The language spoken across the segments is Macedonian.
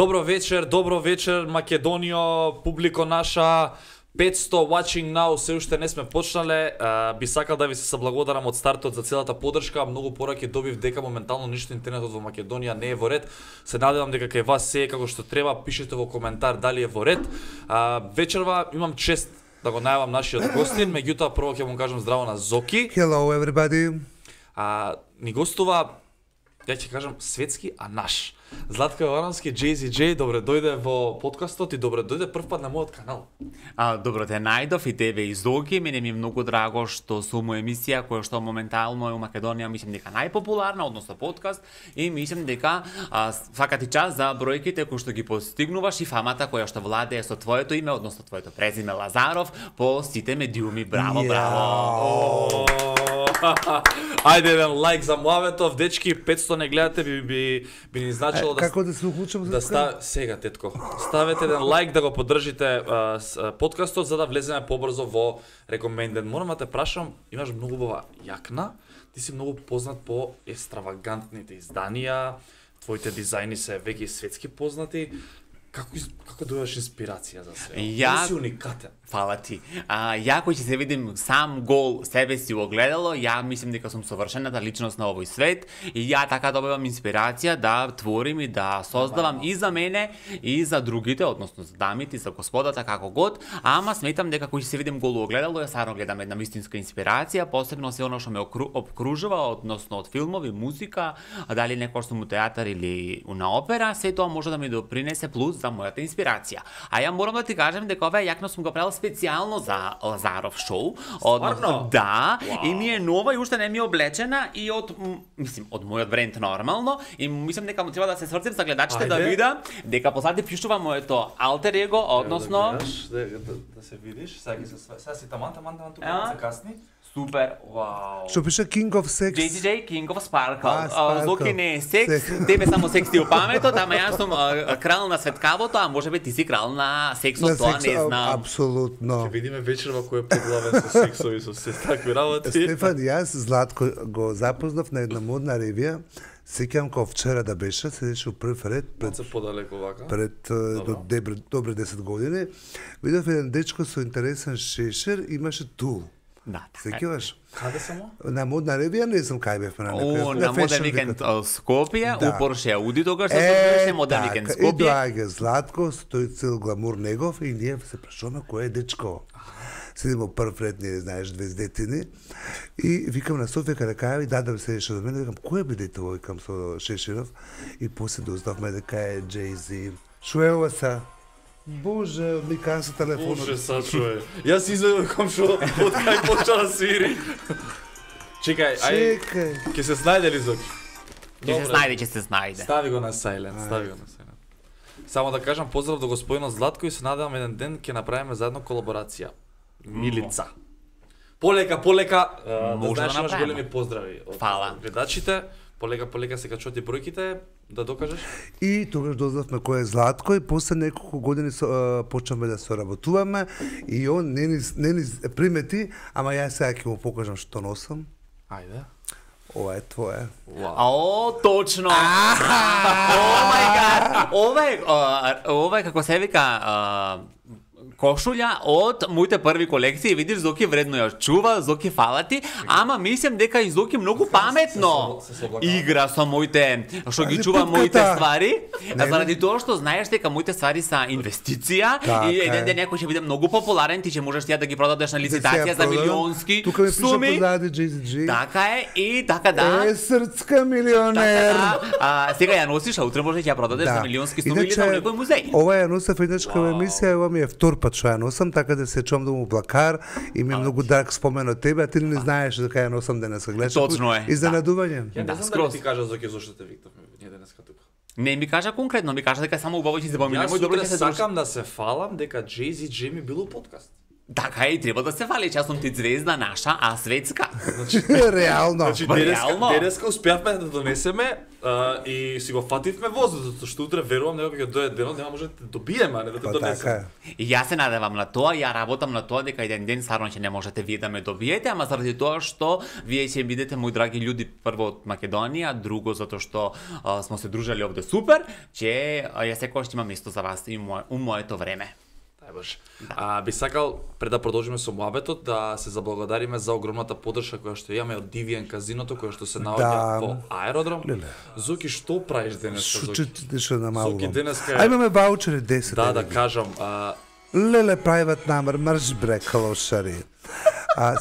Добро вечер, Македонио, публико наша. 500 watching now, се уште не сме почнале. Би сакал да ви се соблагодарам од стартот за целата поддршка. Многу пораки добив дека моментално ништо интернетот во Македонија не е во ред. Се надевам дека кај вас се е како што треба. Пишете во коментар дали е во ред. Вечерва имам чест да го најавам нашиот гостин, меѓутоа прво ќе му кажам здраво на Зоки. Hello everybody. Ни гостува, ја ќе кажам светски, а наш. Златко Јовановски, JZJ, добре дојде во подкастот и добре дојде прв пат на мојот канал. Добро те најдов и тебе и Зоки. Мене ми е многу драго што сум во емисија која што моментално е во Македонија, мислам дека најпопуларна, односно подкаст, и мислам дека свака ти час за бројките кои што ги постигнуваш и фамата која што владее со твоето име, односно твоето презиме Лазаров по сите медиуми. Браво, браво. Ајде еден лайк за Муаветов, дечки, 500 не гледате, би ни значило да... Како да се уклучам за да сега, тетко. Ставете еден лайк да го поддржите подкастот за да влеземе побрзо во recommended. Морам да те прашам, имаш многу убава јакна, ти си многу познат по екстравагантните изданија, твоите дизајни се веќе светски познати. Како дојдеш инспирација за се? Ти си уникатен. Фала ти. Ја кој ќе се видим сам гол себе си во огледало, ја мислам дека сум совршената личност на овој свет и ја така добивам инспирација да творим и да создавам и за мене и за другите, односно за дамите, за господата, како год, ама сметам дека кој ќе се видим гол во огледало, ја сарно гледам една вистинска инспирација, посебно се оно што ме обкружува, односно од филмови, музика, дали некој сум у театар или на опера, се тоа може да ми допринесе плюс за мојата инспирација. А ја морам да ти кажам дека оваа јакна сум го правил специјално за Лазаров шоу. Да, и ми е нова и уште не ми е облечена и од мојот бренд нормално и мислам дека му треба да се сврцим за гледачите да видам дека позади пишува моето алтер его, односно да се видиш, сега си таман тука се касни. Супер, вау. Што пише King of Sex? JZJ, King of Sparkle. Зоки не е секс, тебе само секс ти у паметот, ама јас сум крал на светкавото, а може би ти си крал на сексот, тоа не знам. Апсолутно. Ќе видиме вечерва кој е поглавен со сексови, со се такви работи. Стефан, јас Златко го запознав на една модна ревија. Сеќавам кога вчера да беше, седеше у прв ред пред добре 10 години. Видов еден дечко со интересен шешер, имаше тул. Да, сеќаваш? Каде само? На модна ревија, не знам кај бевме на некој. На моден викенд Скопје, у Порше Ауди тогаш се беше моден викенд Скопје. И доаѓа Златко, тој цел гламур негов и ние се прашуваме кој е дечко. Седимо прв ред, не знаеш, две детини. И викам на Софија каде кај да седеше до мене, викам кој е дете овој, викам со Шеширов и после дознавме дека е Jay-Z. Шо е ова са? Боже, ми кажа телефонот. Боже, сачуе. Јас изведувам што од кај почна да свири. Чекај, ќе се снајде ли Зоки? Ќе се снајде. Стави го на silent, Само да кажам поздрав до господинот Златко и се надевам еден ден ќе направиме заедно колаборација. Милица. Полека, да знаеш имаш големи поздрави од гледачите. Полека се качуваат и бројките, да докажеш. И тогаш дознавме кој е Златко и после неколку години почнавме да соработуваме и он не ни примети, ама јас сега ќе му покажам што носам. Ајде. Ова е твое. О, точно! О мај гад! Ова е како се вика кошулја од моите први колекции, видиш Зоки вредно ја чува, Зоки фала ти, ама мислам дека и Зоки многу паметно игра со моите, што ги чува моите ствари, заради тоа што знаеш дека моите ствари се инвестиција и еден ден некој ќе биде многу популарен, ти ќе можеш ја да ги продадеш на лицитација за милионски суми. Тука ми пише позади JZJ. Така е и така да. Срцка милионер. Сега ја носиш, а утре може ќе ја продадеш за милионски суми или за некој музеј. Ова ја носев еднашка емисија, ова ми е втор пат што ја носам, така да се чувам да му блакар и ми е многу драг спомен од тебе, а ти не знаеш дека ја носам денеска, гледаш. Точно е. Изненадување. Ја не знам дали ти кажа Зоки зошто те викнавме ние денеска тука. Не ми кажа конкретно, ми кажа дека само убаво ќе се помине. Јас утре сакам да се фалам дека JZJ ми било подкаст. Така и треба да се фали, че сум ти звезда наша, а светска. Реално. Значи, Реално? денеска успеавме да донесеме и си го фативме возот, затоа што утре верувам дека ќе дое денот, нема може да те добиеме, а не да те Па донесеме. така. И јас се надевам на тоа, ја работам на тоа дека еден ден стварно ќе не можете вие да ме добиете, ама заради тоа што вие ќе бидете мои драги луѓе прво од Македонија, друго затоа што смо се дружали овде супер, че ја секогаш има место за вас и у моето време. Баш. Би сакал пред да продолжиме со муабетот да се заблагодариме за огромната поддршка која што имаме од Deviant казиното која што се наоѓа во аеродром. Зоки, што правиш денеска, Зоки? Што намалувам. Зоки, денеска А имаме ваучери 10. Да кажам, Леле, private number, марш бре, калошари.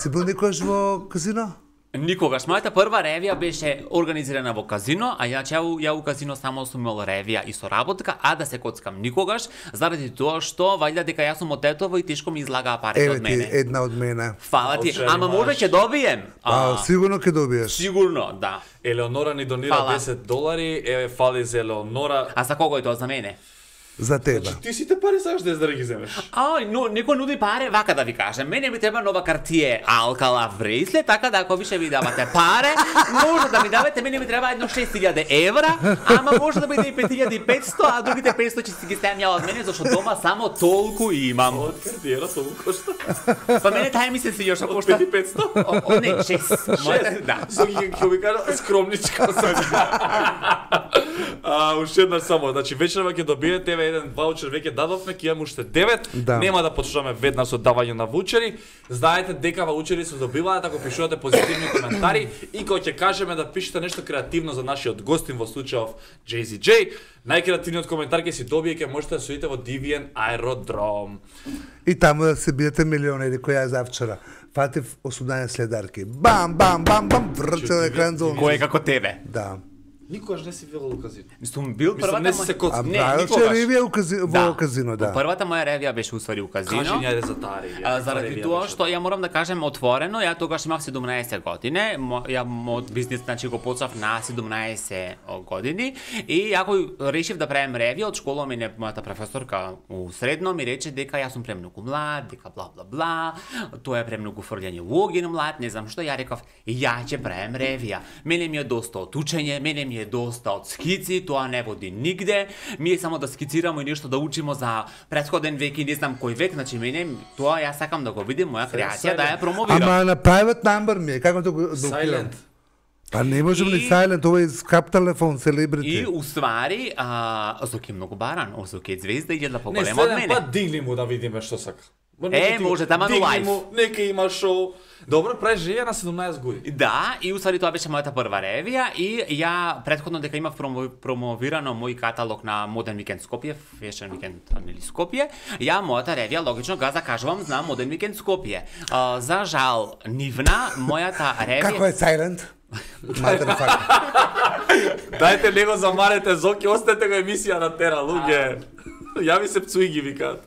Си бил никогаш во казино? Никогаш. Мојата прва ревија беше организирана во казино, а ја у казино само сум имал ревија и соработка, а да се коцкам никогаш, заради тоа што вајда дека јас сум од Тетово и тешко ми излагаа парите од Еве ти мене. една од мене. Фала ти, Оче, ама може ќе добием. Сигурно ќе добиеш. Сигурно, да. Елеонора ни донира Фала. $10, еве фали за Елеонора. А за кого е тоа за мене? За тебе. Ти сите пари сакаш да ги земеш. Но некој нуди паре, вака да ви кажем. Мене ми треба нова картие Алкала Вресле, така да ако више ви давате паре, може да ми давате, мене ми треба едно 6000 евра, ама може да биде и 5500, а другите 500 ќе си ги ставам ја од мене, зашто дома само толку имам. Од картиера толку кошта. Па мене тај ми се свиѓа што кошта 5500? Не, 6. Мојата, да. Соки ќе ви кажа скромничка уште еднаш само, значи вечерва ќе добиете еден ваучер, веќе дадовме, ќе имаме уште 9. Да. Нема да почнеме веднаш со давање на ваучери. Знаете дека ваучери се добиваат ако пишувате позитивни коментари и кога ќе кажеме да пишете нешто креативно за нашиот гостин во случајов JZJ, најкреативниот коментар ќе си добие, ќе можете да судите во Deviant аеродром. И таму да се биете милионери која е завчера. Фатив 18 следарки. Бам, бам, бам, бам, врцел екран зон. Кој е како тебе? Да. Никогаш не си видел у казино. Сум бил Мислам, првата не си се коцка. Не, правил че никогаш. ревија во казино, да. Првата моја ревија беше усвари у казино. Кажи ни ајде за таа ревија. Заради тоа што ја морам да кажем отворено, ја тогаш имав 17 години, ја мојот бизнис значи го почнав на 17 години и ако решив да правам ревија од школа мене мојата професорка у средно ми рече дека јас сум премногу млад, дека бла бла бла, тоа е премногу фрлање логи млад, не знам што, ја реков ја ќе правам ревија. Мене ми е доста од учење, мене ми е доста од скици, тоа не води нигде. Ми е само да скицираме и нешто да учимо за претходен век и не знам кој век, значи мене тоа јас сакам да го видим моја креација да ја промовирам. Ама на private number ми е, како да го блокирам? Silent. Па не можем ни silent, ова е скап телефон, И селебрити. уствари, Озоки е многу баран, Озоки е звезда и да Не, поголема од следен мене. пат дигни му да видиме што сака. Може, тама на лайф. Нека има шоу. Добро, правиш ревија на 17 години. Да, и уствари тоа беше мојата прва ревија и ја претходно дека имав промовирано мој каталог на Modern Weekend Skopje, Fashion Weekend нели Скопје, ја мојата ревија логично га закажувам на Modern Weekend Skopje. За жал, нивна мојата ревија Како е silent? Motherfucker. Дајте него замарете Зоки, оставете го емисија на тера, луѓе. Јави се пцуи ги викаат.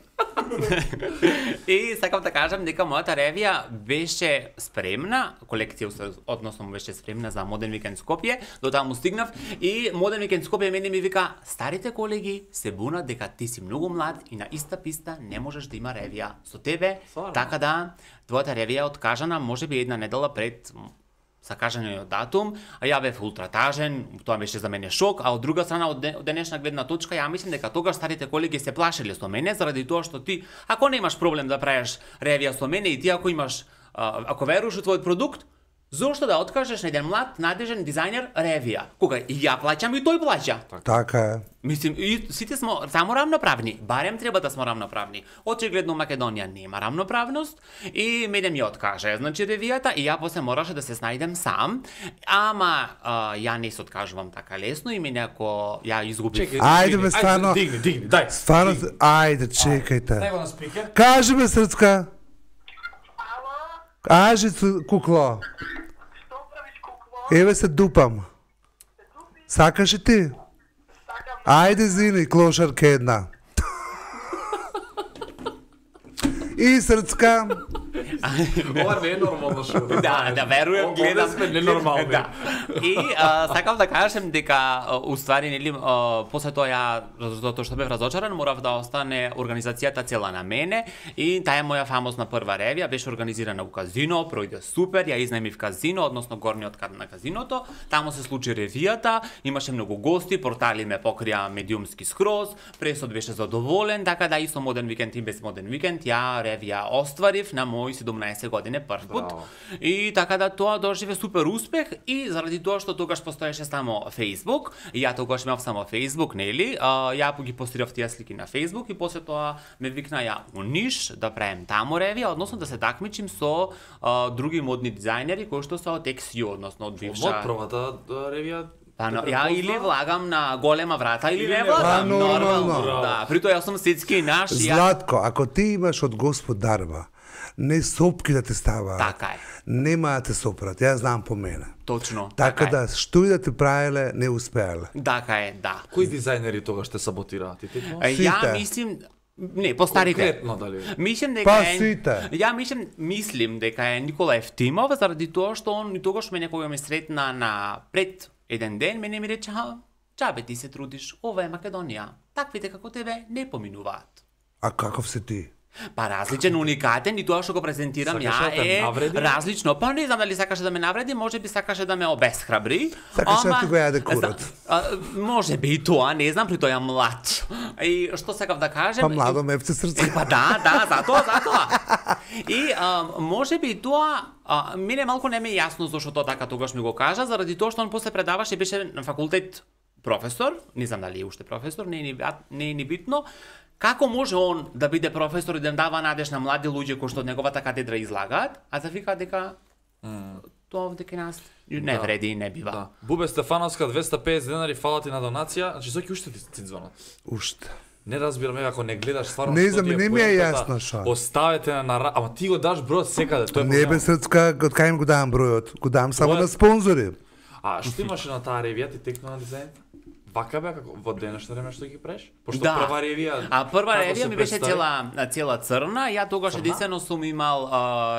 И сакам да кажам дека мојата ревија беше спремна, колекција односно беше спремна за Modern Weekend Skopje, до таму стигнав и Modern Weekend Skopje мене ми вика старите колеги се бунат дека ти си многу млад и на иста писта не можеш да има ревија со тебе, така да твојата ревија е откажана можеби една недела пред закажаниот датум, а ја бев ултратажен, тоа беше за мене шок, а од друга страна од денешна гледна точка ја мислам дека тогаш старите колеги се плашеле со мене заради тоа што ти ако немаш проблем да правиш ревија со мене и ти ако имаш ако веруваш во твојот продукт, зошто да откажеш на еден млад надежен дизајнер ревија? Кога и ја плаќам и тој плаќа. Така е. Мислим, и сите смо само рамноправни, барем треба да смо рамноправни. Очигледно Македонија нема рамноправност и мене ми откаже, значи ревијата и ја после мораше да се снајдем сам, ама ја не се откажувам така лесно и мене ако ја изгубив. Ајде бе, стварно. Дигни, дај. Стварно, ајде, чекајте. Дај го на спикер. Кажи ме, Срцка. Кажи, кукло. Што правиш, кукло? Еве се дупам. Сакаш и ти? Ајде, зини, клошарка една. И Срцка, Ова не е нормално шо. Да, верувам, гледам сме ненормални. Да. И сакав да кажем дека уствари нели после тоа ја затоа што бев разочаран, морав да остане организацијата цела на мене и таа е моја фамозна прва ревија, беше организирана у казино, пројде супер, ја изнаемив казино, односно горниот кат на казиното, таму се случи ревијата, имаше многу гости, портали ме покрија медиумски скроз, пресот беше задоволен, така да и со Моден викенд и без Моден викенд ја ревија остварив на мој 17 години прв пат. И така да тоа доживе супер успех и заради тоа што тогаш постоеше само Facebook, и ја тогаш имав само Facebook, нели? Ја ги постирав тие слики на Facebook и после тоа ме викна ја у Ниш да правим таму ревија, односно да се такмичим со други модни дизајнери кои што се од XU, односно од бивша. Од првата ревија. Па ја или влагам на голема врата или не Па, влагам, нормално. Да, при тоа јас сум светски наш. Златко, ако ти имаш од Господ дарба, не сопки да те ставаат. Така е. Нема да те сопрат, ја знам по мене. Точно. Така е. да, што и да те правеле, не успеале. Така е, да. Кои дизајнери тогаш те саботираат? Ја Сите. мислим не, по старите. Конкретно дали? Мислим дека Па е сите. Ја мислим дека е Никола Евтимов заради тоа што он и тогаш мене кога ме сретна на пред еден ден, мене ми рече: "Чабе ти се трудиш, ова е Македонија. Таквите како тебе не поминуваат." А каков се ти? Па различен, уникатен и тоа што го презентирам Сакаше ја да те е навреди? различно. Па не знам дали сакаше да ме навреди, може би сакаше да ме обесхрабри. Сакаше да ти го јаде курот. Може би и тоа, не знам, при тоа млад. И што сакав да кажем? Па младо мевце срце. Па да, затоа. И може би тоа мене малку не ме е јасно зашто тоа така тогаш ми го кажа, заради тоа што он после предаваше, беше на факултет професор, не знам дали е уште професор, не е ни битно. Како може он да биде професор и да им дава надеж на млади луѓе кои што од неговата катедра излагаат, а да вика дека тоа овде кај нас не вреди и не бива. Да. Бубе Стефановска 250 денари, фала ти на донација. Значи соки уште ти звонат. Уште. Не разбирам, ако не гледаш стварно Не што знам, ти е не ми е поентата, јасно шо. Оставете на ама ти го даш бројот секаде, тоа е Не бе проблемот. срцка, од кај им го давам бројот? Го давам само Бројот? на спонзори. А што имаше на таа ревија ти текна на дизајн? Вака бе како во денешно време што ги правиш? Пошто Да. прва ревија. А прва како ревија се ми беше представи? цела црна, ја тогаш Црна? единствено сум имал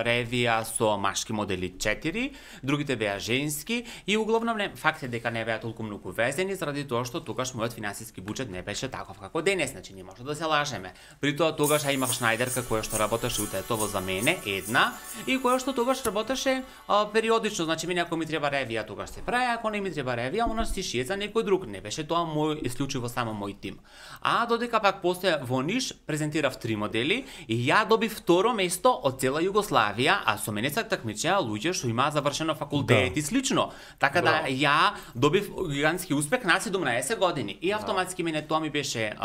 ревија со машки модели 4, другите беа женски и углавном факт е дека не беа толку многу везени заради тоа што тогаш мојот финансиски буџет не беше таков како денес, значи не може да се лажеме. При тоа тогаш ја имав Шнајдерка која што работеше у Тетово за мене, една, и која што тогаш работеше периодично, значи мене ако ми треба ревија тогаш се прави, ако не ми треба ревија, она си шие за некој друг, не беше тоа мој исклучиво само мој тим. А додека пак после во Ниш презентирав 3 модели и ја добив второ место од цела Југославија, а со мене се такмичеа луѓе што имаа завршено факултет и слично. Така да ја добив гигантски успех на 17 години и автоматски мене тоа ми беше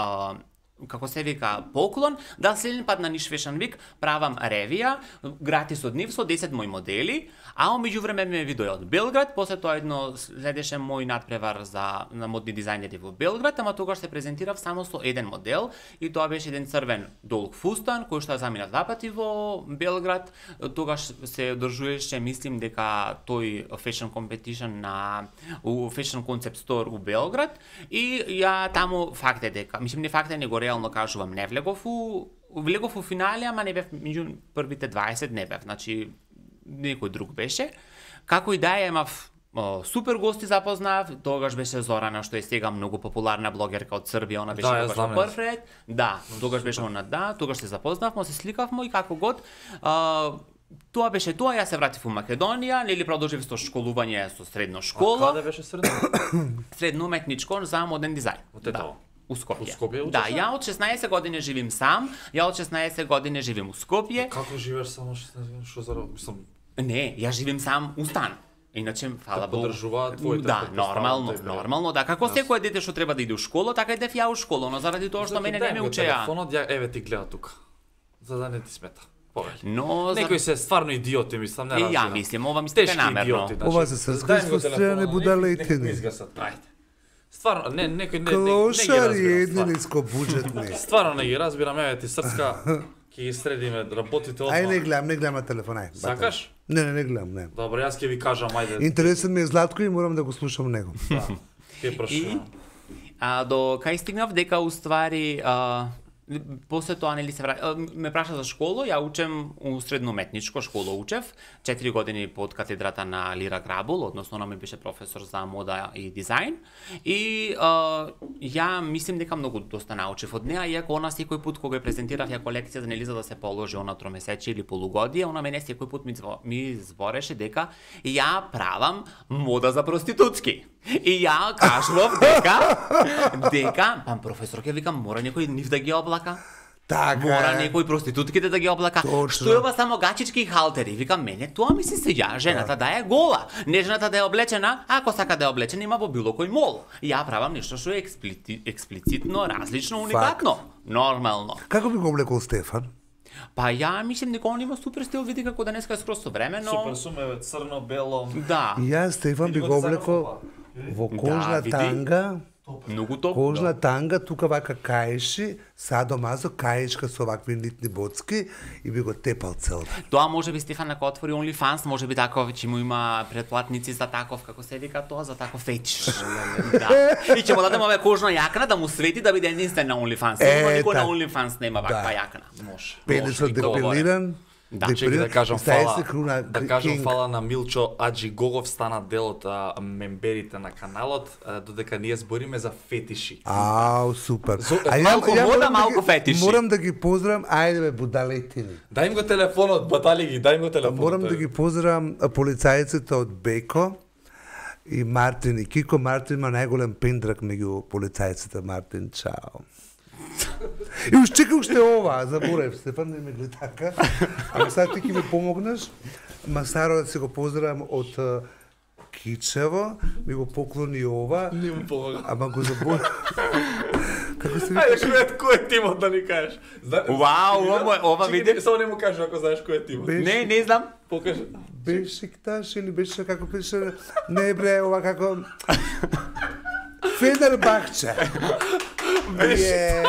како се вика поклон, да следен пат на Ниш Fashion Week правам ревија, гратис од нив со 10 мои модели, а меѓу време ме видоа од Белград, после тоа едно следеше мој надпревар на модни дизајнери во Белград, ама тогаш се презентирав само со еден модел и тоа беше еден црвен долг фустан кој што ја замина 2 пати во Белград. Тогаш се одржуваше, мислим дека тој fashion competition у Fashion Concept Store у Белград и ја таму факт е дека, мислим не факт е, него реално кажувам, не влегов у финале, ама не бев меѓу првите 20, не бев, значи некој друг беше. Како и да е, имав супер гости запознав, тогаш беше Зорана, што е сега многу популарна блогерка од Србија, она беше тогаш во прв ред. Да, тогаш беше она, тогаш се запознавме, се сликавме и како год. Тоа беше тоа, јас се вратив у Македонија, нели продолжив со школување со средно школа. А каде беше средно? Средно уметничко за моден дизајн. Во Тетово. У Скопје. У Скопје да, ја од 16 години живим сам, ја од 16 години живим у Скопје. Како живееш само 16 години, што мислам? Не, ја живим сам у стан. Иначе, фала Богу. Поддржуваат твоите Да, нормално, да. Како секој дете што треба да иде у школа, така идев ја у школа, но заради тоа што мене не ме учеа. Телефонот, еве ти гледа тука. За да не ти смета. Но некои се стварно идиоти, мислам, не разбирам. Ја мислам, ова ми стека намерно. Ова се срска фрустрирани будалејтини. Стварно, некој не Клошари едни нискобуџетни. Стварно не ги разбирам, еве ти срска, ќе ги средиме работите одма. Ај не гледам на телефон, ај. Сакаш? Не гледам, не. Добро, јас ќе ви кажам, ајде. Интересен ми е Златко и морам да го слушам него. Да. Ќе прашувам. До кај стигнав дека уствари После тоа нели ме праша за школа, ја учам у средноуметничко школа учев, 4 години под катедрата на Лира Грабул, односно она ми беше професор за мода и дизајн. И ја мислим дека многу доста научив од неа, иако она секој пат кога ја презентирав ја колекција нели за да се положи она тромесечие или полугодие, она мене секој пат ми збореше дека ја правам мода за проститутки. И ја кажував дека пам професор ќе викам мора некој нив да ги облака. Така Мора е. некој проститутките да ги облака. Точно. Што е ова само гачички и халтери? Викам мене тоа ми се свиѓа, жената да е гола, не жената да е облечена, ако сака да е облечена има во било кој мол. Ја правам нешто што е експлицитно, различно, уникатно, нормално. Како би го облекол Стефан? Па ја мислам дека он има супер стил, види како денеска е скроз современо. Супер сумеве, црно, бело. Да, И јас Стефан би Види го го дизајнот, облекол опа. во кожна види. танга, многу топ. кожна танга, тука вака каеши, садомазо, каешка со вакви нитни боцки и би го тепал цел. Тоа може би Стефан ако отвори OnlyFans, може би таков ќе му има предплатници за таков, како се вика тоа, за таков фетиш. Да. И ќе му дадеме оваа кожна јакна да му свети да биде единствен на OnlyFans. Сигурно никој на така. OnlyFans нема ваква Да. јакна. Може. Пенисот депилиран, Да, Чеки да кажам стаje фала, се круна да кажам King. фала на Милчо Аджи Гогов, стана дел од мемберите на каналот, додека ние збориме за фетиши. Ау, супер. малку мода, морам да малку ги- фетиши. Морам да ги поздравам, ајде бе, будалетини. Дај им го телефонот, батали ги, дај им го телефонот. Морам да ги поздравам полицајците од Беко и Мартин и Кико. Мартин има најголем пендрак меѓу полицајците. Мартин, чао. И уж чекай уште ова, заборев, Стефан, не ме гледа така. Ама сега ти ќе ми помогнеш. Масаро да се го поздравам од Кичево, ми го поклони ова, Не му помага. ама го заборев. Како се Ајде, вика? кој е тимот да ни кажеш? Вау, ова види. Само не му кажеш ако знаеш кој е тимот. Беше- Не знам. Покажи. Бешикташ или беше како пише? Не бре, ова како Фенербахче. Е,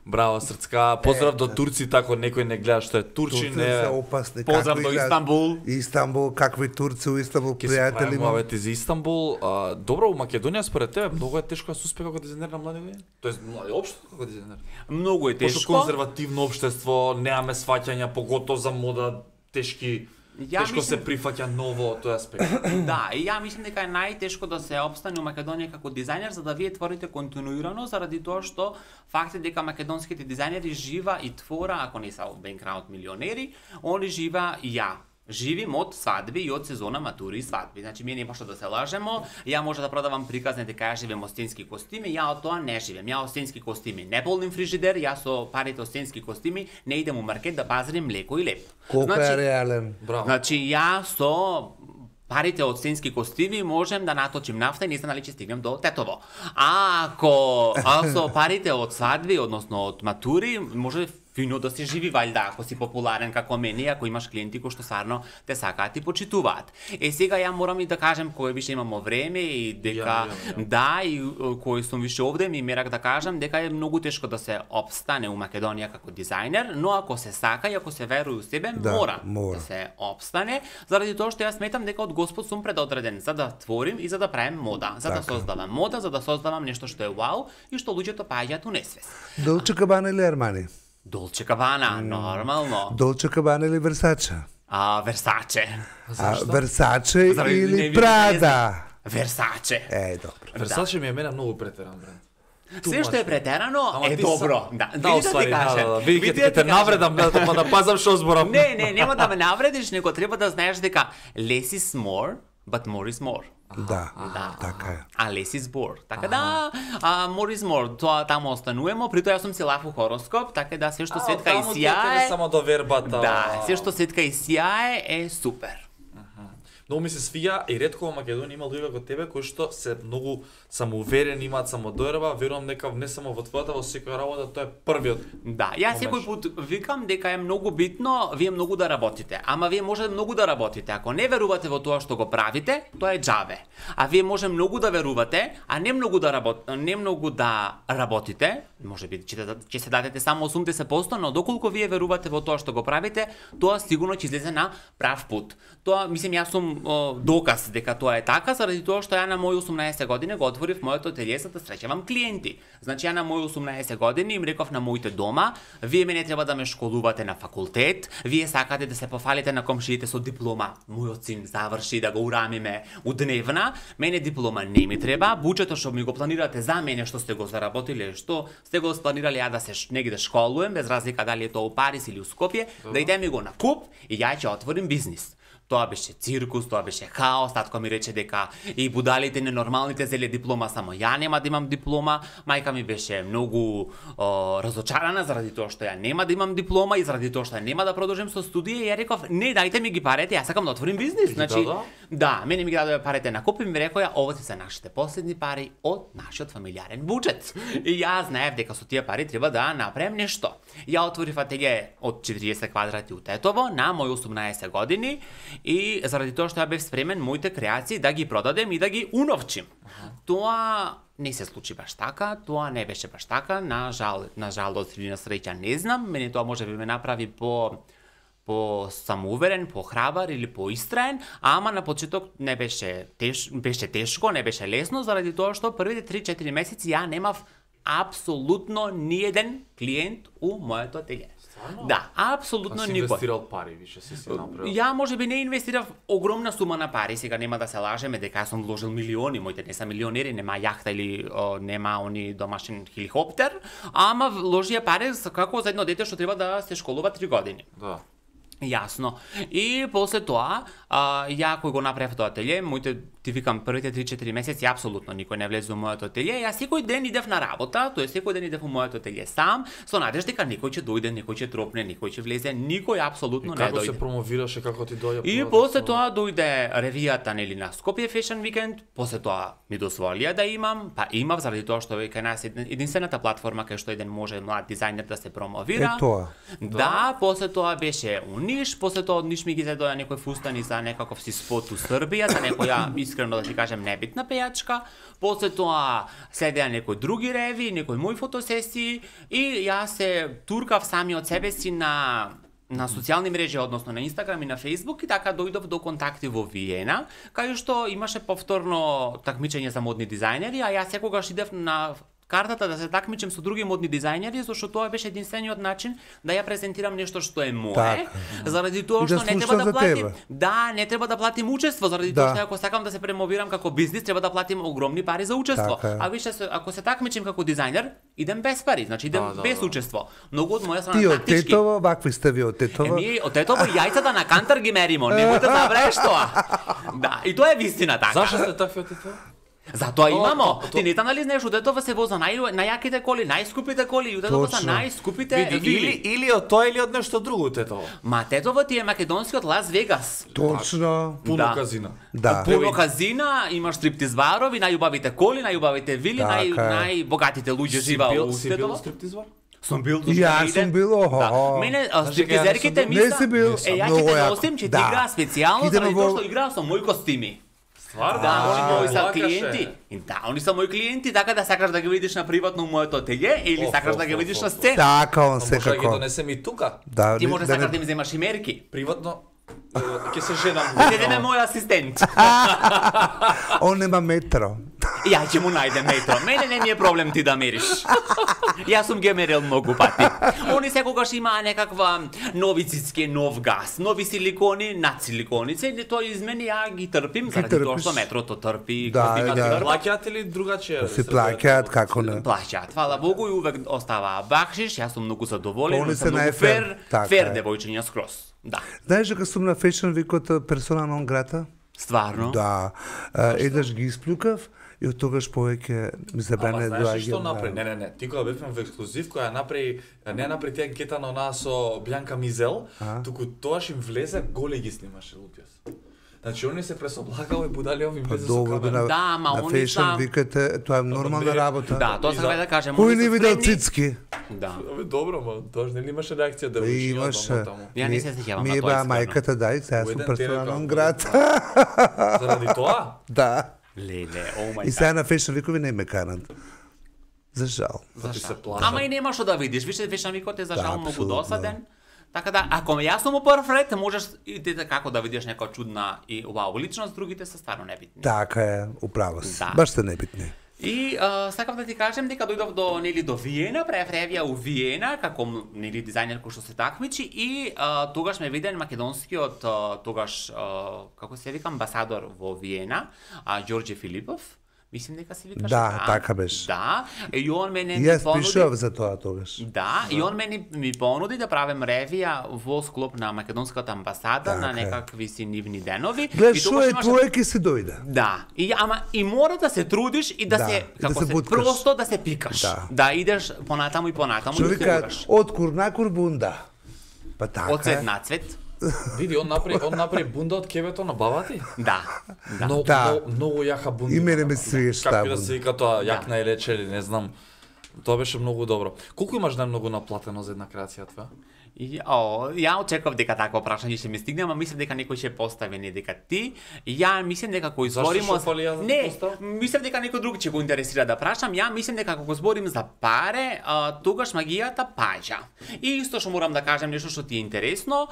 Браво, срцка. Поздрав до турците, ако некој не гледа што е турчин, турци се е опасни. Поздрав како до играат. Истанбул. Истанбул, какви турци у Истанбул, ќе се пријатели правиме имам. мовети за Истанбул. Добро, у Македонија според тебе многу е тешко да се успее како дизајнер на млади години? Тоест, млади општо како дизајнер. Многу е Пошто тешко. конзервативно општество, немаме сваќања, поготово за мода, тешки. Ја Тешко се мислам- прифаќа ново од тој аспект. Да, и ја мислам дека е најтешко да се опстане у Македонија како дизајнер за да вие творите континуирано заради тоа што фактот дека македонските дизајнери жива и твора, ако не се бенкраут милионери, они жива и ја. Живим од свадби и од сезона матури и свадби. Значи, ние нема што да се лажемо, ја може да продавам приказни дека ја живеем од стенски костими, ја од тоа не живеем. Ја од стенски костими не полним фрижидер, ја со парите од стенски костими не идем у маркет да пазарим млеко и леп. Колку е реален? Браво. Значи, ја со парите од стенски костими можем да наточим нафта и не знам дали ќе стигнем до Тетово. А со парите од свадби, односно од матури, може фино да се живи валјда, ако си популарен како мене, ако имаш клиенти кои што стварно те сакаат и почитуваат. Сега ја морам и да кажем кој више имамо време и дека Ја. да, и кој сум више овде, ми мерак да кажам дека е многу тешко да се опстане у Македонија како дизајнер, но ако се сака и ако се веруе у себе, Да, мора мора. да се опстане, заради тоа што јас сметам дека од Господ сум предодреден за да творим и за да правим мода, за да Така. создавам мода, за да создавам нешто што е вау и што луѓето паѓаат у несвест. Долче Габана или Армани? Долче Кабана, нормално. Долче Габана или Версаче? Версаче. Версаче Заради не или видите, Прада? Версаче. Добро. Версаче ми е мене многу претеран, брат. Се што е претерано Ама е ти добро. сам- Да, Да, види уствари, ти да, кажам. да, да. Види Види ќе те кажам. навредам, да пазам што зборам. Не, нема да ме навредиш, него треба да знаеш дека less is more, but more is more. Да, Да. така е. А less is more. Така да, more is more. Тоа таму остануваме, при тоа јас сум си лаф у хороскоп, така да се што светка и сјае. Само до вербата. Да, се што светка и сјае е супер. Многу ми се свија и ретко во Македонија има луѓе како тебе кои што се многу самоуверени, имаат самодоверба, верувам дека не само во твојата, во секоја работа тоа е првиот. Да, јас секој пат викам дека е многу битно вие многу да работите. Ама вие може многу да работите. Ако не верувате во тоа што го правите, тоа е џаве. А вие може многу да верувате, а не многу да работите, можеби ќе се дадете само 80%, но доколку вие верувате во тоа што го правите, тоа сигурно ќе излезе на прав пат. Тоа, мислам, јас сум доказ дека тоа е така, заради тоа што ја на мои 18 години го отворив моето ателје за да среќавам клиенти. Значи ја на мои 18 години им реков на моите дома, вие мене треба да ме школувате на факултет, вие сакате да се пофалите на комшиите со диплома. Мојот син заврши да го урамиме у дневна, мене диплома не ми треба, буџетот што ми го планирате за мене што сте го заработиле, што сте го спланирале ја да се негде школуем, без разлика дали е тоа у Париз или у Скопје, да идеме го на куп и ја ќе отворим бизнис. Тоа беше циркус, тоа беше хаос, татко ми рече дека и будалите ненормалните зеле диплома, само ја нема да имам диплома. Мајка ми беше многу разочарана заради тоа што ја нема да имам диплома и заради тоа што ја нема да продолжим со студија и ја реков: "Не, дајте ми ги парите, јас сакам да отворим бизнис." Значи, да, мене ми ги дадоа парите на куп и ми рекоа: "Ова се нашите последни пари од нашиот фамилиарен буџет." И јас знаев дека со тие пари треба да направам нешто. Ја отворив ателје од 40 квадрати у Тетово на мои 18 години. И заради тоа што ја бев спремен моите креации да ги продадем и да ги уновчим. Тоа не се случи баш така, тоа не беше баш така, на жалост или на среќа не знам, мене тоа може би ме направи по самоуверен, по храбар или по истраен, ама на почеток не беше тешко, не беше лесно, заради тоа што првите 3-4 месеци ја немав апсолутно ниеден клиент у моето ателје. Да, апсолутно никој. Инвестирал пари, више си направил. Ја можеби не инвестирав огромна сума на пари, сега нема да се лажеме дека сум вложил милиони, моите не се милионери, нема јахта или нема они домашен хеликоптер, ама вложија пари како за едно дете што треба да се школува 3 години. Да. Јасно. И после тоа, ја кој го направив тоа ателје, моите ти викам првите 3-4 месеци апсолутно никој не влезе во моето ателје. Јас секој ден идев на работа, тоест секој ден идев во моето ателје сам, со надежда дека некој ќе дојде, некој ќе тропне, некој ќе влезе, никој апсолутно не дојде. Како се промовираше, како ти дојде? И после тоа дојде ревијата нели на Скопје Fashion Weekend, после тоа ми дозволија да имам, па имав заради тоа што веќе нас единствената платформа кај што еден може млад дизајнер да се промовира. Тоа. Да, после тоа беше у Ниш, после тоа од Ниш ми ги зедоа некој фустани за некаков си спот у Србија, за некоја искрено да ти кажем небитна пејачка. После тоа следеа некои други реви, некои мои фотосесии и јас се туркав сами од себе си на социјални мрежи, односно на Инстаграм и на Фејсбук, и така дојдов до контакти во Виена, кај што имаше повторно такмичење за модни дизајнери, а јас секогаш идев на картата да се такмичам со други модни дизајнери, зашто тоа беше единствениот начин да ја презентирам нешто што е мое, заради тоа што не треба да платим. Да, не треба да платим учество, заради тоа што ако сакам да се премовирам како бизнис, треба да платим огромни пари за учество. А више ако се такмичим како дизајнер, идем без пари, значи идем без учество. Многу од моја страна тактички. Ти од Тетово, вакви сте ви од Тетово? Еми, од Тетово јајцата на кантар ги меримо, немојте да забравиш тоа. Да, и тоа е вистина така. Зашто сте такви од Тетово? Затоа имамо. Ти не нали знаеш, од Тетово се воза најаките коли, најскупите коли, од Тетово се најскупите вили. Или од тоа или од нешто друго Тетово. Ма Тетово ти е македонскиот Лас Вегас. Точно. Пуно казина. Да. Пуно казина, имаш стриптиз барови, најубавите коли, најубавите вили, најбогатите луѓе живеат во Тетово. Си бил стриптиз бар? Сум бил, Јас сум бил, Мене стриптизерките не си бил. Ја ќе те носим, ќе ти играа специјално, заради тоа што играа со мои костими. Стварно? Да, они се клиенти. Да, они се мои клиенти, така да сакаш да ги видиш на приватно моето ателје или сакаш да ги видиш на сцена. Така, он Може да ги секако. донесем и тука. Ти може сакаш да ми земаш и мерки. Приватно ќе се женам. Ќе дадеме мој асистент. Он нема метро. Ја ќе му најдем метро. Мене не ми е проблем ти да мериш. Јас сум ги мерил многу пати. Они секогаш имаа некаква нови цицки, нов газ, нови силикони, над силиконице, и тоа измени ја ги трпим заради тоа што метрото трпи, Да. Плаќаат или другаче? Се плаќаат, како не. Плаќаат, фала Богу, и увек оставаа бакшиш, јас сум многу задоволен, Они се многу најфер, така фер е. девојчиња скроз. Да. Знаеш дека сум на Fashion Week персона нон грата? Стварно? Да. Еднаш ги исплюкав и од тогаш повеќе ми забране Ама знаеш доаѓа. што направи? Не. Ти кога бевме во ексклузив, која направи, не направи тие анкета на нас со Бјанка Мизел, туку тоаш им влезе, голи ги снимаше лутјас. Значи они се пресоблагао и будали овим влезе со Добро камера. Да, ама на они Fashion са- Week тоа е нормална работа. Да, тоа сакам да кажем. Кој они не се видел спремни- цицки? Да. Абе добро, ма тоаш нели имаше реакција да Имаше. Ја не се сеќавам Ми на е тоа баа искрено. мајката, дај, сега сум Еден персона терека, нон еден град. Заради тоа? Да. Леле, о мај И сега на Fashion Week не ме карат. За жал. Да ти се плаша. Ама и нема што да видиш, више Fashion Week е за жал многу апсолутно. досаден. Така да, ако јас сум у прв ред, можеш и дете како да видиш некоја чудна и вау личност, другите се стварно небитни. Така е, управо си. Да. Баш се небитни. И сакав да ти кажем дека дојдов до Виена, правев ревија у Виена како дизајнер кој што се такмичи и тогаш ме виден македонскиот тогаш како се вика амбасадор во Виена, Ѓорѓе Филипов. Мислим дека се викаш. Да, така беше. Да, и он мене ми Јас понуди. пишав за тоа тогаш. Да, и он ми понуди да правим ревија во склоп на македонската амбасада на некакви си нивни денови. Гледаш, шо е твое ке си дојде. Да, и мора да се трудиш и да се како се буткаш. просто да се пикаш. Да идеш понатаму и понатаму Што и да вика, се од курнакур бунда. Па така. од цвет на цвет. Види, он направи бунда од кебето на баба ти. Да. Многу јака бунда. И мене ме свиеш таа Како да се вика тоа, јакна или рече или не знам. Тоа беше многу добро. Колку имаш најмногу наплатено за една креација твоја? Ја очекував дека такво прашање ќе ми стигне, ама мислам дека некој ќе постави, не дека ти. Ја мислам дека кој зборим Не, мислам дека некој друг ќе го интересира да прашам. Ја мислам дека кога зборим за паре, тогаш магијата паѓа. И исто што морам да кажем нешто што ти е интересно,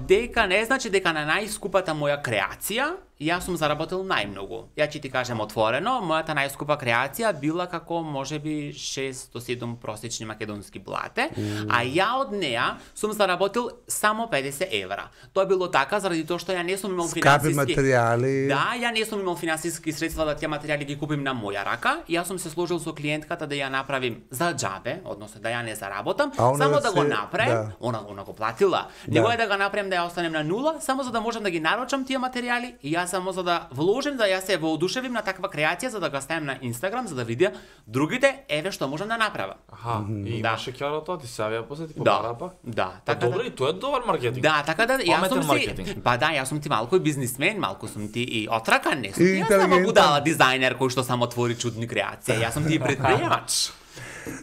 дека не значи дека на најскупата моја креација јас сум заработил најмногу. Ја ќе ти кажем отворено, мојата најскупа креација била како можеби 6 до 7 просечни македонски блате, а ја од неа сум заработил само 50 евра. Тоа било така заради тоа што ја не сум имал Скапи материјали. Да, ја не сум имал финансиски средства да тие материјали ги купим на моја рака. Јас сум се сложил со клиентката да ја направим за џабе, односно да ја не заработам, само да го направим, она го платила. Него е да го направим да ја останем на нула, само за да можам да ги нарочам тие материјали и јас само за да вложим да ја се воодушевим на таква креација за да го ставим на Инстаграм за да видя другите еве што можам да направам. Аха, и имаше кјара тоа, ти се јавија после ти Да, побара пак? да. Така добро, и тоа е добар маркетинг. Да, така да јас сум маркетинг. си, па да, јас сум ти малку и бизнисмен, малку сум ти и отракан, не сум И ти јас само интелигентен. будала дизајнер кој што само твори чудни креации, јас сум ти и предприемач.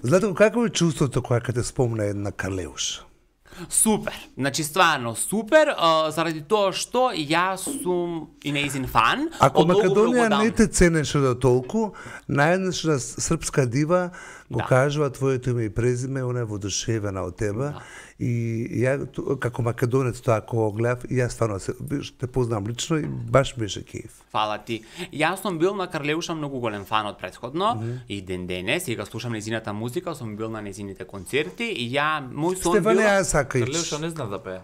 Знаете, какво е чувството кога те спомна една Карлеуш? Супер, значи стварно супер, заради тоа што јас сум и нејзин фан. Ако од многу Македонија давно. не те ценеше до толку, наједнаш српска дива го кажува твоето име и презиме, она е воодушевена од тебе. И ја како македонец тоа кога го гледав, и јас стварно те познам лично и баш беше кеф. Фала ти. Јас сум бил на Карлеуша многу голем фан од претходно и ден денес, и го слушам нејзината музика, сум бил на нејзините концерти и мој сон Стефане била... Асакаич. Карлеуша не знае да пее.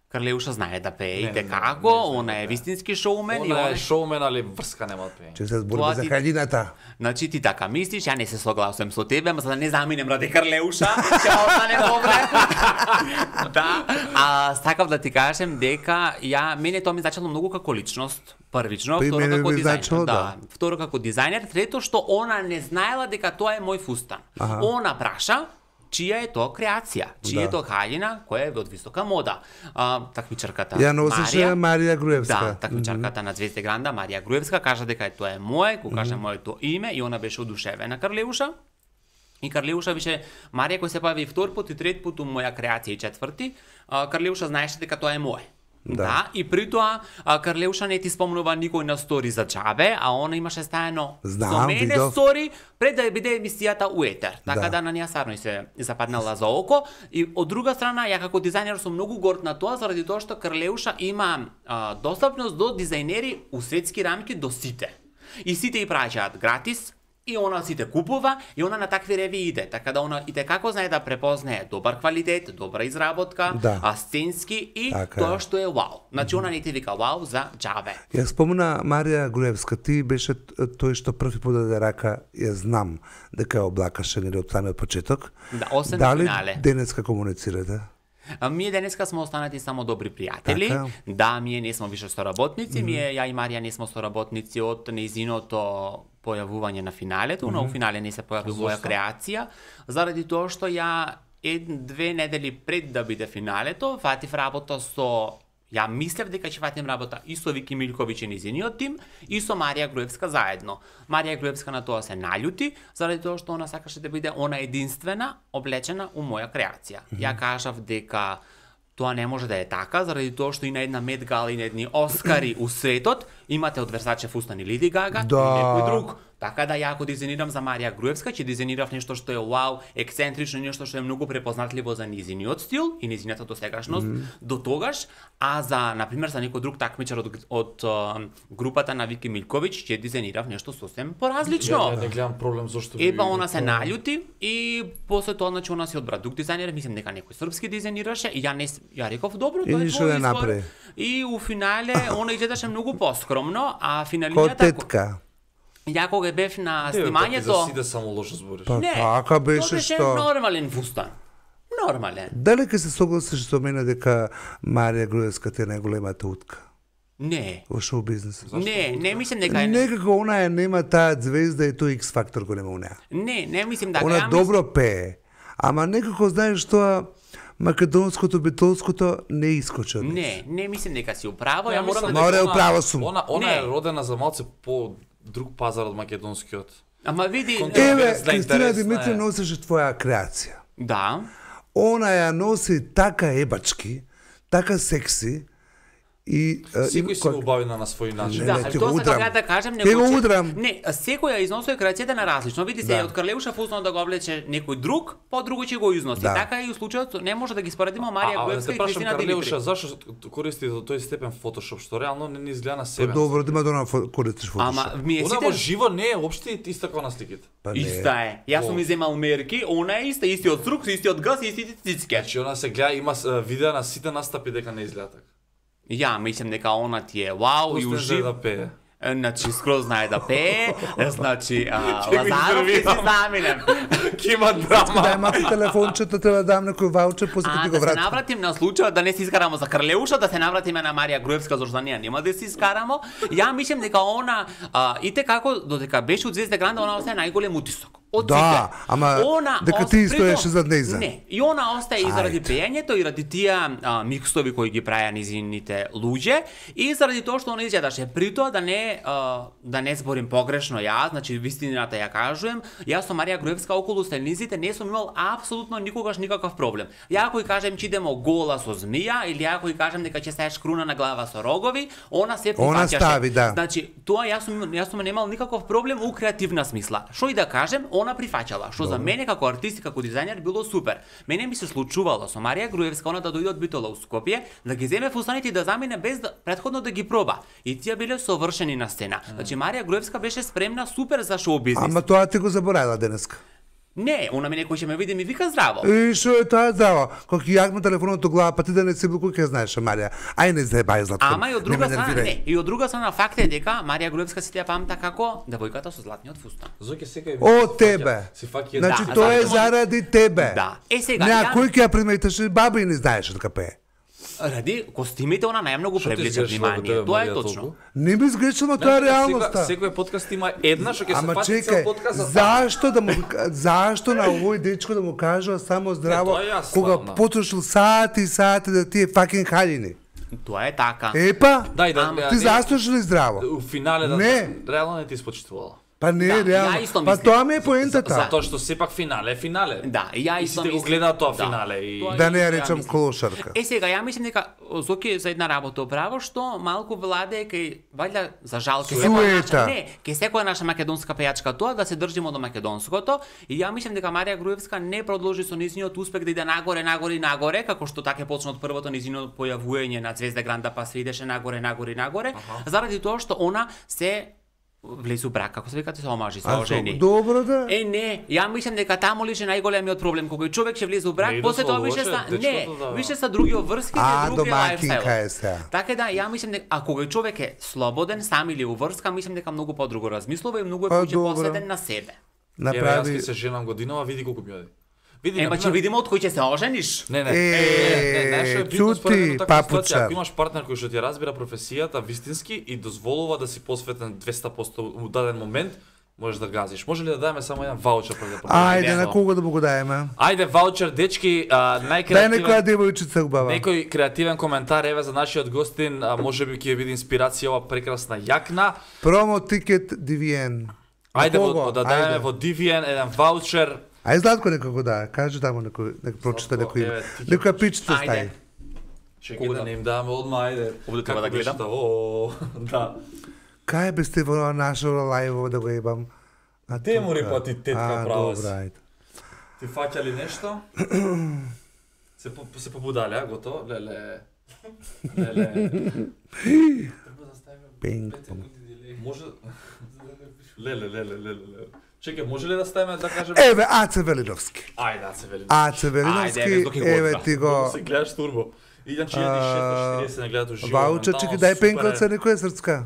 Карлеуша знае да пее и Не како, знае, она е вистински шоумен и Она она е шоумен, али врска нема да пее. Че се зборува Тоа за ти- хаљината. Значи ти така мислиш, ја не се согласувам со тебе, ама за да не заминем ради Карлеуша, ќе останем добре. Да, сакав да ти кажем дека мене тоа ми значило многу како личност. Првично, Па и второ мене како ми дизајнер. значило, да. Второ како дизајнер, трето што она не знаела дека тоа е мој фустан. Она праша чија е тоа креација, чија е тоа хаљина која е од висока мода. Такмичарката Ја носеше Марија Груевска. Да, такмичарката на Звезде Гранда, Марија Груевска, кажа дека тоа е моје, го кажа моето име и она беше одушевена Карлеуша. И Карлеуша беше Марија кој се појави втор пат и трет пат у моја креација и четврти, Карлеуша знаеше дека тоа е моје. Да, и при тоа Карлеуша не ти спомнува никој на стори за џабе, а она имаше стаено со мене видов. стори пред да биде емисијата у етер. Така Да. да на неа сарно и се западнала за око. И од друга страна, ја како дизајнер сум многу горд на тоа, заради тоа што Карлеуша има достапност до дизајнери у светски рамки до сите. И сите и праќаат гратис, и она сите купува, и она на такви реви иде. Така да она и како знае да препознае добар квалитет, добра изработка, Да. сценски и Така тоа е. што е вау. Значи она не ти вика вау за џабе. Ја спомна Марија Груевска, ти беше тој што први подаде рака, ја знам дека ја облакаше нели од самиот почеток. Да, осем на Дали финале. денеска комуницирате? Ние денеска сме останати само добри пријатели. Така. Да, ние не сме више соработници, ја и Марија не сме соработници од нејзиното појавување на финалето, но у финале не се појави моја креација, заради тоа што ја 1-2 недели пред да биде финалето, фатив работа со Ја мислев дека ќе фатим работа и со Вики Милковиќ и низиниот тим и со Марија Груевска заедно. Марија Груевска на тоа се наљути, заради тоа што она сакаше да биде она единствена облечена у моја креација. Ја кажав дека тоа не може да е така, заради тоа што и на една Met Gala и на едни Оскари у светот имате од Версаче фустани Леди Гага Да. и некој друг. Така да ја ако дизајнирам за Марија Груевска, ќе дизајнирав нешто што е вау, ексцентрично, нешто што е многу препознатливо за низиниот стил и низината досегашност до тогаш, а за на пример за некој друг такмичар од групата на Вики Милковиќ ќе дизајнирав нешто сосем поразлично. Ја не гледам проблем зошто Епа она се наљути и после тоа значи она се одбра друг дизајнер, мислам дека некој српски дизајнираше и ја реков добро, И тоа е ништо твој не избор. направи. И у финале она изгледаше многу поскромно, а Ко финалињата тетка. ја кога бев на За снимањето, сите само лошо збориш. Па не, така беше тоа беше што. нормален фустан. Нормален. Дали ќе се согласиш со мене дека Марија Груевска ти е најголемата утка Не. во шоу бизнисот? Не мислам дека е. Некако она ја нема таа звезда и тој X фактор го нема у неа. Не мислам дека Она ја добро пее, ама некако знаеш тоа македонското битолското не искочи од неа. Не мислам дека си управо, ја Ја морам мислам да. Море, дека управо сум. Она е Не. родена за малце по друг пазар од македонскиот. Ама види, Контра- Еве, Интересна, Кристина интересна Димитри е. носеше твоја креација. да. Она ја носи така ебачки, така секси и Секој си го бави на свој начин. Не, Да, ти тоа го се удрам. така да кажем, Ти го че- удрам. Не, секој ја износува креацијата на различно. Види се, Да. од Карлеуша фуснал да го влече некој друг, по друго ќе го износи. Да. Така и у случајот не може да ги споредиме Марија Груевска те и прашам Кристина Карлеуша, Димитри. зашо користи до тој степен фотошоп, што реално не изгледа на Па себе. добро, да има да користиш Ама фотошоп. ми е Она во сите живо не е општи иста како на сликите. Па не. иста е. Јас сум Во. иземал мерки, она е иста, истиот струк, истиот газ, истите цицке. Значи она се гледа, има видеа на сите настапи дека не изгледа така. Ја мислам дека она ти е вау и Пусти ужив. да пее. Значи скроз знае да пее, значи Ќе го Лазаров ќе се интервјуирам. заминем. Ќе има драма. Дај малку телефончето, треба да дам некој ваучер, после ќе ти А го да се вратам. навратим на случајот да не се искарамо за Крлеуша, да се навратиме на Марија Груевска, зашто ние нема да се искарамо. Ја мислам дека она ите како додека беше од Звезда Гранда, она остае најголем утисок. Од Да, сите. ама дека ти стоеше зад нејза. Не, и она остае и заради Ајде. пеењето и ради тие микстови кои ги праја низините луѓе и заради тоа што она изгледаше. При тоа да не зборим погрешно јас, значи вистината ја кажувам, јас со Марија Груевска околу стелниците не сум имал апсолутно никогаш никаков проблем. Ја ако кажем че идемо гола со змија или ако кажем дека ќе ставиш круна на глава со рогови, она се Она прифаќаше. стави, да. Значи, тоа јас сум немал никаков проблем у креативна смисла. Што и да кажем, она прифаќала, што за мене како артист и како дизајнер било супер. Мене ми се случувало со Марија Груевска она да дојде од Битола у Скопје, да ги земе фустаните и да замине без да претходно да ги проба. И тие биле совршени на сцена. Значи Марија Груевска беше спремна супер за шоу бизнис. Ама тоа ти го заборавила денеска. Не, она мене кој ќе ме види ми вика здраво. И што е тоа здраво? Кога ќе јагме телефонот од глава, па ти да не си бил кој ќе знаеш, Марија. Ај не заебај Златко. Ама и од друга не ме страна, нервирај. не, и од друга страна факт е дека Марија Груевска се ја памта како девојката со златниот фустан. Зоќе секој О тебе. Си фаќа Значи Да, тоа е зашто- заради тебе. Да. Е сега, Не, ја- кој ќе ја приметеше, баба и не знаеше дека пее. Ради костимите она најмногу Што ти привлече изгрешила во внимание. тебе, Тоа е Марија, точно. толку? Не ми изгрешило, тоа е реалноста. Секој подкаст има една што ќе се Ама фати цел чекај, подкаст за зашто на овој дечко да му кажува само здраво, тоа е јасно, кога да. потрошил сати и сати да тие факен халини. Тоа е така. Епа, Дај да Ама ти заслужиш ли здраво? у финале да Не. реално не ти испочитувала. Па не, Да, реално. ја исто Па мислам. тоа ми е поентата. Затоа што сепак финале е финале. Да, ја И исто сите го мислам. гледаат тоа Да. финале и Тоа Да не ја ја речам мислам. колошарка. Е сега ја мислам дека Зоки за една работа управо што малку владе кај вајда за жал ке Суета. ке секоја наша македонска пејачка тоа да се држимо до македонското и ја мислам дека Марија Груевска не продолжи со низиниот успех да иде нагоре, нагоре и нагоре, како што така почна од првото низино појавување на Звезда Гранда па се идеше нагоре, нагоре и нагоре, заради тоа што она се влезе у брак, како се викате, се омажи, се А, ожени. добро да. Не, ја мислам дека таму лише најголемиот проблем кога човек ќе влезе у брак, Не и после тоа дозволуваше више са дечкото да- више са други врски, А, други домакинка лајфстайл. е сега. Така да, ја мислам дека а кога човек е слободен сам или уврска, мислам дека многу подруго размислува и многу е Па, повеќе добро. посветен на себе. Еве јас Направи... ќе се женам годинава, види колку ми оди. Види, Ема ќе видиме од кој ќе се ожениш. Не, не. Е, нешто битно според мене чути, у таква ситуација, папучар. ако имаш партнер кој што ти ја разбира професијата вистински и дозволува да си посветен 200% у даден момент, можеш да газиш. Може ли да дадеме само еден ваучер пред да продолжиме? Ајде, на кого да му го даеме? Ајде ваучер, дечки, Дај некоја најкреативен девојчица убава. некој креативен коментар еве за нашиот гостин, можеби ќе биде инспирација ова прекрасна јакна. Промо тикет DVN. Ајде Кого? да дадеме Ајде. во DVN еден ваучер. Ај Златко некој го дае, кажи таму некој, прочита Златко, некој име. еве, ти ќе Некоја пичица Ајде. стаи. Чекај да не им даваме одма, ајде. Овде треба да Како беше гледам. тоа? О, да. Кај бе сте во нашо лајво да го ебам? Темури тука. па ти тетка права си. Добра, ајде. Ти фаќа ли нешто? се побудале, а, готово? Леле. Пинг. Може... Леле. Чекай, може ли да ставиме да кажем... Еве, Аце Велиновски. Ајде, се вели. Аце Ајде, Велиновски, Зоки го еве одбра. ти го... Се гледаш турбо. Иначе 1640 не гледат уживо. Ваучер, чеки, ментално, дај супер пенкалце е. некоја срцка.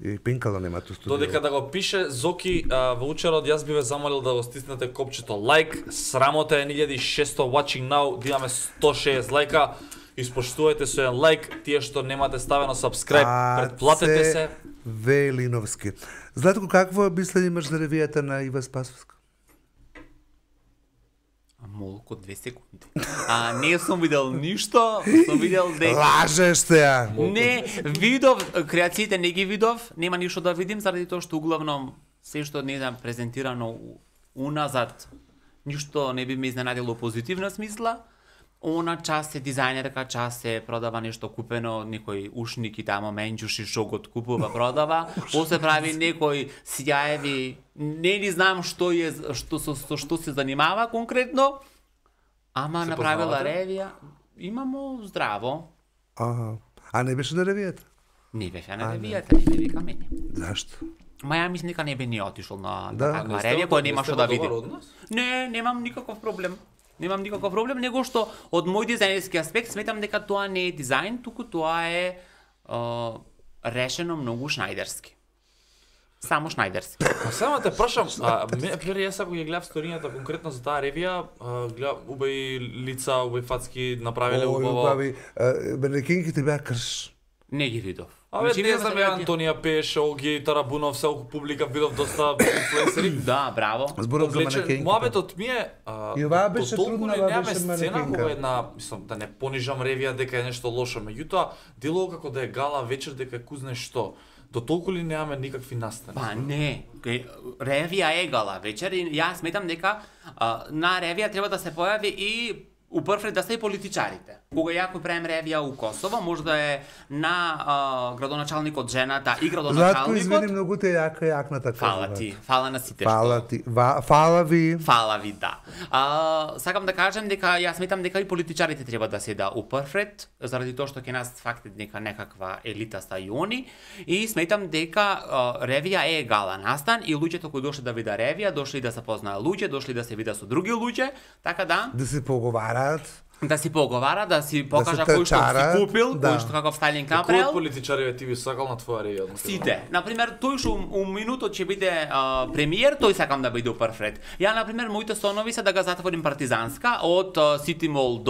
И пенкала нема ту студио. Додека да го пише Зоки ваучерот, јас би ве замолил да го стиснете копчето лайк. Срамота е 1600 watching now, да имаме 160 лајка. Испоштувајте со еден лайк, тие што немате ставено subscribe, претплатете се. Велиновски. Златко, какво мислење имаш за ревијата на Ива Спасовска? Молку 2 секунди. Не сум видел ништо, сум видел дека... Лажеш се ја! Не, видов, креациите не ги видов, нема ништо да видим, заради тоа што углавном се што не знам презентирано уназад, ништо не би ме изненадило позитивна смисла. Она час е дизајнерка, час е продава нешто купено, некој ушник и тамо менџуши што го купува, продава, после прави некој сјаеви, не ни знам што е, што се занимава конкретно, ама Се направила познавате? ревија, имамо здраво. Аха. А не беше на ревијата? Не беше на ревијата, не ме вика мене. Зашто? Ма ја мислам дека не би ни отишол на Да. таква ревија која нема што да види. Од нас? Не, немам никаков проблем. Немам никаков проблем, него што од мој дизајнерски аспект сметам дека тоа не е дизајн, туку тоа е решено многу шнајдерски. Само шнајдерски. А само те прашам, прери јас ако ја гледав сторињата конкретно за таа ревија, гледав убави лица, убави фацки направиле убаво. Убави, манекенките беа крш. Не ги видов. Абе, Значи, не видов знам, дека ги- Антонија Пеш, Оги, Тарабунов, селку публика, видов доста инфлуенсери. Да, браво. Зборам за манекенките. Муабетот ми е... И оваа беше толку трудна, не оваа немаме беше сцена манекенка. кога една, мислам, да не понижам ревија дека е нешто лошо, меѓутоа, делува како да е гала вечер дека е кузне што. До толку ли немаме никакви настани? Па не, ревија е гала вечер и јас сметам дека на ревија треба да се појави и упрвред да се и политичарите. Кога ја кој правим ревија у Косово, може да е на градоначалникот жената и Златко, градоначалникот. извини, многу те јакната Фала ти, фала на сите Фала што. ти. Фала ви. Фала ви, да. Сакам да кажем дека јас сметам дека и политичарите треба да се да упрвред, заради тоа што ќе нас факт дека некаква елита са и они, и сметам дека ревија е гала настан и луѓето кои дошли да видат ревија, дошли да се познаат луѓе, дошли да се видат со други луѓе, така Да се поговараат. да си поговара, да си покажа се кој што трчараат, си купил, да. кој што каков стайлинг Кој од направил. политичариве ти би сакал на твоја ревија? Сите. Например, тој што у минутот ќе биде премиер, тој сакам да биде прв ред. Ја, например, моите сонови се да го затворим Партизанска од Сити Мол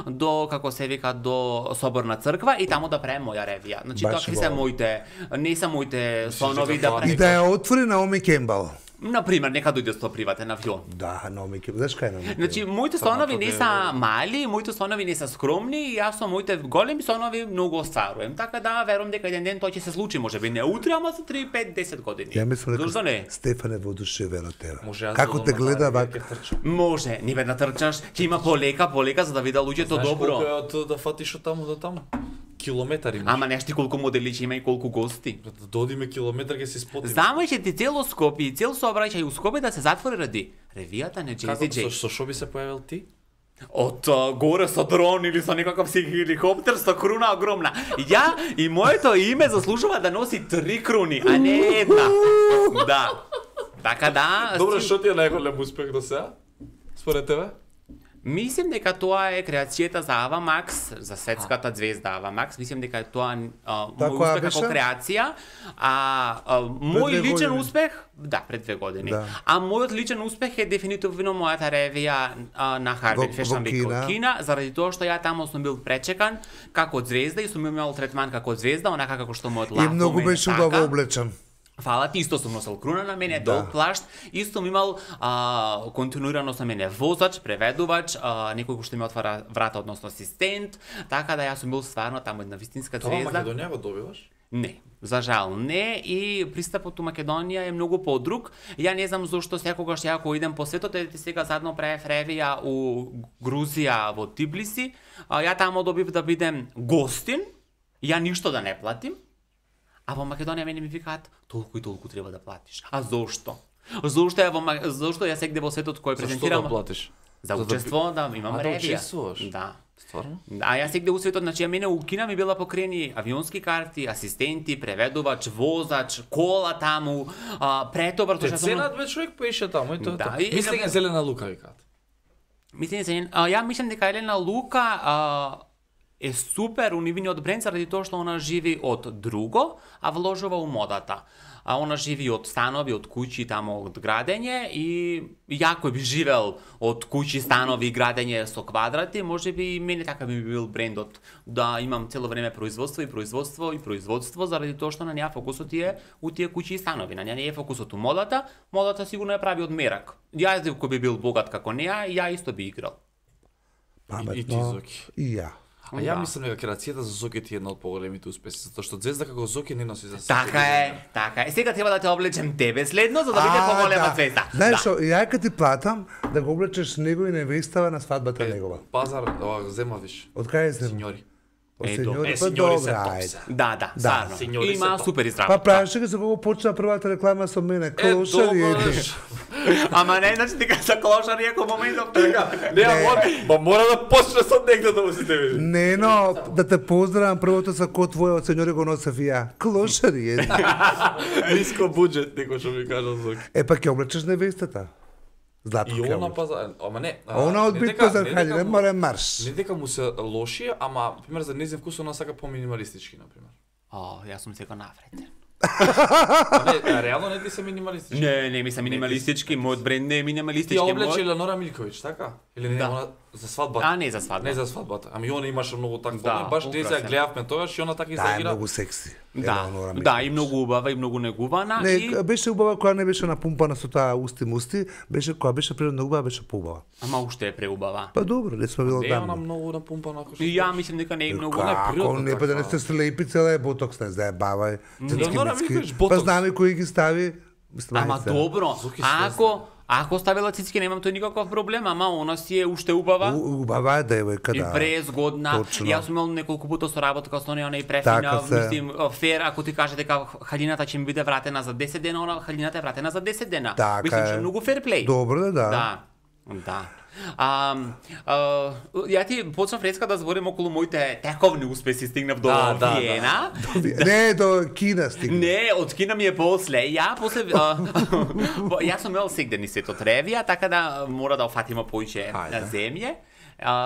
до како се вика до Соборна црква и таму да правим моја ревија. Значи Баш такви се во. моите, не се моите сонови дека да тоа И правим. да ја отвори Наоми Кембал. Например, нека дојде со приватен авион. Да, Наоми Кембал. Знаеш кај Наоми Кембал? Значи, моите Само сонови тоа не е- се мали, моите сонови не се скромни и јас со моите големи сонови многу остварувам. Така да, верувам дека еден ден тоа ќе се случи, можеби не утре, ама за 3, 5, 10 години. Ја мислам Зошто не? дека Стефане воодушевен од тебе. Може јас Како да те одам на гледа таа вак? ревија, ќе трчам. Може, ниве да трчаш, ќе има полека за да видат луѓето Знаеш колку добро. е од да фатиш од таму до таму? Километари. Ама нешти колку модели ќе има и колку гости. Да додиме километар ќе се спотиме. Знамо ќе ти цело Скопје и цел сообраќај у Скопје да се затвори ради ревијата на Како Джези Джей. со што би се појавил ти? Од горе со дрон или со некаков си хеликоптер со круна огромна. Ја и моето име заслужува да носи 3 круни, а не една. Да. Така да, Добре, што ти е најголем успех до сега? Според тебе? мислам дека тоа е креацијата за Ава Макс, за светската звезда Ава Макс. Мислам дека е тоа мој која успех како беше? креација, мој две личен години. успех, да, пред 2 години. Да. А мојот личен успех е дефинитивно мојата ревија на Харбин Во Fashion Week Кина. во Кина, заради тоа што ја таму сум бил пречекан како звезда и сум имал третман како звезда, онака како што мојот И лав многу во мене беше така. убаво облечен. Фала ти, исто сум носел круна на мене, Да. долг плашт, исто сум имал континуирано со мене возач, преведувач, некој кој што ми отвара врата, односно асистент, така да јас сум бил стварно таму една вистинска Тоа звезда. Македонија го добиваш? Не, за жал не, и пристапот у Македонија е многу подруг. Ја не знам зошто секогаш ја кога идем по светот, ете сега задно правев ревија у Грузија во Тбилиси, ја таму добив да бидем гостин, ја ништо да не платим, А во Македонија мене ми викаат толку и толку треба да платиш. А зошто? Зошто ја сегде во светот кој презентирам? Зашто да платиш? За учество, да, имам да ревија. учествуваш? Да. Стварно? А ја сегде у светот, значи, мене у Кина ми била покрени авионски карти, асистенти, преведувач, возач, кола таму, претовар, Те ценат бе човек поише таму и тоа. Да, Да, и мислење сега- Зелена Лука викаат. Ја мислам дека Елена Лука е супер у нивниот бренд заради тоа што она живи од друго, а вложува у модата. А она живи од станови, од куќи, тамо од градење и јако би живел од куќи, станови и градење со квадрати, можеби и мене така би бил брендот, да имам цело време производство, заради тоа што на неа фокусот е у тие куќи и станови, на неа не е фокусот у модата сигурно ја прави од мерак. Ја кој би бил богат како неа, ја исто би играл. И ти, Паметно. Зоки. И ја. А ја Да. мислам дека креацијата за Зоки ти е една од поголемите успеси, затоа што Звезда како Зоки не носи за Така е. Сега треба да те облечем тебе следно, за да биде поголема звезда. Знаеш што, ја кога ти платам да го облечеш него и невестава на свадбата негова. Пазар, зема виш. Од кај се? Синьори. Од Ето. сеньори, па сеньори се добра, топ ајде. се. Да, стварно. сеньори се Има топ. супер Па изработка. правиш дека за кога почна првата реклама со мене, клошари еде. Ама не, значи дека за клошари е моментов така. Не, ма мора да почне со негде да му се те види. Не, но да те поздравам првото са код твоја од сеньори го носев и ја. Клошари еде. Ниско буџет, некој што ми кажа Зоки. Па ќе облечеш невестата. Златко И ќе она облечеш. пазар, ама не. Она од не бит дека- пазар не хајде, дека не му- море марш. Не дека му се лоши, ама пример за нејзин вкус она сака по-минималистички на пример. Јас сум сега навреден. Не, реално не ти се минималистички. Не, ми се минималистички, мојот бренд не е Ти минималистички. ја облече мојот- Елеонора Милковиќ, така? Или не, Да. она за свадбата? А, не за свадба. Не за свадбата. Ами она имаше многу такво. Да, баш ние ја украсен. гледавме тоа, и она така Да, е изреагира. многу секси. Да, Елеонора да, Милковиќ. и многу убава, и многу негувана. Не, И... беше убава кога не беше напумпана со таа усти, беше кога беше природно убава, беше поубава. Ама уште е преубава. Па добро, не сме било Не, она дамно. многу напумпана ако што. И ја мислам дека не е многу. Како, природно не па да не така. сте слепи, цела е ботокс, не знае, баба е. Елеонора Милковиќ, ботокс. Па знаме кои ги стави. Мислам, Ама ајде. добро, Зуки ако ставила цицки немам тој никаков проблем, ама она си е уште убава. Убава е девојка, И да. презгодна. Точно. Јас сум имал неколку пати соработка со неја, она и префина, Така се. мислим, фер, ако ти каже дека халината ќе ми биде вратена за 10 дена, она халината е вратена за 10 дена. Така Мислам, што е. е многу фер плей. Добро да, да. Да. Да. Ја ти почнав реска да зборим околу моите тековни успеси, стигнав до Да, Виена. Не, до Кина стигна. Не, од Кина ми е после. Јас сум имал сегде ни светот ревија, така да мора да офатиме поише Ајде. земје.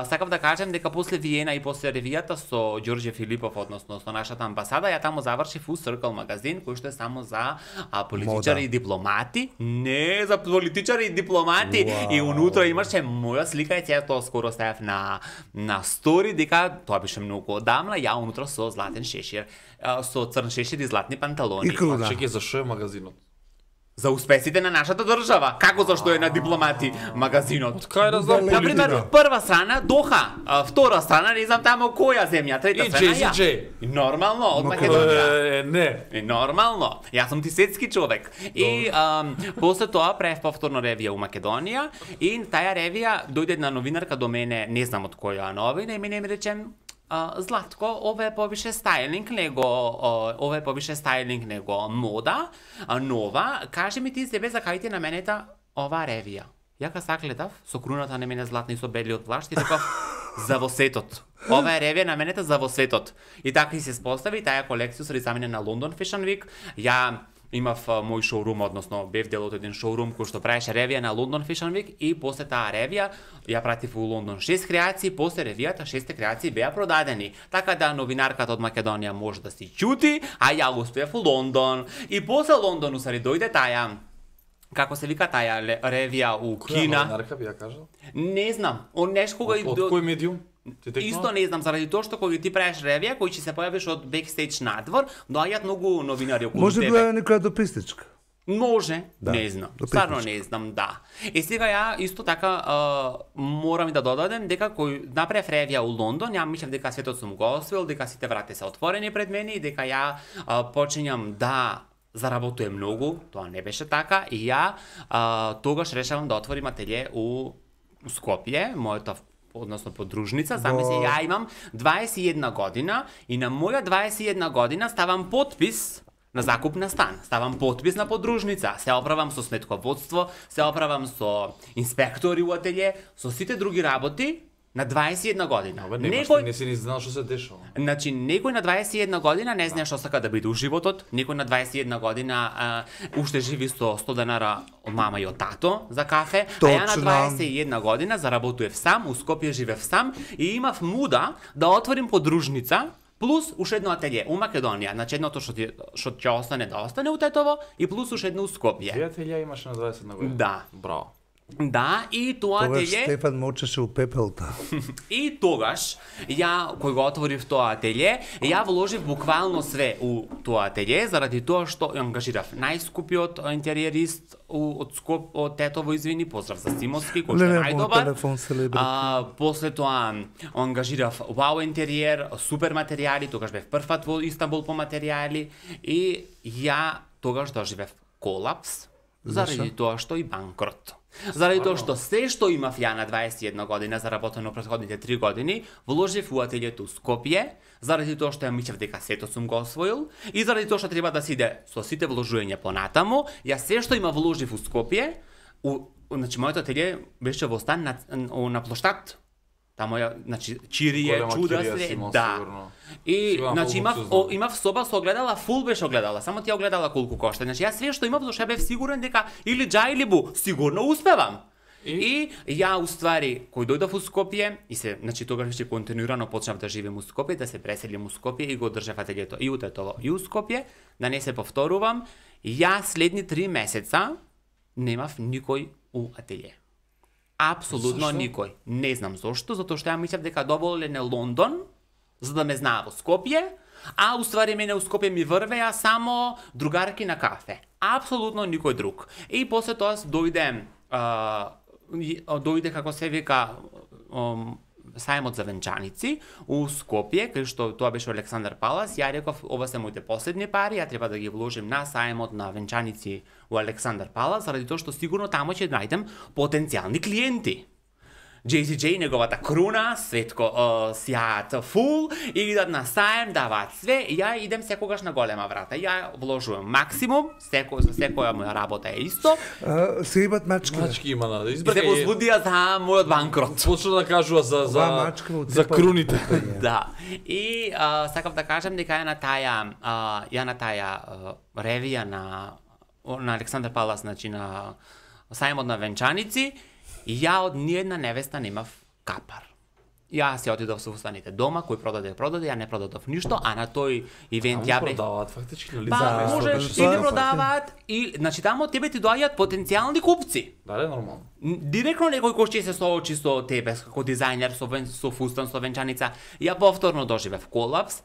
Сакав да кажем дека после Виена и после ревијата со Ѓорѓе Филипов, односно со нашата амбасада, ја таму завршив у Circle магазин, кој што е само за политичари Мода. и дипломати. Не, за политичари и дипломати. Вау. И унутро имаше моја слика и сега тоа скоро ставив на стори, дека тоа беше многу одамна, ја унутро со златен шешир, со црн шешир и златни панталони. И круна. Чекај, за што е магазинот? За успесите на нашата држава. Како зашто е на дипломати магазинот? Кај да знам Далеко. Например, Политика. прва страна Доха, втора страна не знам тамо која земја, трета страна ја. EJ. И нормално, од Македонија. Не. И нормално. Јас сум ти светски човек. И после тоа правев повторно ревија у Македонија и таја ревија дојде една новинарка до мене, не знам од која новина, и мене ми рече Златко, ова е повише стајлинг него мода, нова. Кажи ми ти себе за кај ти на менета оваа ревија. Ја кога сагледав со круната на мене златна и со белиот плашт и реков за во светот. Ова е ревија на менета за во светот. И така и се спостави таа колекција се замена на London Fashion Week. Ја имав мој шоурум, односно бев дел од еден шоурум кој што правеше ревија на London Fashion Week и после таа ревија ја пратив у Лондон 6 креации, после ревијата 6 креации беа продадени. Така да новинарката од Македонија може да си чути, а ја успеав у Лондон. И после Лондон усари дојде таа како се вика таа ревија у Која Кина. новинарка би ја кажал? Не знам, он нешто кога Од кој медиум? Ти текнува? Исто не знам, заради тоа што кога ти правиш ревија, кој ќе се појавиш од бекстејдж надвор, доаѓаат многу новинари околу Може тебе. била некоја дописничка. Може, Да, не знам. допитничка. Стварно не знам, да. И сега ја исто така морам и да додадем дека кој направив ревија у Лондон, ја мислев дека светот сум го освоил, дека сите врати се отворени пред мене и дека ја почињам да заработувам многу, тоа не беше така и ја тогаш решавам да отворим ателје у Скопје, мојата односно подружница, замисли ја имам 21 година и на моја 21 година ставам потпис на закуп на стан, ставам подпис на подружница, се оправам со сметководство, се оправам со инспектори у ателје, со сите други работи на 21 година. Абе, некој не си ни знал што се дешава. Значи, некој на 21 година не знае што сака да биде у животот, некој на 21 година уште живи со 100 денара од мама и од тато за кафе, а ја на 21 година заработував сам, у Скопје живеев сам и имав муда да отворим подружница плюс уште едно ателје у Македонија, значи едното што ќе остане да остане у Тетово и плюс уште едно у Скопје. Две ателје имаш на 21 година. Да. Браво. Да, и тоа Тогаш ателје... Стефан мочеше у пепелта. И тогаш, ја, кој го отворив тоа ателје, ја вложив буквално све у тоа ателје, заради тоа што ангажирав најскупиот интериерист од Тетово, извини, поздрав за Симовски, кој што е најдобар. Телефон селебрити. После тоа ангажирав Вау интериер, супер материјали, тогаш бев првпат во Истанбул по материјали и ја тогаш доживев колапс, заради тоа што и банкрот. Заради тоа што се што имав ја на 21 година заработено претходните 3 години, вложив у ателјето у Скопје, заради тоа што ја мислев дека сето сум го освоил и заради тоа што треба да се иде со сите вложувања понатаму, ја се што има вложив у Скопје, значи моето ателје беше во стан на плоштад. Тамо ја, значи, чирие, чуда се, да. И, значи, имав соба со огледала, фул беше огледала, само тие огледала колку кошта. Значи, јас све што имав, зашто бев сигурен дека или джа или бу, сигурно успевам. И ја, уствари, кој дојдов у Скопје, и се, значи, тогаш веќе континуирано почнав да живеем у Скопје, да се преселим у Скопје и го држав ателјето и у Тетово и у Скопје, да не се повторувам, ја следни 3 месеца немав никој у ателје. Апсолутно никој. Не знам зошто, затоа што ја мислев дека доволен е Лондон, за да ме знаа во Скопје, а уствари мене у Скопје ми врвеа само другарки на кафе. Апсолутно никој друг. И после тоа дојде како се вика сајмот за венчаници у Скопје, кај што тоа беше Александар Палас. Ја реков, ова се моите последни пари, ја треба да ги вложим на сајмот на венчаници у Александар Палас, заради тоа што сигурно тамо ќе најдем потенцијални клиенти. JCJ, неговата круна, светко сјаат фул, и идат на сајм, даваат све, и ја идем секогаш на голема врата. Ја вложувам максимум, за секоја моја работа е исто. Се имат мачки. Мачки има на И се возбудија за мојот банкрот. Почна да кажува за круните. Да. И сакав да кажам дека ја на таа ревија на Александар Палас, значи на сајмот на венчаници, ја од ниедна невеста немав капар. Ја се отидов со устаните дома, кој продаде, ја не продадов ништо, а на тој ивент ја бев... продаваат фактички, нали? Па, можеш или продаваат, и значи тамо тебе ти доаѓаат потенцијални купци. Дали нормално? Директно некој кој ќе се соочи со тебе како дизајнер, со фустан, со венчаница. Ја повторно доживев колапс,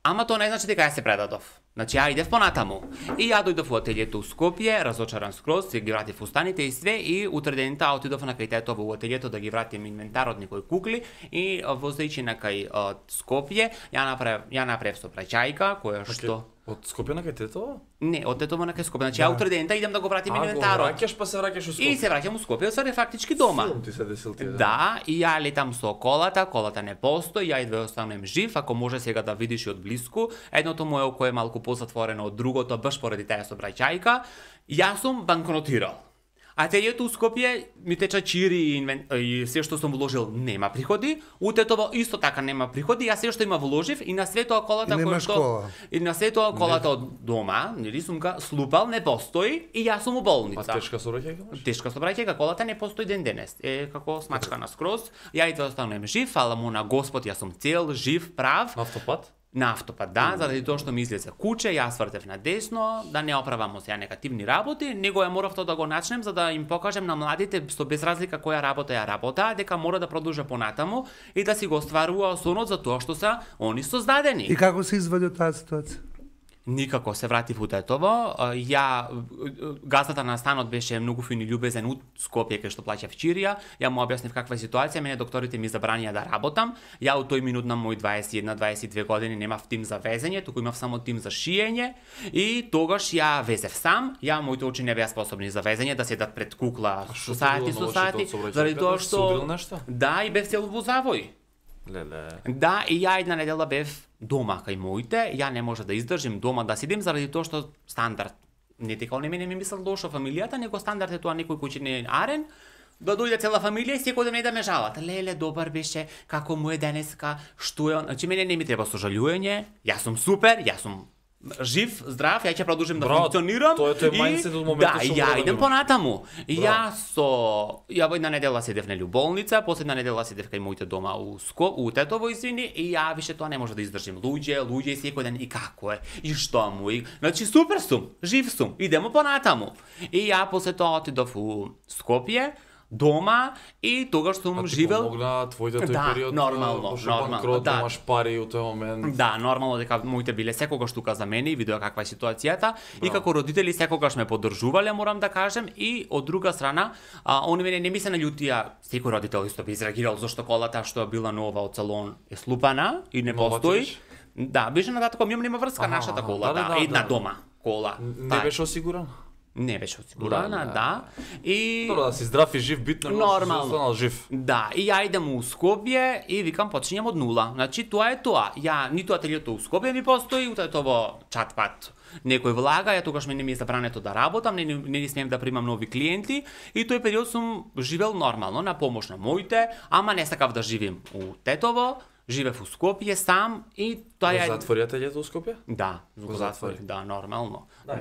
ама тоа не значи дека ја се предадов. Значи ја идев понатаму. И ја дојдов во ателјето у Скопје, разочаран скроз, се ги вратив фустаните и све, и утре дента отидов на кај Тетово во ателјето да ги вратим инвентарот некои кукли, и возејќи на кај Скопје, ја направив со праќајка, која што... Од Скопје на кај Тетово? Не, од Тетово на кај Скопје. Значи ја утре дента идем да го вратим инвентарот. А, го враќаш, па се враќаш у Скопје. И се враќам у Скопје, се фактички дома. Филм ти се десил ти, да, и ја летам со колата не постои, ја идве останем жив, ако може сега да видиш и од блиску. Едното моје око е малку позатворено од другото, баш поради таа сообраќајка. Јас сум банкротирал. Ателјето у Скопје ми теча чири и се што сум вложил нема приходи, у Тетово исто така нема приходи, јас се што има вложив и на све тоа колата која што и на све тоа колата од дома, нели сум га слупал, не постои и јас сум у болница. А тешка сообраќајка имаш? Тешка сообраќајка, колата не постои ден денес. Е како смачкана скроз. Ја и тоа останувам жив, фала му на Господ, јас сум цел, жив, прав. Автопат? На автопат, да, заради тоа што ми излезе куче, јас вртев на десно, да не оправам сега негативни работи, него ја морав тоа да го начнем за да им покажем на младите со без разлика која работа ја работа, дека мора да продолжа понатаму и да си го остварува сонот за тоа што се они создадени. И како се извади од таа ситуација? Никако се вратив у Тетово. Ја газдата на станот беше многу фин и љубезен у Скопје кај што плаќав чирија. Ја му објаснив каква е ситуација, мене докторите ми забранија да работам. Ја у тој минут на мој 21-22 години немав тим за везење, туку имав само тим за шиење и тогаш ја везев сам. Ја моите очи не беа способни за везење, да седат пред кукла со сати, заради тоа што нешто? да, и бев цел во завој. Леле. Да, и ја една недела бев дома кај моите, ја не може да издржим дома да седим заради тоа што стандард. Не дека он мене ми мислел лошо фамилијата, него стандард е тоа некој кој ќе не е арен, да дојде цела фамилија и секој ден да ме жалат. Леле, добар беше, како му е денеска, што е он. Значи мене не ми треба сожалување, јас сум супер, јас сум жив, здрав, ја ќе продолжим да функционирам. Тоа е мајндсет од моментот да, што ја мора да идем го понатаму. Ја во една недела седев нели у болница, последна недела седев кај моите дома у Тетово, извини, и ја више тоа не може да издржим. Луѓе и секој ден и како е, и што му и значи супер сум, жив сум, идемо понатаму. И ја после тоа отидов у Скопје, дома и тогаш сум живел. Помогна твоите тој Да, период. нормално, банкрот, да. немаш пари у тој момент. Да, нормално дека моите биле секогаш тука за мене и видеа каква е ситуацијата и како родители секогаш ме поддржувале, морам да кажем, и од друга страна, они мене не ми се наљутија, секој родител исто би изреагирал зашто колата што е била нова од салон е слупана и не Нова постои. ти Да, беше на датко, нема врска нашата кола, да, една дома кола. Не беше осигуран? Не беше осигурана, да. И Добро, да си здрав и жив, битно е Нормално. останал жив. да, и ја идем у Скопје и викам почињам од нула. Значи тоа е тоа. Ја ниту ателието у Скопје ми постои, утајто во чат-пат. Некој влага, ја тогаш мене ми е забрането да работам, не смеем да примам нови клиенти и тој период сум живел нормално на помош на моите, ама не сакав да живеем у Тетово, живеев у Скопје сам и тоа Го ја затвори ателието у Скопје? Да, го затвори. затворив, да, нормално. Да.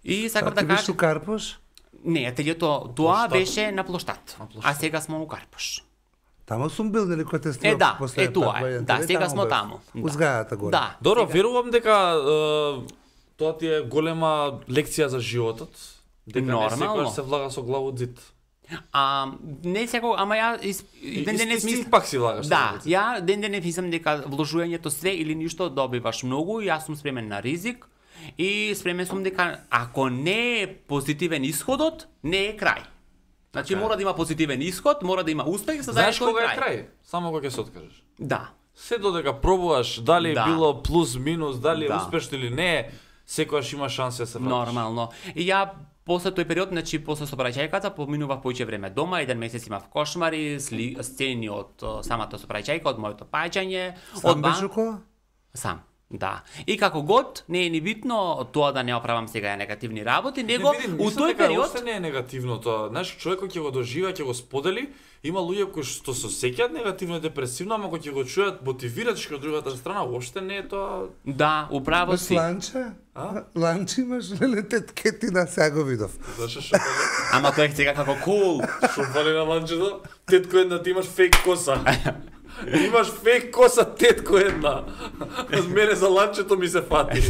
И сакам Ти да беше кажам, у Карпош? не, ателието тоа Плоштад. беше на плоштад, а сега сме у Карпош. Тамо сум бил, нели, кој те снимав Да, после тоа е. војната, Да, нели, сега сме бев. таму. У зградата горе. Да. Добро, сега- верувам дека тоа ти е голема лекција за животот. Дека Нормално. не секогаш се влага со глава од зид. Не секој, ама ја ден денес Исти пак си влагаш. Да, со зид. ја ден денес мислам дека вложувањето све или ништо добиваш многу и јас сум спремен на ризик и спремен сум дека ако не е позитивен исходот, не е крај. Значи Така е. мора да има позитивен исход, мора да има успех, за да Знаеш е тој кога е крај? Само кога ќе се откажеш. Да. Се додека пробуваш, дали Да. било плюс, минус, дали е Да. успешно или не, секогаш има шанса да се вратиш. Нормално. И ја после тој период, значи после сообраќајката, поминував поиќе време дома, еден месец имав кошмари, сцени од самата сообраќајка, од моето паѓање, Сам беше кола? Сам. Да. И како год, не е ни битно тоа да не оправам сега ја негативни работи, него у тој период Уште не е негативно тоа. Знаеш, човек кој ќе го доживеа, ќе го сподели, има луѓе кои што се сеќаат негативно и депресивно, ама кои ќе го чујат мотивирачки од другата страна, уопште не е тоа. да, управо Без си. ланче? А? Ланче имаш, леле, теткети на сега го видов. Зашо што Ама тоа е сега како кул. што фали на ланчето? Тетко една ти имаш фейк коса. Имаш фейк коса, тетко една. Од мене за ланчето ми се фати.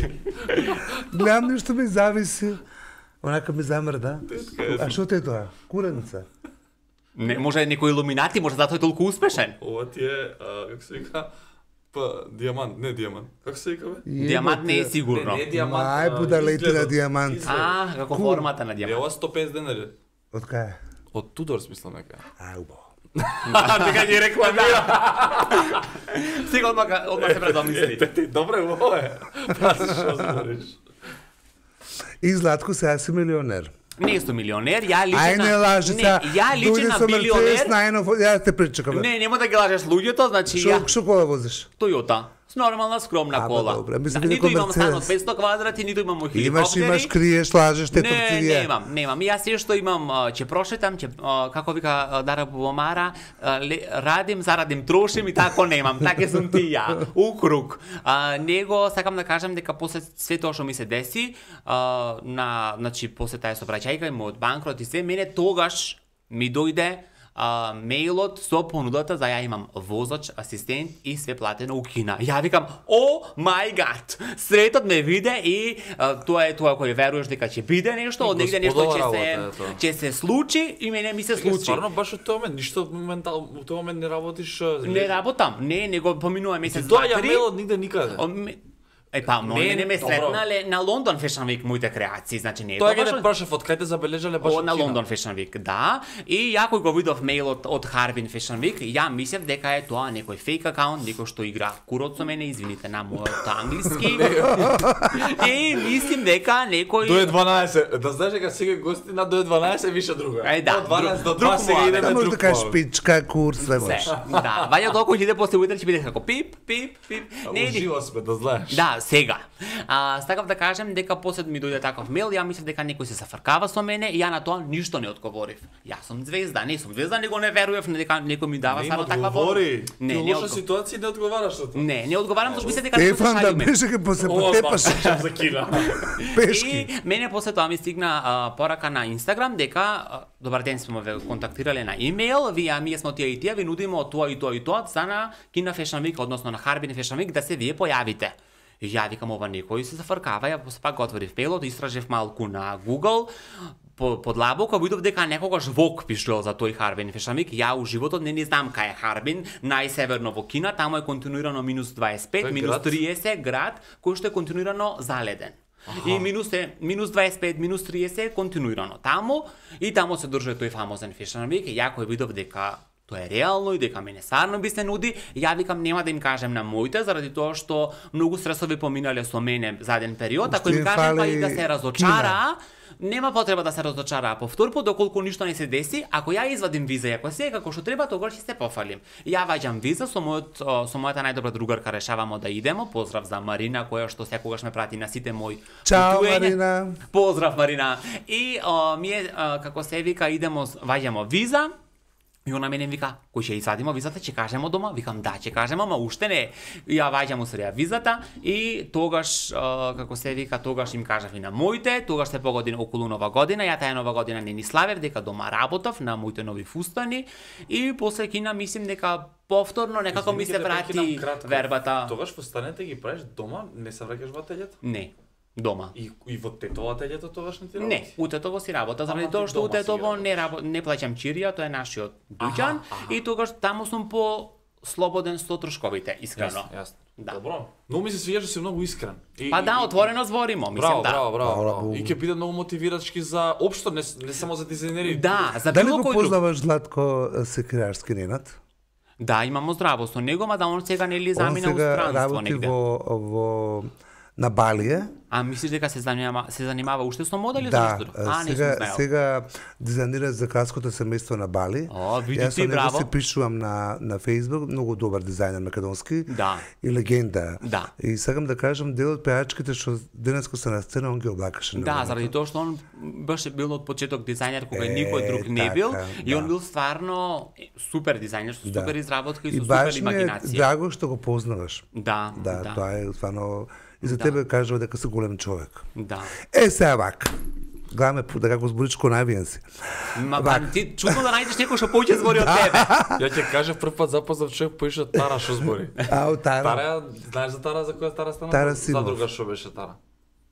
Гледам нешто ми зависи. Онака ми замрда. А што те е тоа? Куренца. Не, може некој илуминати, може затоа е толку успешен. Ова ти е, како се вика, диамант, не диамант. Како се вика бе? Диамант не е сигурно. Не, диамант. Мај будалете на изгледот. диамант. А, како Кул. формата на Е, диамант. ова 150 денари. Од кај? Од Тудорс, мислам дека. А, убаво. Дека ги рекламира. Сега одма се предомисли. Добре, ова е. Пази што збориш. И Златко сега си милионер. Не сум милионер, ја личам Ај не лажи сега. Не, ја личам на милионер. најнов, ја те причекам. Не, нема да ги лажеш луѓето, значи ја Што кола возиш? Тојота. С нормална скромна Аба, кола. добре, мислам Да, дека ниту имам стан од Мерцедес. 500 квадрати, ниту имам хеликоптери. Имаш, криеш, лажеш, те Не, торцивија. немам. И јас се што имам, ќе прошетам, ќе како вика Дара Бубомара, радим, зарадим, трошим и тако немам. Така сум ти ја. Укруг. Него сакам да кажам дека после све тоа што ми се деси, значи после таа сообраќајка и мојот банкрот и се, мене тогаш ми дојде мејлот со понудата за ја имам возач, асистент и све платено у Кина. Ја викам, о мај гад, светот ме виде и тоа е тоа кој веруваш дека ќе биде нешто, од негде нешто Господова работа е тоа. ќе се случи и мене ми се Случи. случи. Стварно баш од тој момент ништо моментално во тој момент не работиш. Не работам, не, него поминува месец Ти тоа два, ја три. мелот нигде никаде. Па, мене ме добро. сретнале на Лондон Fashion Week моите креации, значи не е Тоа тоа ги баш те прашав од кај те забележале баш на од Кина? Лондон Fashion Week, да. И ја кој го видов мејлот од Harbin Fashion Week, ја мислев дека е тоа некој фейк акаунт, некој што игра курот со мене, извините на мојот англиски. И мислим дека некој До 12, да знаеш дека сега гости на до 12 више друга. Да, Од 12 до друг 2 сега муавет. идеме Да може друг. да кажеш муавет. пичка, курс, све се. може. Да, ваѓа тоа кој иде после утрин ќе биде како пип, пип, пип. Не, Уживо сме, да знаеш. Да, сега. Сакав да кажем дека после ми дојде таков мејл, ја мислев дека некој се зафркава со мене и ја на тоа ништо не одговорив. Јас сум звезда, не сум звезда, него не верував дека некој ми дава Не само им таква одговори. Не, Ти не лоша одговори. ситуација не одговараш на тоа. Не одговарам зашто мислев дека не се Стефан да шалиме. беше ке после Ова потепаш баш за Кина. пешки. И мене после тоа ми стигна порака на Инстаграм дека добар ден, сме ве контактирале на имејл, вие ние сме тие и тие, ви нудиме од тоа и тоа и тоа за на Кина Fashion Week, односно на Harbin Fashion Week да се вие појавите. И ја викам ова некој се зафркава, ја после пак го отворив мејлот, истражев малку на Google, подлабоко видов дека некогаш Vogue пишувал за тој Harbin Fashion Week. Ја у животот не знам кај е Harbin, најсеверно во Кина, таму е континуирано минус 25, Тој минус град? 30 град, кој што е континуирано заледен. И минус 25, минус 30 е континуирано таму и таму се држи тој фамозен Fashion Week. Ја кој видов дека тоа е реално и дека мене сарно би се нуди, ја викам нема да им кажем на моите заради тоа што многу стресови поминале со мене за еден период, ако Уште им им кажем па фали и да се разочара, нема потреба да се разочара повторпут доколку ништо не се деси. Ако ја извадим виза и ако се како што треба, тогаш ќе се пофалим. Ја ваѓам виза со мојата најдобра другарка, решавамо да идемо. Поздрав за Марина која што секогаш ме прати на сите мои Чао, путувања. Марина. Поздрав Марина. И ние како се вика идемо ваѓамо виза. И она мене вика, кој ќе извадимо визата, ќе кажемо дома? Викам да, ќе кажемо, ама уште не. И ја ваѓам усреја визата и тогаш како се вика, тогаш им кажав и на моите, тогаш се погоди околу Нова година, ја таа Нова година не ни славев, дека дома работав на моите нови фустани и после Кина мислим дека повторно некако ми се врати вербата. Тогаш постанете ги правиш дома, не се враќаш во ателјето? Не, дома. И во тетово ателјето тогаш не ти работи? Не, у Тетово си работа, заради Ама тоа ти што у дома си Тетово работиш. не плаќам чирија, тоа е нашиот дуќан и тогаш таму сум по слободен со трошковите, искрено. Јасно. Да. Добро. Но ми се свиѓа што си многу искрен. Па да, отворено зборимо, мислам Браво, да. браво. И ќе биде многу мотивирачки за општо, не само за дизајнери. Да, за Дали било го кој друг. познаваш Златко Секирарски Ненад? Да, имамо здраво со него, ма да он сега нели Он замина у сега странство работи негде. во на Балија. А мислиш дека се занимава уште со модели Да, со нешто? Не сум сега знаел. сега дизајнира за кралското семејство на Бали. О, види Јас ти, со него браво. се пишувам на Facebook, многу добар дизајнер македонски. Да. И легенда. Да. И сакам да кажам дел од пејачките што денеско се на сцена, он ги облакаше. на Да, времето. заради тоа што он беше бил од почеток дизајнер кога никој друг не така, бил и он да. бил стварно супер дизајнер со Да. супер изработка и И со супер баш ми е имагинација. драго што го познаваш. Да, Да, да. тоа е стварно и за тебе кажува дека си голем човек. Да. Сега вака. Гледаме дека го зборичко навиен си. Ма Вака. ти чудно да најдеш некој што повеќе збори од тебе. Ја ќе кажа прв пат запознав човек поише Тара што збори. Ау, Тара. Тара, знаеш за Тара за која Тара стана? Тара Симов. Задруга што беше Тара.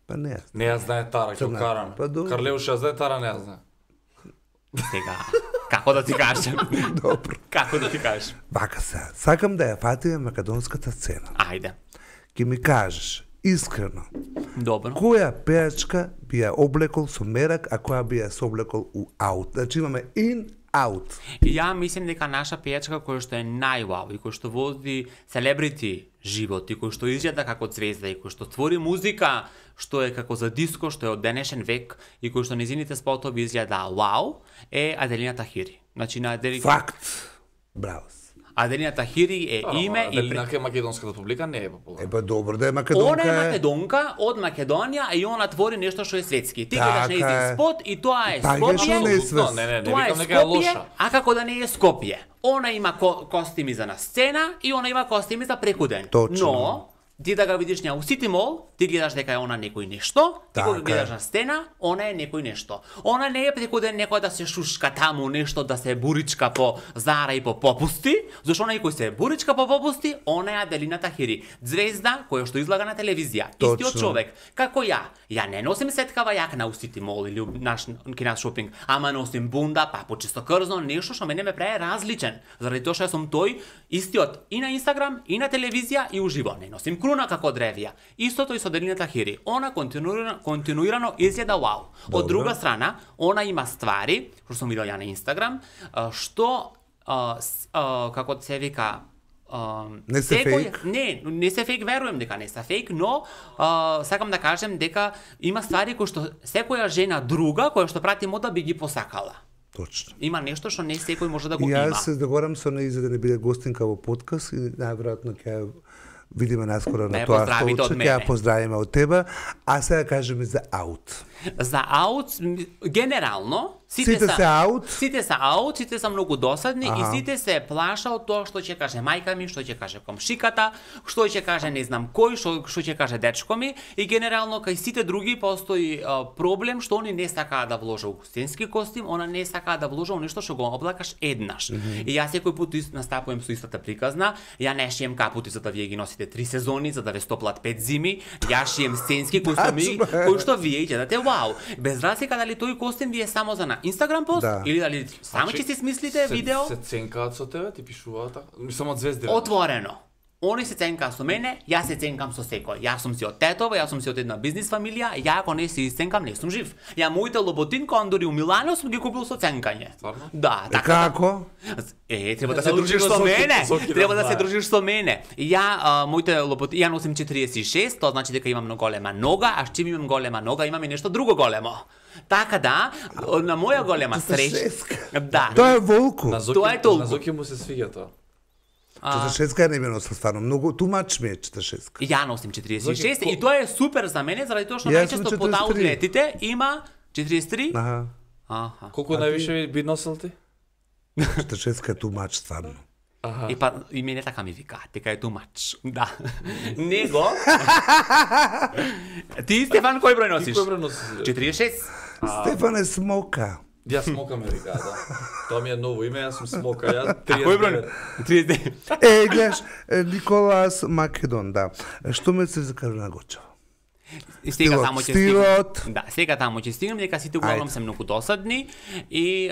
Па не. Не ја знае Тара, ќе Црна. карам. Па добро. Карлеуш ја знае Тара, не ја знае. Сега, како да ти кажем? Добро. Како да ти кажем? Вака се. Сакам да ја фатиме македонската сцена. Ајде. Ке ми кажеш искрено, Добро. која пејачка би ја облекол со мерак, а која би ја се облекол у аут? Значи имаме in, out. И ја мислам дека наша пејачка која што е највау и која што води селебрити живот и која што изгледа како звезда и која што твори музика што е како за диско, што е од денешен век и која што незините спотови изгледа вау, е Аделина Тахири. Значи на Факт. Браво. Аделина Тахири е име и Дали нака македонската публика не е популарна. Па добро да е Она македонка. е македонка од Македонија и она твори нешто што е светски. Ти гледаш Така нејзин е. спот и тоа е Па, Скопје. јашно не е Апсолутно, не Тоа е викам дека е Скопје, лоша. а како да не е Скопје. Она има костими за на сцена и она има костими за прекуден. Точно. Но, ти да га видиш неа у Сити Мол, ти гледаш дека е она некој нешто, ти кога Така гледаш е. на сцена, она е некој нешто. Она не е прекуден некој да се шушка таму, нешто да се буричка по Зара и по попусти, зашто она и кој се буричка по попусти, она е Аделина Тахири, звезда која што излага на телевизија. Истиот Точно. човек, како ја. Ја не носим сеткава јакна у Сити Мол или у наш кинас шопинг, ама носим бунда, папу чисто крзно, нешто што мене ме прави различен. Заради тоа што јас сум тој истиот и на Инстаграм, и на телевизија, и уживо. Не носим круна како древја. Истото и со Делина Хири. Она континуирано изгледа вау. Од друга страна, она има ствари, што сум видел ја на Инстаграм, што како се вика Не се фейк? Не се фейк, верувам дека не се фейк, но сакам да кажем дека има ствари кои што секоја жена друга која што прати мода би ги посакала. Точно. Има нешто што не секој може да го И има. јас се договорам со неј за да не биде гостинка во подкаст и најверојатно ќе видиме наскоро на тоа поздравите од столче, ќе мене. ја поздравиме од тебе, а сега кажеме за аут. За аут, генерално, Сите се аут. Сите се аут, сите се многу досадни и сите се плаша од тоа што ќе каже мајка ми, што ќе каже комшиката, што ќе каже не знам кој, што ќе каже дечко ми и генерално кај сите други постои проблем што они не сакаат да вложат у стенски костим, она не сакаат да вложат у нешто што го облакаш еднаш. И јас секој пат настапувам со истата приказна, ја не шием капути за да вие ги носите 3 сезони, за да ве стоплат 5 зими, ја шием стенски кои што вие ќе дате вау. Без разлика дали тој костим ви е само за Инстаграм пост или дали само ќе си смислите видео? Се ценкаат со тебе, ти пишуваат така? Мислам од звезди. Отворено. Они се ценкаат со мене, јас се ценкам со секој. Јас сум си од тетова, јас сум си од една бизнис фамилија, ја ако не се ценкам, не сум жив. Ја моите лоботин кондори у Милано сум ги купил со ценкање. Стварно? Да, така. Како? Треба да се дружиш со мене. Треба да се дружиш со мене. Ја моите лоботи, ја носим 46, тоа значи дека имам голема нога, а чим имам голема нога, имам и нешто друго големо. Така да, на моја голема среќа. Да. Тоа е волку. Тоа е толку. На Зоки му се свиѓа тоа. 46 не ме носа стварно многу, тумач ми е 46. Ја носим 46 и тоа е супер за мене заради тоа што Јас сум најчесто под 43. аутлетите има 43. Аха. Колку највише би носел ти? 46 е тумач стварно. И па и мене така ми вика, дека е too much. Да. Него. Ти Стефан кој број носиш? Кој број носиш? 46. Стефан е смока. Јас Смока ме вика, да. Тоа ми е ново име, јас сум Смока, ја 39. А кој број? 39. Гледаш, Николас Македон, да. Што ме се за Каролина Гочева? И сега Стилот, таму ќе стилот. стигнем. Да, сега таму ќе стигнем, дека сите углавном се многу досадни и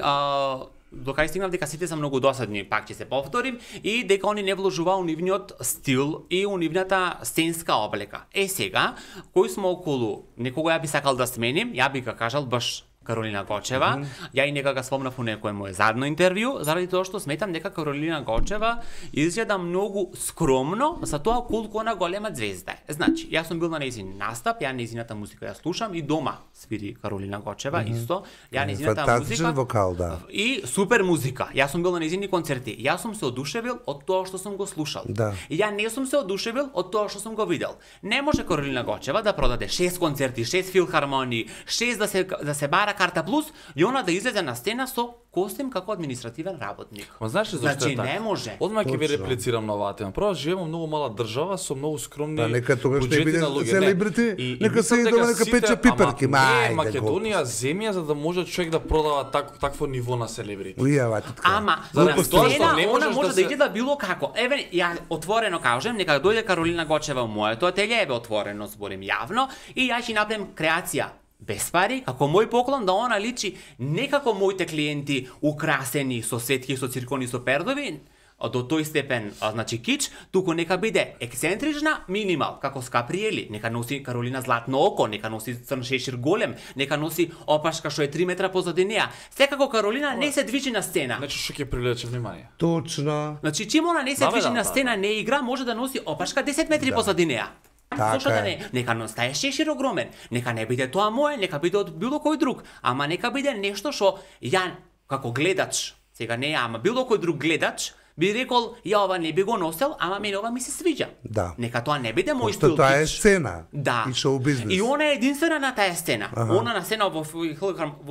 до кај стигнав дека сите се многу досадни, пак ќе се повторим, и дека они не вложува у нивниот стил и у нивната сценска облека. Сега, кој сме околу, некого ја би сакал да сменим, ја би га кажал баш Каролина Гочева. Ја и нека га спомнав у некое моје задно интервју, заради тоа што сметам дека Каролина Гочева изгледа многу скромно за тоа колку она голема звезда е. Значи, јас сум бил на нејзин настап, ја нејзината музика ја слушам и дома свири Каролина Гочева исто. Ја нејзината Фантастичен музика вокал, да. и супер музика. Јас сум бил на нејзини концерти. Јас сум се одушевил од тоа што сум го слушал. Да. И ја не сум се одушевил од тоа што сум го видел. Не може Каролина Гочева да продаде 6 концерти, 6 филхармонии, 6 да се бара карта плюс и она да излезе на сцена со костим како административен работник. Ма знаеш ли зашто Значи е така? не може. Одма ќе ви Точно. реплицирам на оваа тема. Прво живееме во многу мала држава со многу скромни Да, нека тогаш не буџети биде на луѓе. селебрити, И нека мислам се дека дома, нека сите- пече пиперки, ама ма, не е ајде, Македонија земја за да може човек да продава такво ниво на селебрити. Ујава ти така. Ама, Заради на тоа што сцена, не она можеш може да да се- изгледа било како. Еве, ја отворено кажем, нека дојде Каролина Гочева во моето ателје, еве отворено зборим јавно, и ја ќе направим креација без пари, како мој поклон, да она личи не како моите клиенти украсени со светки, со циркони, со пердови, до тој степен, значи кич, туку нека биде ексцентрична, минимал, како Скаприели, нека носи Каролина златно око, нека носи црн шешир голем, нека носи опашка што е 3 метра позади неа. Секако Каролина не се движи на сцена. Значи што ќе привлече внимание. Точно. Значи, чим она не се Да, бе, движи да, на да, сцена, не игра, може да носи опашка 10 метри позади неа. Така Зошто да е. не? Нека стае шешир огромен. Нека не биде тоа моје, нека биде од било кој друг. Ама нека биде нешто што ја, како гледач, сега не ја, ама било кој друг гледач, би рекол, ја ова не би го носел, ама мене ова ми се свиѓа. Да. Нека тоа не биде мој Пошто стил. тоа е кич. сцена. Да. И шоу бизнес. И она е единствена на таа сцена. Она на сцена во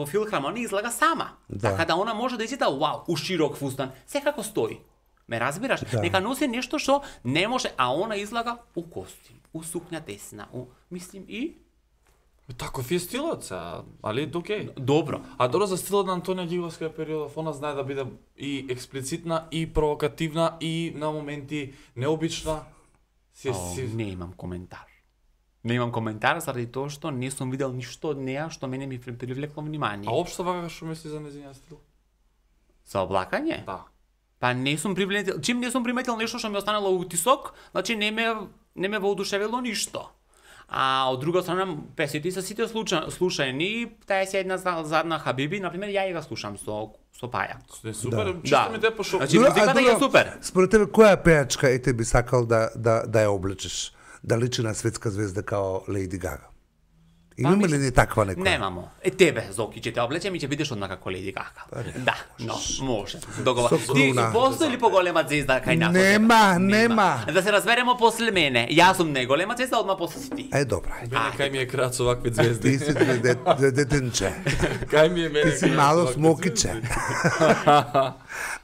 филхармонија излага сама. Да. Така да она може да изгледа вау, у широк фустан, секако стои. Ме разбираш? Да. Нека носи нешто што не може, а она излага у костим, у сукња тесна, мислим и Таков е стилот сега, али окей. добро. А добро за стилот на Антонија Ѓиговска периодов, она знае да биде и експлицитна, и провокативна, и на моменти необична. Не имам коментар. Не имам коментар заради тоа што не сум видел ништо од неа што мене ми привлекло внимание. А општо вака што мисли за нејзиниот стил? За облакање? Да. Па не сум приметил, чим не сум приметил нешто што ми останало утисок, значи не ме воодушевило ништо. А од друга страна, песните се сите слушани, таа е една задна Хабиби, например, ја ја слушам со Паја. Супер, чисто ми те пошо. Значи, музиката е супер. Според тебе, која пејачка ти би сакал да ја облечеш? Да личи на светска звезда као Лејди Гага? Имаме ли ни таква некоја? Немамо. Тебе, Зоки, ќе те облечем и ќе бидеш однака како Лејди Гага. Да, но, може. Договор. Ти постои ли поголема звезда кај нас? Нема. Да се разберемо после мене. Јас сум неголема звезда, одма после си ти. Добра. Мене кај ми е крат со вакви звезди. Ти си детенче. Кај ми е мене. Ти си мало смокиче.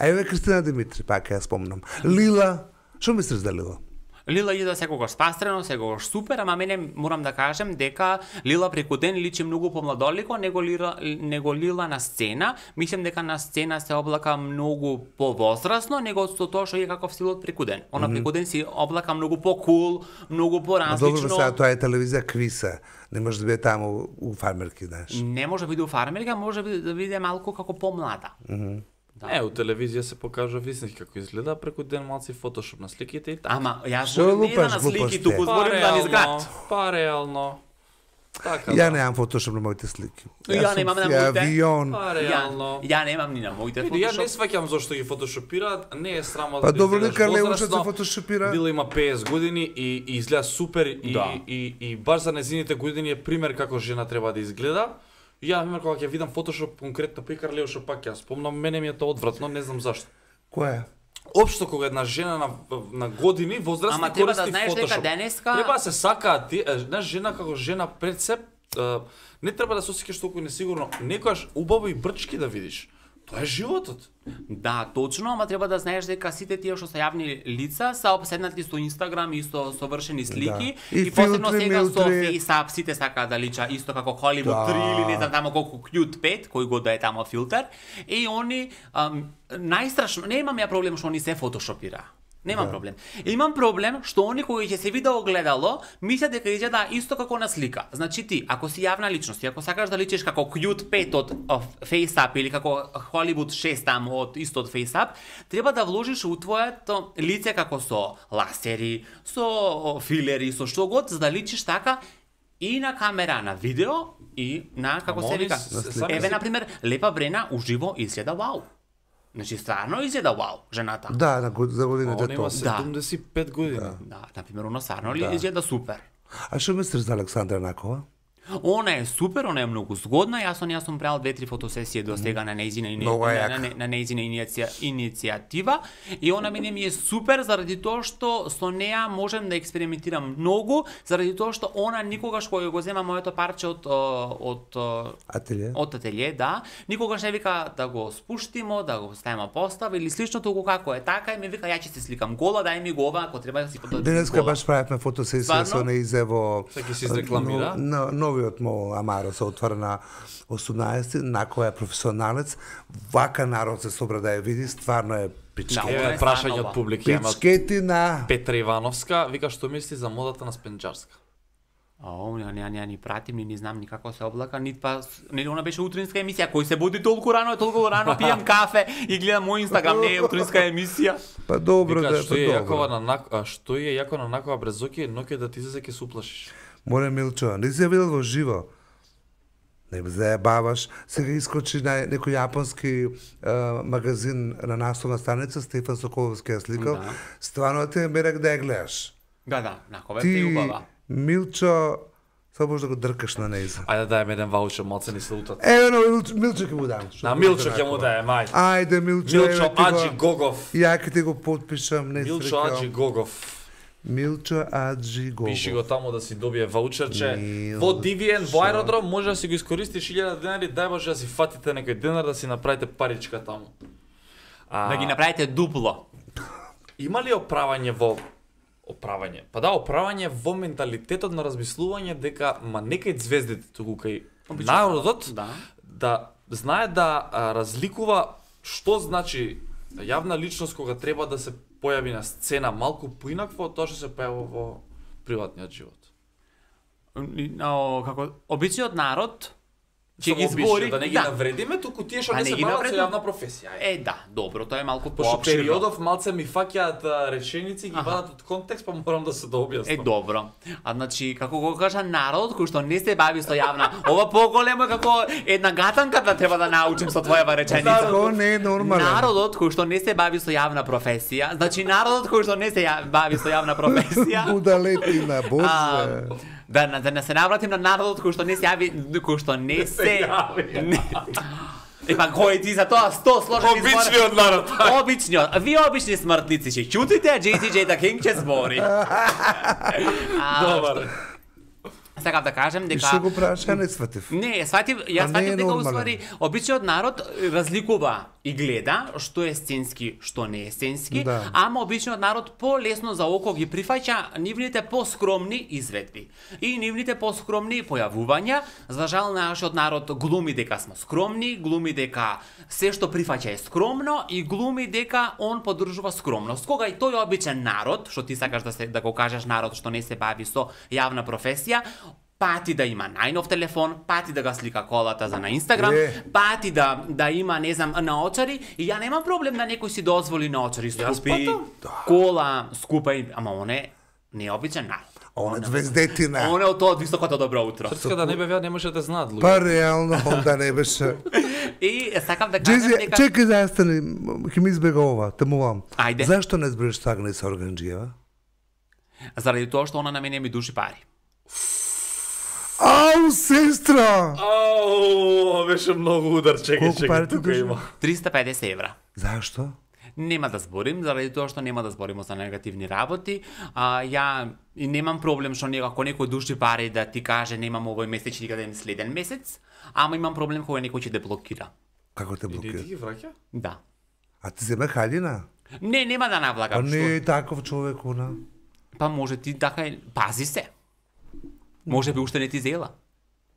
Еве Кристина Димитри, пак ја спомнам. Лила, што мислиш за Лила? Лила иде секогаш спастрено, секогаш супер, ама мене морам да кажем дека Лила преку ден личи многу помладолико него Лила на сцена. Мислам дека на сцена се облака многу повозрасно него со тоа што е каков стилот преку ден. Она преку ден си облака многу по-кул, многу поразлично. Добро, сега тоа е телевизија квиса. Не може да биде таму у фармерки, знаеш. Не може да биде у фармерка, може да биде малку како помлада. Да. У телевизија се покажа вистински како изгледа, преку ден малци фотошоп на сликите и така. Ама јас Што зборам не лупаш на слики, глупости? туку зборам да ни згад. Па реално. Така. Ја немам фотошоп на моите слики. Ја немам на моите. Авион. Па реално. Ја немам ни на моите Види, ја не фотошоп. сваќам зошто ги фотошопираат, не е срамо Па да добро, изгледаш нека Леушот возрасно. се фотошопира. Била има 50 години и изгледа супер Да. и баш за незините години е пример како жена треба да изгледа. И ја, пример, кога ќе видам фотошоп конкретно Пекар Леушо пак ја спомнам, мене ми е тоа одвратно, не знам зашто. Која? Општо кога една жена на години возрастни Ама треба да користи знаеш дека фотошоп. денеска- Треба да се сакаат ти, една жена како жена пред се, не треба да се осеќаш толку несигурно. Некојаш убаво и брчки да видиш. Тоа е животот. Да, точно, ама треба да знаеш дека сите тие што се јавни лица се обседнати со Инстаграм и со совршени слики Да. И посебно филтри, сега со милтри. FaceApp сите сакаат да лича исто како Hollywood Да. 3 или не знам тамо колку Cute 5, кој го да е тамо филтер. И они најстрашно, не имам ја проблем што они се фотошопира. Немам проблем. Имам проблем што они кои ќе се виде огледало, мислат дека изгледа исто како на слика. Значи ти, ако си јавна личност и ако сакаш да личиш како Cute 5 од FaceApp или како Hollywood 6 там од исто од FaceApp, треба да вложиш у твоето лице како со ласери, со филери, со што год, за да личиш така и на камера, на видео и на како Ама се они вика. сами Еве си- на пример Лепа Брена уживо изгледа вау. Значи стварно изгледа вау жената. Да, за годините Она има тоа. 75 години. Да, например, оно стварно ли изгледа супер. А што мислиш за Александра Накова? Она е супер, она е многу згодна. Јас сум правил 2-3 фотосесии до сега на нејзина Многу е јака. на нејзина иницијатива и она мене ми е супер заради тоа што со неа можем да експериментирам многу, заради тоа што она никогаш кога го зема моето парче од Ателје? од ателје, да, никогаш не вика да го спуштимо, да го ставиме постава или слично, туку како е така и ми вика ја ќе се сликам гола, дај ми го ова, ако треба да си Денеска баш правевме фотосесија Стварно? со неизе во... Сега ќе се изрекламира? Новиот му Амаро се отвора на 18, Накова е професионалец, вака народ се собра да ја види, стварно е Да, пичке. она Еве е прашање станова. од публика. Има Пичкетина! Петра Ивановска, вика што мисли за модата на Спенџарска. Не ни пратим, ни знам ни како се облака, нит па нели она беше утринска емисија, кој се буди толку рано пијам кафе и гледам мој Инстаграм, не е утринска емисија. Па добро Вика да, што е па јакова добро. на што е јако на Накова Брезоки, ноќе да ти се ќе се уплашиш. Море Милчо, не си ја видел во живо. Не ме заебаваш. Сега искочи на некој јапонски магазин на насовна станица, Стефан Соколовски ја сликал. Да. Стварно те мерак да ја гледаш. Да, на кога Ти, е убава. Милчо, само може да го дркаш на нејза. Ајде да дајме еден ваучер, малце ни се лутат. Ево, Милчо ќе му дам. На Милчо ќе му дајем, ајде. Ајде, Милчо, Милчо еве ти Аджи го... Гогов. Ја ќе ти го подпишам, не Милчо срекал. Аджи Гогов. Милчо Аджи Гогов. Пиши го таму да си добие ваучерче. Милчо. Во Дивиен, во аеродром, може да си го искористиш 1000 денари, дај Боже да си фатите некој денар да си направите паричка таму. Да ги направите дупло. Има ли оправање? Па да, оправање во менталитетот на размислување дека некај звездите туку кај народот да знае да разликува што значи јавна личност кога треба да се појави на сцена малку поинакво од тоа што се појавува во приватниот живот. Како обичниот народ ќе ги Само обича, збори, да не ги навредиме, туку тие што А не не се ги бават со навредиме? јавна професија. Да, добро, тоа е малку Пошто поопширно. периодов малце ми фаќаат реченици, ги вадат од контекст, па морам да се дообјаснам. Добро. Значи, како го кажа народот кој што не се бави со јавна, ова поголемо е како една гатанка да треба да научим со твојава реченица. Тоа не е нормално. Народот кој што не се бави со јавна професија, значи народот кој што не се бави со јавна професија, Будалетина, боже. да не се навратим на народот кој што не се јави, кој што не се Епа кој ти за тоа 100 сложени Обичниот народ. Обичниот. Вие обични смртници ќе ќутите, а JTJ да King ќе збори. Добар. Сакав да кажем И дека што го праша, не сватив. Не, сватив, јас А не сватив е дека нормален. уствари обичниот народ разликува и гледа што е сценски, што не е сценски, Да. ама обичниот народ полесно за око ги прифаќа нивните поскромни изведби и нивните поскромни појавувања. За жал нашиот народ глуми дека сме скромни, глуми дека се што прифаќа е скромно и глуми дека он поддржува скромност. Кога и тој обичен народ, што ти сакаш да го кажеш народ што не се бави со јавна професија, пати да има најнов телефон, пати да го слика колата за на Инстаграм, пати да има, не знам, наочари, и ја немам проблем да некој си дозволи наочари скупи, кола скупа, ама оне не е обичен народ. Он е звездетина. Оне од тоа од високото добро утро. Српска да не бевја, не може да знаат луѓе. Па реално, онда не беше. И сакам да кажам Джези, дека чекај застани, ќе ми избега ова, темувам. Ајде. Зашто не збереш Сагна и Сорганџиева? заради тоа што она на мене ми души пари. Ау, сестра! Ау, беше многу удар, Колку пари ти тука души? има. 350 евра. Зашто? Нема да зборим, заради тоа што нема да збориме за негативни работи. Ја и немам проблем што ако некој души пари да ти каже немам овој месец, ќе ти дадем следен месец, ама имам проблем кога некој ќе те блокира. Како те И ти блокира? ги враќа? Да. А ти зема халина? Не, нема да Па навлагам. не Што? е таков човек, она. Па може ти така, пази се. Може би уште не ти зела.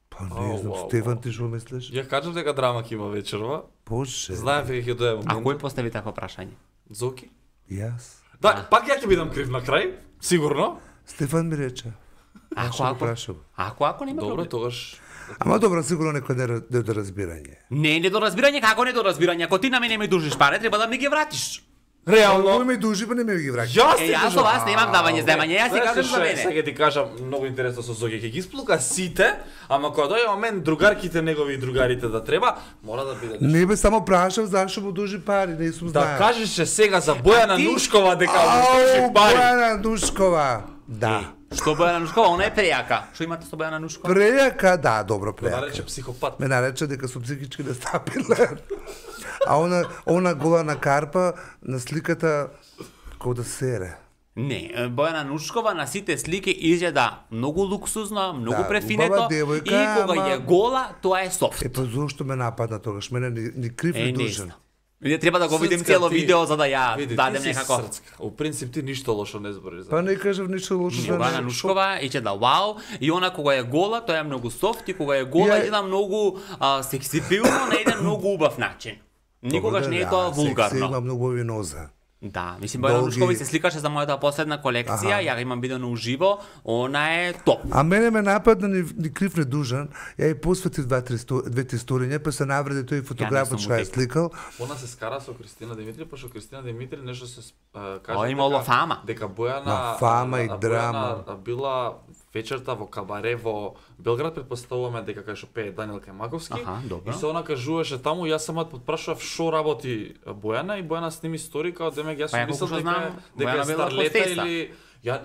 Па не знам, Стефан, ти што мислиш? Ја кажам дека драма ќе има вечерва. Боже, Знаев дека ќе дое А момент. кој постави такво прашање? Зоки? јас. Да, пак ја ќе бидам крив на крај, сигурно. Стефан ми рече. Ако нема Добро, проблем. тогаш Ама добро, сигурно некој недоразбирање. Не, недоразбирање, како недоразбирање? Ако ти на мене ми дужиш пари, треба да ми ги вратиш. Кој ме дужи, па не ме ги враќа. Јас Јас со вас немам давање земање, јас си кажам за мене. Сега ти кажам многу интересно со Зоки, ќе ги сплука сите, ама кога дојде момент другарките негови и другарите да треба, мора да биде. Не бе, само прашав зашто му дужи пари, не сум Да знаел. кажеше сега за Бојана ти? Нушкова дека му дужи Ау, пари. Бојана Нушкова. Да. Што Бојана Нушкова, она е прејака. Што имате со Бојана Нушкова? Прејака, да, добро Ме прејака. нарече психопат. Ме нарече дека сум психички нестабилен. А она гола на карпа на сликата како да сере. Не, Бојана Нушкова на сите слики изгледа многу луксузно, многу Да, префинето убава и девојка, кога ама- е гола, тоа е софт. Па зошто ме нападна тогаш? Мене ни крив ни не дужен. знам. Не треба да го видим Срцка, цело ти- видео за да ја Види, дадем ти си некако. срцка. У принцип ти ништо лошо не збориш за. Па не кажав ништо лошо за Бојана неа. Нушкова изгледа вау и она кога е гола, тоа е многу софт и кога е гола Ја- изгледа многу сексипилно на еден многу убав начин. Никогаш не е тоа Секси, вулгарно. има многу виноза. Да, мислим Бојана Долги- Нушкова се сликаше за мојата последна колекција, ја го имам видено уживо, она е топ. А мене ме нападна ни крив не дужан. Ја и посветив двете сториња, па се навреди тој фотографот сум што ја утек. сликал. Она се скара со Кристина Димитри, па што Кристина Димитри нешто се О, кажа имало фама. дека Бојана Ма, фама и Бојана драма. била вечерта во кабаре во Белград, предпоставуваме дека кај што пее Даниел Кајмаковски. Аха, добро. И се она кажуваше таму, јас самот подпрашував што работи Бојана и Бојана сними стори као демек јас Па ја сум мислел колку што дека знам, дека Бојана е била старлета хостеса. или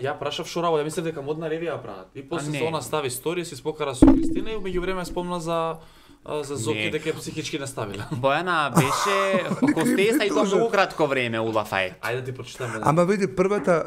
ја прашав што работи, ја мислев дека модна ревија прават. И после не. се она стави стори, се спокара со Кристина и меѓувреме спомна за Зоки Не. дека е психички нестабилен. Бојана беше хостеса и тоа многу кратко време у Лафает. Ајде да ти прочитаме. Ама види, првата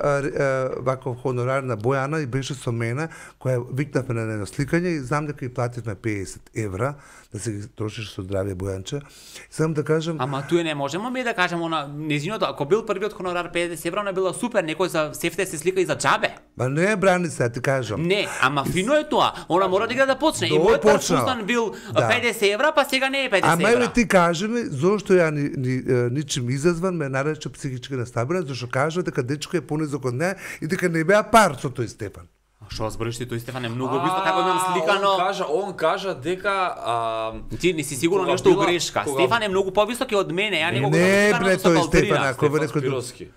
ваков хонорар на Бојана и беше со мене, која викнавме на едно сликање и знам дека и плативме 50 евра, да се ги трошиш со здравје Бојанче. Сам да кажам, Ама туе не можеме ми да кажеме она незиното, ако бил првиот хонорар 50 евра, она била супер, некој за сефте се слика и за џабе. па не е брани се, ти кажам. Не, ама фино е тоа. Она мора да почне. И Добро мојот прв почнала. фустан бил Да. 50 евра, па сега не е 50 Ама евра. еве ти кажи ми, зошто ја ничим изазван ме нарече психички нестабилен, зашто кажува дека дечко е понизок од неа и дека не беа пар со тој Степан. Што збориш ти тој Стефан е многу бисто како имам сликано. Он кажа дека Ти не си сигурно кога нешто била- грешка. кога- Стефан е многу побисок од мене, ја него го Не, сликано бре, со тој балтерина. Стефан, ако Стефан рекол Спировски.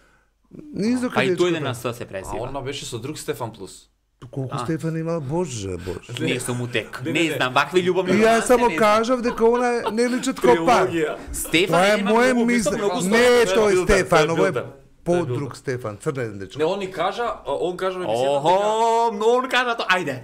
низо А и тој каде на СС се А презива. он беше со друг Стефан Плюс. колку Стефан имал, боже, боже. Не сум утек. Не, Не знам, вакви љубовни И јас романси, само не знам. кажав дека она не личат како пар. Стефан Тоа е има моје многу мисле. висок, многу Не, Тоа е тој билдер, Стефан, тоа е ово е билдер. подруг Стефан, црнен дечко. Не, он ни кажа, он кажа ми Охо, он кажа тоа. Ајде.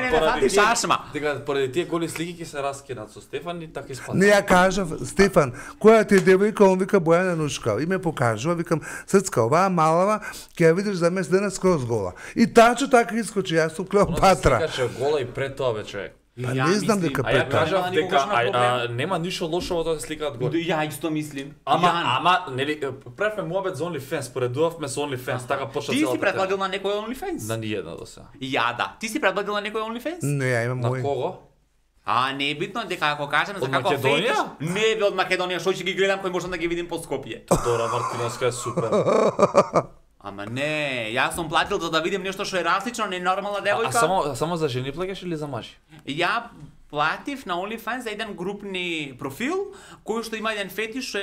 Не, фати шашма. Дека поради тие голи слики ќе се раскинат со Стефан и така испадна. Не, ја кажав, Стефан, која ти е девојка, он вика Бојана Нушка. И ме покажува, викам, Срцка, оваа малава, ќе ја видиш за месец дена скроз гола. И тачо така искочи, јас сум Клеопатра. Каже гола и пред тоа бе човек. Па не знам дека А ја пред тоа. кажав Нема дека никогаш на проблем. нема ништо лошо во тоа да се сликаат голи. Ја исто мислим. Ама, нели, правевме муабет за OnlyFans, поредувавме со OnlyFans, така почна Ти си целата предлагал на некој OnlyFans? На ниедна до сега. Ја да. Ти си предлагал на некој OnlyFans? Не, ја имам На мој. кого? А не е битно дека ако кажем за Од како Македонија? фетиш, не бе од Македонија, што ќе ги гледам кој можам да ги видим по Скопје. Дора Мартиновска е супер. Ама не, јас сум платил за да видим нешто што е различно, не нормална девојка. Само за жени плаќаш или за мажи? Ја платив на OnlyFans за еден групни профил кој што има еден фетиш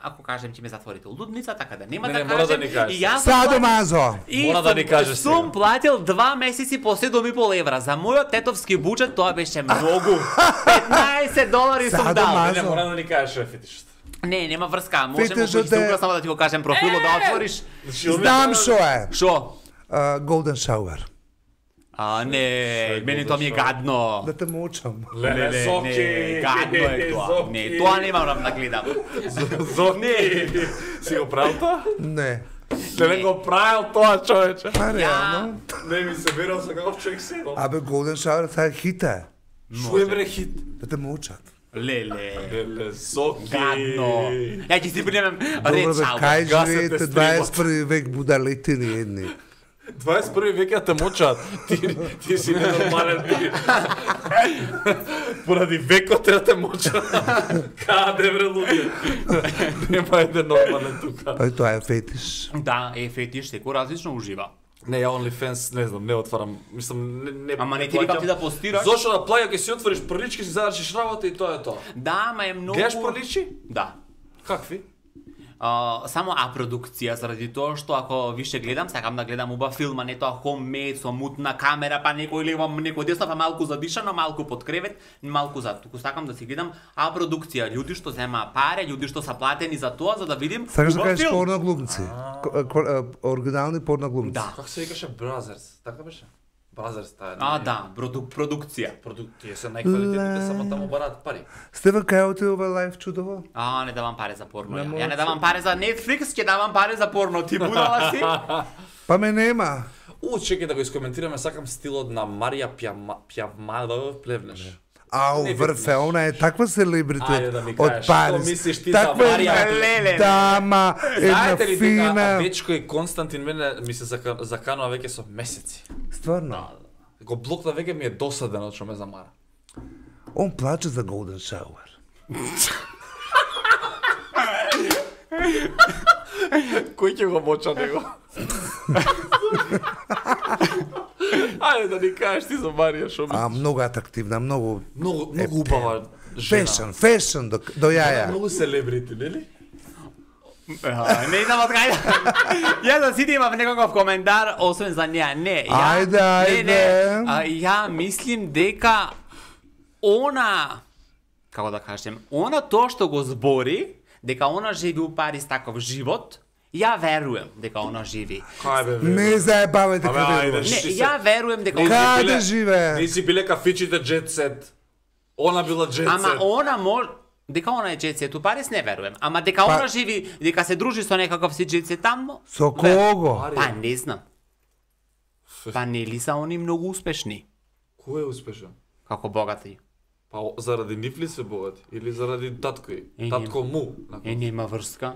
ако кажем ќе ме затворите лудница, така да нема Не, да не, мора да кажем. ни кажеш. И јас сум Садо платил- Мазо. И Мора да ни кажеш сум сега. платил 2 месеци по 7,5 евра. За мојот тетовски буџет тоа беше многу. $15 сум Садо дал. Мазо. Не, мора да ни кажеш шеф фетишот. Не, нема врска. Можеме Фетишот по е- Инстаграм само да ти го кажем профилот да отвориш. Знам што е. Шо? Golden Shower. Не, мене тоа ми е гадно. Да те мучам. Леле, Соки. гадно е тоа. Не, тоа не морам да гледам. Зоки. Си го правил тоа? Не. Леле го правил тоа, човече. Па реално. Не ми се верал со каков човек си. Абе, Golden Shower, сега е хита. Шо е бре хит? Да те мучат. Леле. Леле, Соки. Гадно. Ја ќе си примем Добро ред бе, шалба. кај Гасете живеете стримот. 21 век будалетини едни. 21 век ја те мучат. Ти си ненормален ти. Поради векот треба те мучат. Каде бре луѓе? Нема еден нормален тука. Па и тоа е фетиш. Да, е фетиш, секој различно ужива. Не, ја OnlyFans, не знам, не отварам. Мислам, не Ама не ти викам ти да постираш. Зошто да плаќа, ќе си отвориш прилички, си завршиш работа и тоа е тоа. Да, ма е многу. Гледаш приличи? Да. Какви? Само продукција заради тоа што ако више гледам, сакам да гледам убав филм, а не тоа homemade со мутна камера, па некој левам некој десно, па малку задишано, малку под кревет, малку за туку сакам да си гледам продукција, луѓе што земаа пари, луѓе што са платени за тоа за да видим Сакаш да убав кажеш филм. порноглумци. Оригинални порноглумци. Да. Како се викаше Brothers? Така беше? Brothers таа. Да, продукција. Продукти се најквалитетните, само таму бараат пари. Стефан, кај оти ова лайф чудово? Не давам пари за порно. Не Ја може. не давам пари за Netflix, ќе давам пари за порно. Ти будала си? Па ме нема. Чекај да го искоментираме, сакам стилот на Марија Пјавмалов Плевнеш. Ау, Не врфе, она е таква селебрити Ајде да ми од кажеш, Париз. што мислиш ти за Таква Марија една Леле? дама, една Знаете ли дека фина. Дечко и Константин мене ми се заканува веќе со месеци. Стварно. Го блокна веќе ми е досадено што ме замара. Он плаче за Golden Shower. Кој ќе го моча него? Ајде да ни кажеш ти за Марија што ми. Многу атрактивна, многу Многу убава жена. фешн до јаја. Многу селебрити, нели? Не знам од кај. Ја да сите имав некаков коментар освен за неа. Не, ја Ајде, ја мислим дека она како да кажем, она тоа што го збори, дека она живи у Париз таков живот, ја верувам дека она живи. Кај бе? Не заебавајте Абе, каде ајде, идеш. Не, Ти се- ја верувам дека Каде живее? Не си биле кафичите Jet Set. Она била Jet Ама Set. она може дека она е джетсет у Париз не верувам. Ама дека она живи, дека се дружи со некаков си джетсет таму, Со кого? па не знам. Па нели са они многу успешни Кој е успешен? како богати? Па заради нив ли се богати? Или заради татко и? Е, Татко му? Нема врска.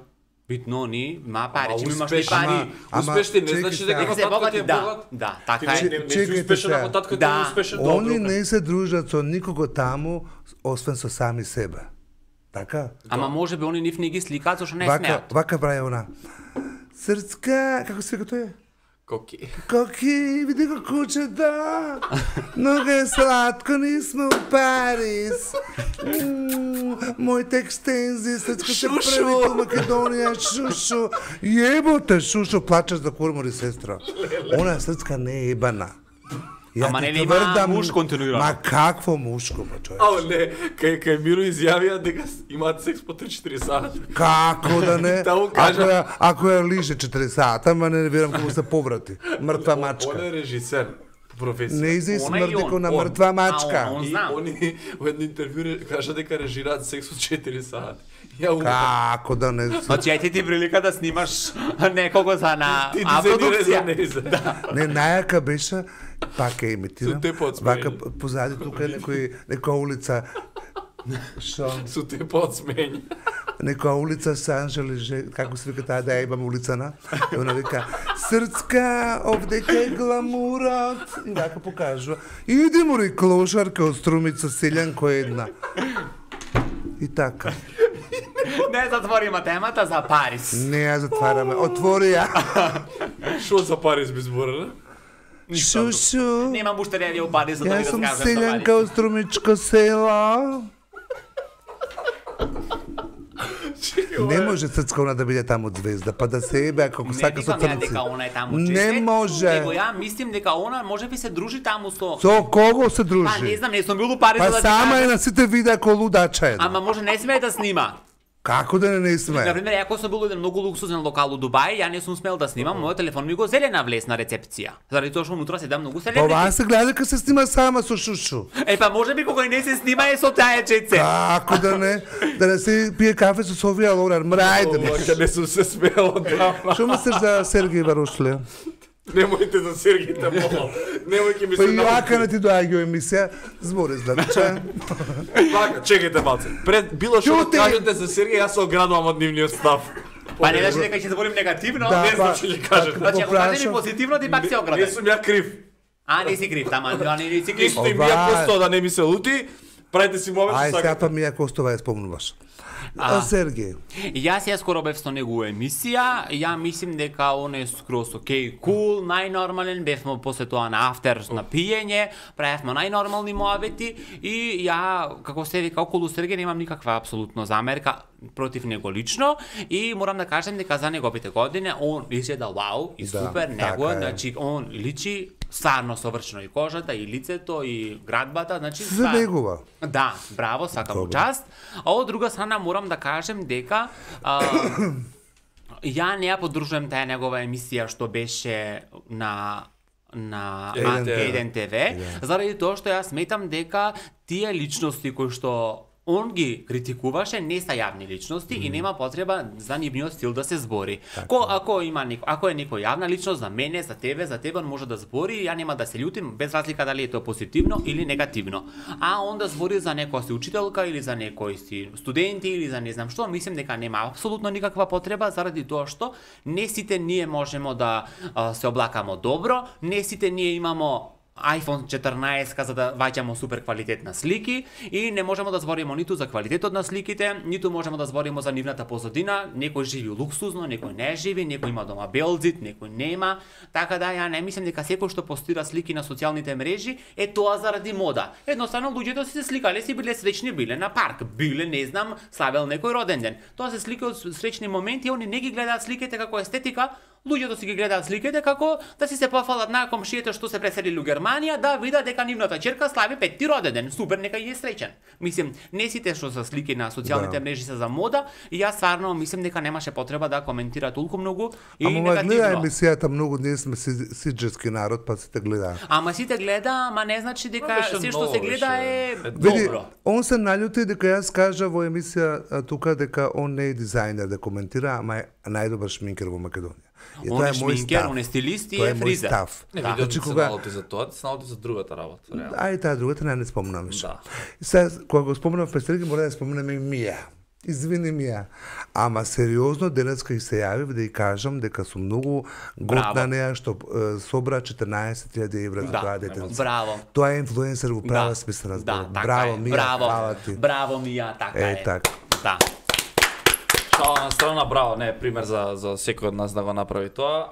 Битно они ма пари, Ама че имаш ли успешни. пари? Ама, Успешни не чекай значи сега. дека Дека се татко ти богати, е да. богат. Да, Ти така е. не си Чекайте успешен сега. ако татко ти Да. е успешен. Они добро. не се дружат со никого таму, освен со сами себе. Така? Ама може би они нив не ги сликаат зашто не Вака, смеат. вака прави она. Срцка, како се вика тој? Коки. Коки, види го кучета. Много е сладко, ние сме у Париз. Моите екстензии, след като се прави по Македония, Шушо. Еботе, Шушо, плачеш за курмори, сестра. Она срцка не е ебана. Ама нели има муж континуирано? Ма какво мушко, ба човек? Не, кај Миро изјавија дека имаат секс по 3-4 сати. Како да не? Таму кажа- Ако ја лиже 4 сата, ама не верам како се поврати. Мртва мачка. Он е режисер по професија. Не изе Она и смрди он. ко на Он. мртва мачка. он И знам. они во едно интервју кажа дека режираат секс од 4 сати. Ја умрам. Како да не? Значи, ајде ти прилика да снимаш некого за на Ти дизајнираш за продукција. неза. Не, најака беше, пак е имитирам. Со те подсмеени. Вака позади тука е некоја улица. Шо? Со те подсмења. Некоја улица Санжеле, како се вика таа да ја имам улицана. И она вика, срцка, овдека е гламурот. И вака покажува. Иди мори клошарка од Струмица, селјанко една. И така. Не затвориме темата за Париз. Не ја затвараме. Отвори ја. Шо за Париз би зборила? Шушу. Немам уште реди у Париз, за да ви Јас сум раскажам за селјанка Париз. од Струмичко село. Не може Црцкона да биде таму звезда, па да се ебе како Не сака со викам ја црнци. дека она е таму Не честет, може. Него ја мислим дека она може би се дружи таму со... Со кого се Па не дружи? знам, не сум бил у Париз Па за да ти сама е кажам. на сите видеа ко лудача една. Ама може не смее да снима. Како да не сме? Например, ако сум бил во еден многу луксузен локал у Дубај, ја не сум смел да снимам, мојот телефон ми го зеле на влез на рецепција. Заради тоа што унутра седам многу Ова селебрити. се гледа дека се снима сама со Шушу. Па може би кога и не се снима е со таа чеце. Како да не се пие кафе со Софија Лорар, мрајде ми. Ова не сум се смеел од тама. Што мислиш за Сергеј Варушле? Немојте за Сергите Моло. Немој ми Па се и јака не ти доаѓа емисија, збори злача. Вака, чекајте малце. Пред било што Ќути! да кажете за Сергеј, јас се оградувам од нивниот став. Па не значи дека ќе зборим негативно. Да, Не знам знам. што ќе кажете. Значи ако кажеш Попрашам. позитивно, ти пак се Не оградеш. сум ја крив. А, не си крив, тама, не си крив. Исто и Ова мија е. посто да не ми се лути. Правите си момент Ај што сега сакате. па Мија Костова ја спомнуваш. А Сергеј, Јас ја скоро бев со него емисија, ја мислим дека он е скроз окей, кул, најнормален, бевме после тоа на афтер на пиење, правевме најнормални муабети и ја, како се вика, околу Сергеј немам никаква апсолутно замерка против него лично и морам да кажем дека за неговите години он изгледа вау и Да, супер, него, така е. значи он личи стварно совршено и кожата, и лицето, и градбата, значи се стварно. негова. Да, браво, сакам му Добро. част. А од друга страна морам да кажем дека ја не ја поддружувам таа негова емисија што беше на Еден Еден ТВ, заради тоа што јас сметам дека тие личности кои што он ги критикуваше не са јавни личности и нема потреба за нивниот стил да се збори. Ако е некој јавна личност за мене, за тебе он може да збори, ја нема да се љутим без разлика дали е тоа позитивно или негативно. А он да збори за некоја си учителка или за некој си студенти или за не знам што, мислим дека нема апсолутно никаква потреба заради тоа што не сите ние можемо да се облакамо добро, не сите ние имамо iPhone 14 за да ваѓамо супер квалитетна слики и не можеме да збориме ниту за квалитетот на сликите, ниту можеме да збориме за нивната позадина, некој живи луксузно, некој не живи, некој има дома белзит, некој нема, така да ја не мислам дека секој што постира слики на социјалните мрежи е тоа заради мода. Едноставно луѓето си се сликале, си биле среќни, биле на парк, биле не знам, славел некој роден ден. Тоа се слика од среќни моменти, они не ги гледаат сликите како естетика, луѓето си ги гледаат сликите како да си се пофалат на комшиите што се преселили у Германија, да видат дека нивната ќерка слави 5-ти роден ден. Супер, нека и е среќен. Мислим, не сите што се слики на социјалните мрежи се за мода и јас стварно мислим дека немаше потреба да коментира толку многу и Ама гледа негативно. емисијата многу, ние сме сиџески народ, па сите гледаат. Ама сите гледа, ама не значи дека беше се што ново, се гледа е беше. Види, добро. он се наљути дека јас кажа во емисија тука дека он не е дизајнер да коментира, ама е најдобар шминкер во Македонија. И Он тоа е е мој шминкер, став. он е стилист и Тоа е мој фризер. став. Не Да. видов Значи, се кога- наоти за тоа, се наоти за другата работа. реално. Ај таа другата не спомнам више. Да. И сега кога го спомнав Пестерги, мора да споменам и Мија. Извини Мија. Ама сериозно денеска и се јави да ја кажам дека сум многу готна Браво. неа што собра 14.000 евра за тоа Да, детенце. браво. Тоа е инфлуенсер во права Да. смисла на Да, зборот. така Браво е. Мија, Браво. фала ти. Браво Мија, така Е, е. така. Да. Шала на страна, браво, не е пример за секој од нас да го направи тоа.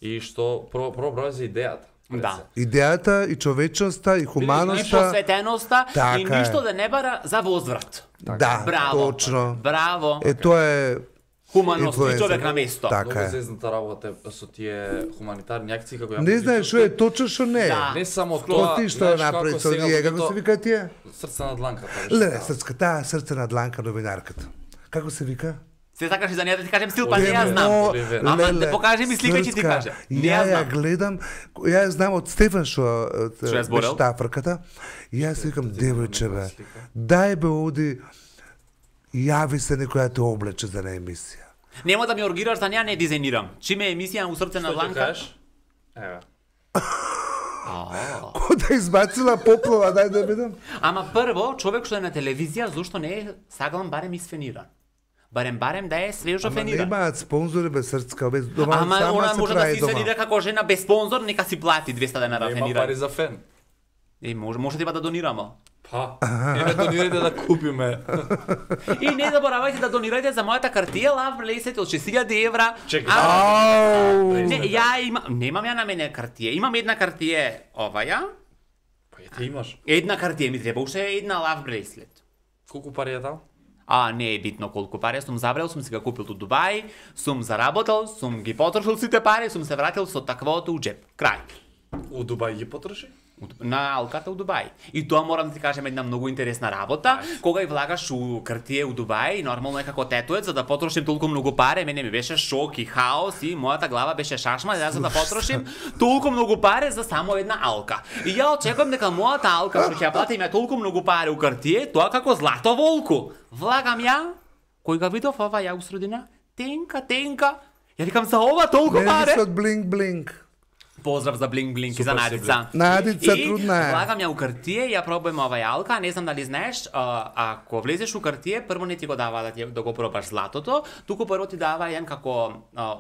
И што прво браво за идејата. Да. Идејата и човечноста и И хуманоста. посветеноста и Така е. ништо да не бара за возврат. Да, Браво. точно. Браво. Тоа е Хуманост и инфлуенсер. човек на место. Така Многу е. зезната работа е со тие хуманитарни акции како ја Не знаеш што е точно што не е. Да. Не само тоа, Тоа ти што знаеш направи како со сега ние, во како тоа- се вика тие? Срце на дланката. Леле, таа срце на дланка новинарката. Како се вика? Се сакаш и за неја да ти кажем стил, па не Леле, ја знам. Оливер. Ама леле, да покажи ми слика и ќе ти Срцка, каже. Не ја Ја знам. гледам, ја знам од Стефан што Што ја зборел? беше таа фрката. И јас викам, девојче бе, дај бе оди, јави се некоја те облече за на емисија. Нема да ми оргираш за неја, не дизајнирам. Чиме е емисија у срце на Што ќе дланка? кажеш? Еве. Ко да избацила поплава, дај да видам. Ама прво, човек што е на телевизија, зошто не е саглам барем исфениран? Барем да е свежо Ама фениран. немаат спонзори без Срцка, без дома, Ама сама она се може да прави се дома. исфенира како жена без спонзор, нека си плати 200 денара Нема фениран. пари за фен. Може да донирамо. Па, еве донирајте да купиме. И не заборавајте да донирајте за мојата картија Love Bracelet од 6000 евра. Чекај. Ау! Не, немам ја на мене картија. Имам една картија оваја. Па ја ти имаш. Една картија ми треба, уште една Love Bracelet. Колку пари е таа? Не е битно колку пари, сум забрал, сум си ga купил у Дубај, сум заработал, сум ги потрошил сите пари, сум се вратил со таквото у джеп. Крај. У Дубај ги потроши? На алката у Дубај. И тоа морам да ти кажем една многу интересна работа. Кога ја влагаш у картија у Дубај, нормално е како тетуец, за да потрошим толку многу пари, мене ми беше шок и хаос и мојата глава беше шашма, за да потрошим толку многу пари за само една алка. И ја очекувам дека мојата алка што ќе ја платим ја толку многу пари у картија, тоа како злато волку. Влагам ја, кој га видов ова ја у средина, тенка. Ја викам за ова толку Не пари. се од блинк-блинк. Поздрав за Блинк и за Супер си, Надица. Надица, И трудна е. влагам ја у картија, ја пробувам ова јалка, не знам дали знаеш, ако влезеш у картија, прво не ти го дава да го пробаш златото, туку прво ти дава еден како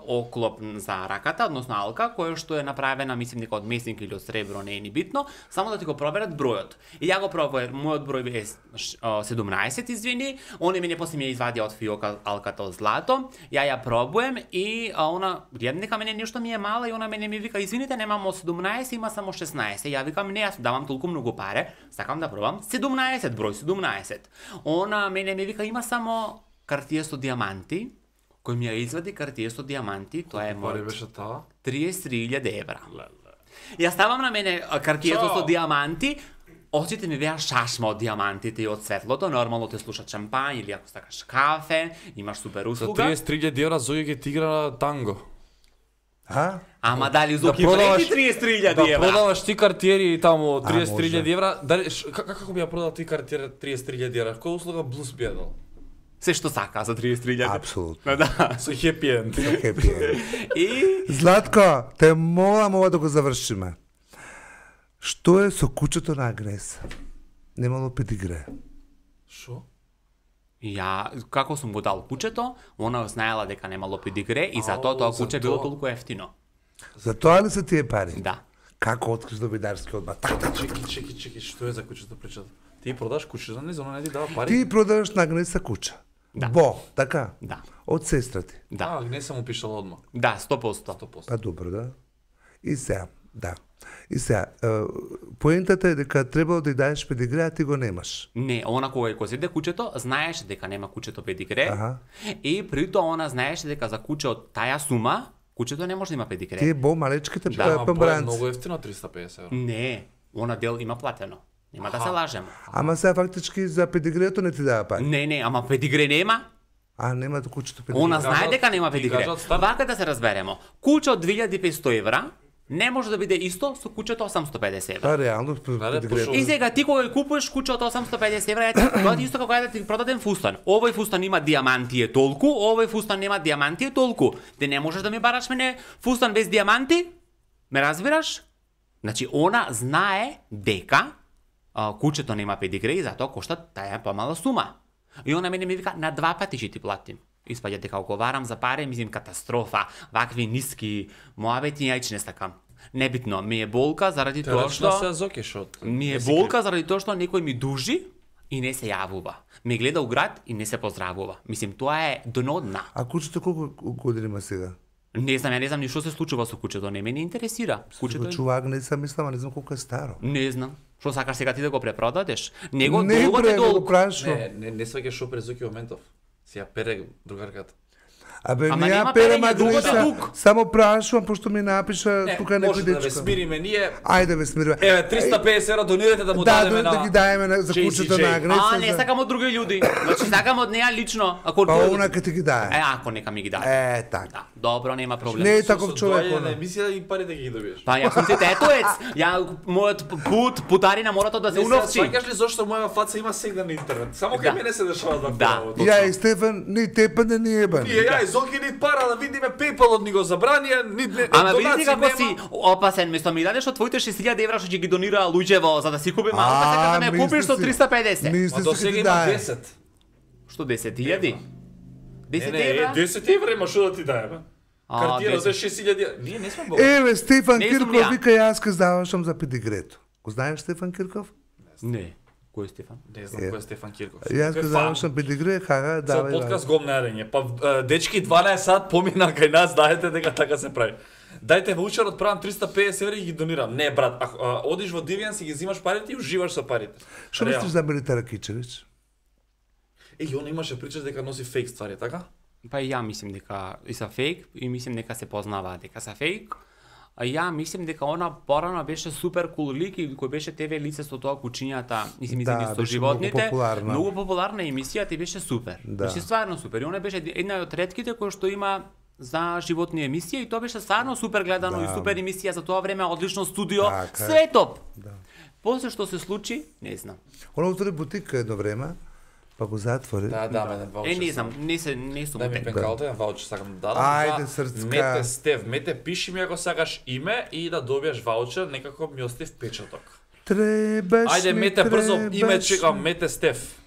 оклоп за раката, односно алка, која што е направена, мислим дека од месник или од сребро, не е ни битно, само да ти го проверат бројот. И ја го пробував, мојот број е 17, извини, он мене после ми ја извади од фиока алката од злато, ја пробувам и она гледам дека мене нешто ми е мала и она мене ми вика извините немам од 17, има само 16. Ја викам не, јас давам толку многу паре, сакам да пробам 17 број 17. Она мене ми вика има само картија со диаманти, кој ми ја извади картија со диаманти, тоа е Пари мојот беше таа? 33.000 евра. Ја ставам на мене картијето Чао. со диаманти, очите ми беа шашма од диамантите и од светлото, нормално те слуша шампањ или ако сакаш кафе, имаш супер За услуга. 33.000 евра Зоја ќе ти игра танго. А? Ама дали Зоки продаваш- вреди 33.000 Да евра? продаваш ти картиери таму може. 33.000 евра, дали како би ја продал ти картиера 33.000 евра? Која услуга блус би ја дал? Се што сака за 33.000. Апсолутно. Да. Со хепи енд. Хепи енд. И Златко, те молам ова да го завршиме. Што е со кучето на Агнеса? Немало педигре. Шо? ја, како сум го дал кучето, она знаела дека немало педигре и затоа тоа за куче било тоа. толку ефтино. За тоа ли се тие пари? Да. Како откриш новинарски одма? Чеки, што е за кучето причата? Ти продаш кучето, не зона не ти дава пари? Ти продаваш на Агнеса куче. Да. Бо, така? Да. Од сестра ти. Да. не сам упишала одма. Да, 100%. 100%. Па добро, да. И сега, да. И сега, поентата е дека требало да ја даеш педигре, а ти го немаш. Не, она кога го зеде кучето, знаеше дека нема кучето педигре. Аха. И при тоа она знаеше дека за куче од таја сума, кучето не може да има педигре. Тие бо малечките Да, ама памбранци. многу ефтино 350 евра. Не, она дел има платено. Нема да се лажемо. Ама сега фактички за педигрето не ти дава пари. Не, ама педигре нема. А нема кучето педигре. Она знае кажат- дека нема ти педигре. кажат старт. Вака да се разберемо. Куче од 2500 евра не може да биде исто со кучето 850 евра. Па реално Да, педигрето. пошо- И сега ти кога ја купуваш куче од 850 евра, тоа ти исто како да ти продаден фустан. Овој фустан има диаманти е толку, овој фустан нема диаманти е толку. Ти не можеш да ми бараш мене фустан без диаманти? Ме разбираш? Значи, она знае дека кучето нема педигре и затоа кошта таја помала сума. И она мене ми вика, на 2 пати ќе ти платим. Испаѓа дека оговарам за пари, мислим катастрофа, вакви ниски моабети, јајч не сакам. Небитно, ми е болка заради тоа Терачна што... се зокеш од. Ми е болка заради тоа што некој ми дужи и не се јавува. Ме гледа у град и не се поздравува. Мислим, тоа е дно дна. А кучето колку години има сега? Не знам, ја не знам ни што се случува со кучето, не ме не интересира. Кучето Чува Агнеса, мислам, а не знам колку е старо. не знам. Што сакаш сега ти да го препродадеш? Него Не долгот е бре, го долг. прашувам. Не сваќаш шо презуки моментов. Си ја пере другарката. Абе, Ама не ја нема перем перење, другото е Агнеса, тук. само прашувам, пошто ми напиша тука некој може да ве дечко. смириме ние. Ајде ве смириме. Еве 350 евра донирате да му дадеме на. Да ги даеме за JCJ. кучето на Агнеса. Не сакам од други луѓе. Значи сакам од неа лично. Ако Па она ке ти ги дае. ако нека ми ги даде. Така. Да, добро, нема проблем. Не е таков човек на она. емисија и парите ги добиеш. Па јас сум ти тетоец. Мојот путари на морато да се уновчи. Сваќаш ли зошто моја фаца има сега на интернет? Само кај мене се дешава да Да. Ја и Стефан, ни тепане ни ебан. Ние ја Зоки ни пара да видиме PayPal-от ни го забранија, ни Ама види како нема. си опасен, место ми дадеш од твоите 6000 евра што ќе ги донира луѓево за да си купи малка, сега да ме купиш со 350. Ма Мисли до си сега ке ти има дае. 10. Што 10.000? 10 Не, евра? 10 евра има што да ти даеме. Картина за 6000. Ние не сме богати. Еве, Стефан Не сум Кирков ја. вика јас ке здавашам за педигрето. Го знаеш Стефан Кирков? Не. Кој е Стефан? Не знам кој е Стефан Кирков. Јас ке Тој здавашам педигре, хага, Цел давај. подкаст гом најдење. Па дечки 12 сат помина кај нас, дајте дека така се прави. Дајте ваучерот, правам 350 евра и ги донирам. Не брат, одиш во Дивијан си ги взимаш парите и уживаш со парите. Што Реално. мислиш за Мелита Ракичевиќ? Он имаше прича дека носи фейк ствари, така? Па и ја мислим дека и са фейк и мислим дека се познаваат дека са фейк. А ја мислим дека она порано беше супер кул лик и кој беше ТВ лице со тоа кучињата, мислим Да, со беше животните. многу популарна. Многу популарна емисија и беше супер. Да. Беше стварно супер. И она беше една од ретките кои што има за животни емисија и тоа беше стварно супер гледано Да. и супер емисија за тоа време, одлично студио, Така е. све топ. Да. После што се случи, не знам. Она отвори бутика едно време, па го затвори. Да, мене ваучер. Не знам, не сум Дај ми утек. пенкалта, еден ваучер сакам да дадам. Ајде, за срцка. Мете Стев, мете пиши ми ако сакаш име и да добиеш ваучер, некако ми остави впечаток. Требаш Ајде ми, мете брзо име требаш чекам, ми. мете Стев.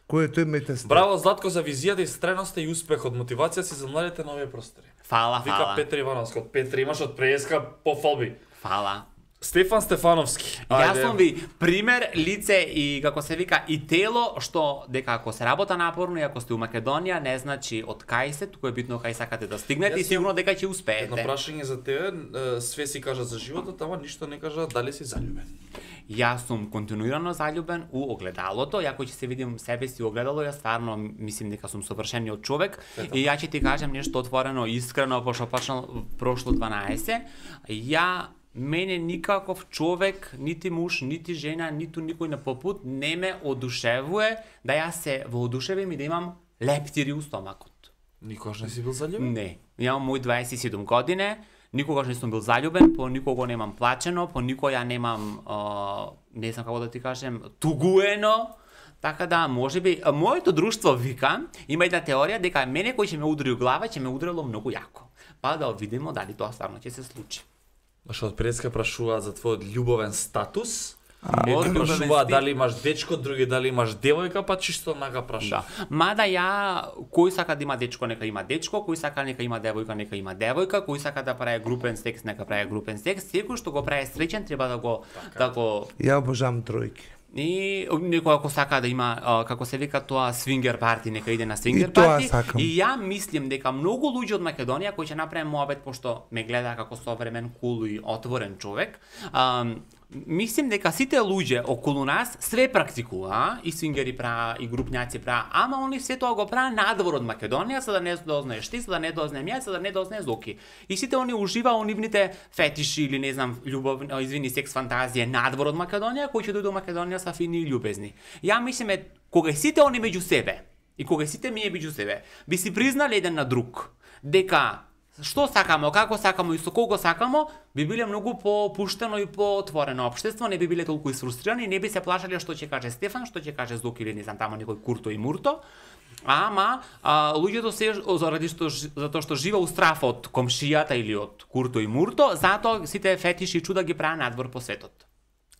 Кој е тој мете Стеф? Браво Златко за визијата и стреноста и успехот, мотивација си за младите на овие простори. Фала, Вика фала. Петр Ивановски, од Петри имаш од преска пофалби. Фала. Стефан Стефановски. Јас сум ви пример, лице и како се вика и тело што дека ако се работа напорно и ако сте у Македонија не значи од кај се, туку е битно кај сакате да стигнете Јас и сигурно дека ќе Едно успеете. прашање за тебе, све си кажа за животот, ама ништо не кажа дали си заљубен. Јас сум континуирано заљубен у огледалото, ја кој ќе се видим себе си у огледало, јас стварно мислим дека сум совршениот човек и ја ќе ти кажам нешто отворено, искрено, пошто почнал прошло 12. Ја мене никаков човек, нити муж, нити жена, ниту никој на попут не ме одушевува да јас се воодушевим и да имам лептири у стомакот. Никош не си бил заљубен? Не. Јамам мој 27 години, никогаш не сум бил заљубен, по никого немам плачено, по никој ја немам, не знам како да ти кажем, тугуено. Така да, можеби, моето друштво вика, има една теорија дека мене кој ќе ме удари у глава, ќе ме ударило многу јако. Па да видиме дали тоа стварно ќе се случи. Што од предска прашуваат за твојот љубовен статус. Мојот Едни љубовен прашуваат стил- дали имаш дечко, други дали имаш девојка, па чисто нака Да. прашува. Мада ја, кој сака да има дечко, нека има дечко, кој сака нека има девојка, нека има девојка, кој сака да прави групен секс, нека прави групен секс, секој што го прави среќен треба да го Ја обожавам тројки. И некој ако сака да има, како се вика тоа, свингер парти, нека иде на свингер И тоа парти. сакам. И ја мислим дека многу луѓе од Македонија кои ќе направат моабет, пошто ме гледа како современ, кул и отворен човек, мислим дека сите луѓе околу нас све практикува, и свингери прават, и групњаци прават, ама они се тоа го прават надвор од Македонија, за да не дознаеш ти, за да не дознаем јас, за да не дознае Зоки. И сите они уживаа во нивните фетиши или не знам, секс фантазија надвор од Македонија, кои ќе дојдат во Македонија са фини и љубезни. Ја мислиме кога сите они меѓу себе и кога сите ние меѓу себе би си признали еден на друг дека што сакамо, како сакамо и со колку сакамо, би биле многу попуштено и поотворено општество, не би биле толку изфрустрирани, не би се плашале што ќе каже Стефан, што ќе каже Зоки или не знам тамо некој Курто и Мурто. Ама луѓето се затоа што живе у страф од комшијата или од Курто и Мурто, затоа сите фетиши и чуда ги прават надвор по светот.